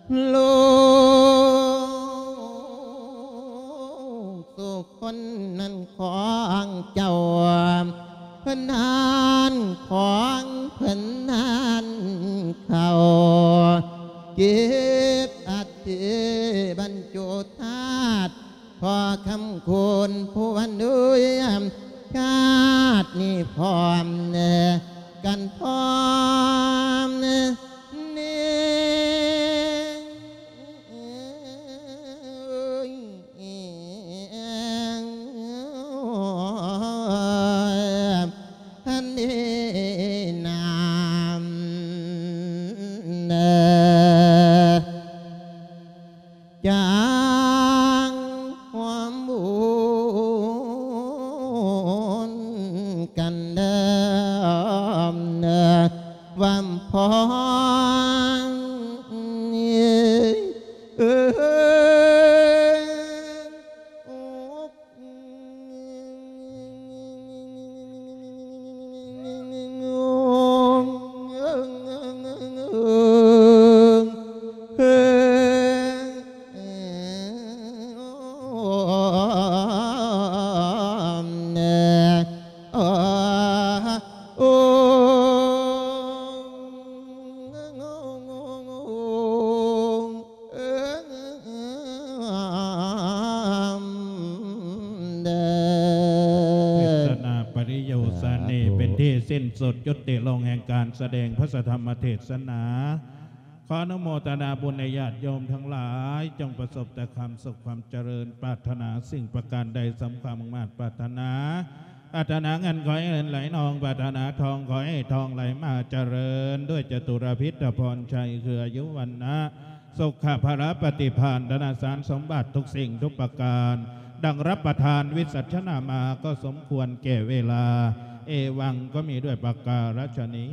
ລູກສຸຄົນນັ້ນຂອງເຈົ້າ ເພິ່ນທານຂອງເພິ່ນທານເຂົ້າ ເກັບອັດ ທີ່ບັນຈຸທາດ ພໍ່ຄຳຄຸນຜູ້ວັນເອີຍ ຊາດນີ້ພ້ອມກັນພ້ອມແນ່ ອັນນີ້ນາມເດີ ຈັງຮ່ວມບຸນກັນເດີ ວ່າພ້ອມ ເອີຍ ເທດສະໜາປະລິໂຍສານີ ສາທຸ ເປັນທີ່ສິ້ນສຸດຍຸຕິລົງແຫ່ງການສະແດງພະສະທຳມະເທດສະໜາ. ຂໍອະນຸໂມທະນາບຸນໃຫ້ຍາດໂຍມທັງຫຼາຍ ຈົ່ງປະສົບແຕ່ຄວາມສຸກຄວາມຈະເລີນ, ປາດຖະໜາສິ່ງປະການໃດສົມຄວາມມຸ່ງມາດປາດຖະໜາ. ປາດຖະໜາເງິນຂໍໃຫ້ເງິນໄຫຼນອງ, ປາດຖະໜາທອງຂໍໃຫ້ທອງໄຫຼມາ, ຈະເລີນດ້ວຍຈະຕຸລະພິດຕະພອນໄຊ ຄືອາຍຸວັນນະ ສຸຂະພະລະປະຕິພານ ທະນະສານສົມບັດທຸກສິ່ງທຸກປະການ ດັ່ງຮັບປະທານວິສັດຊະນາມາ ກໍສົມຄວນແກ່ເວລາ. ເອວັງ ກໍມີດ້ວຍປະກາລະຊະນີ.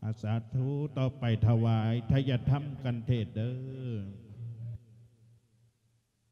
ອາ ສາທຸ. ຕໍ່ໄປຖວາຍທະຍະທຳກັນເທດເດີ.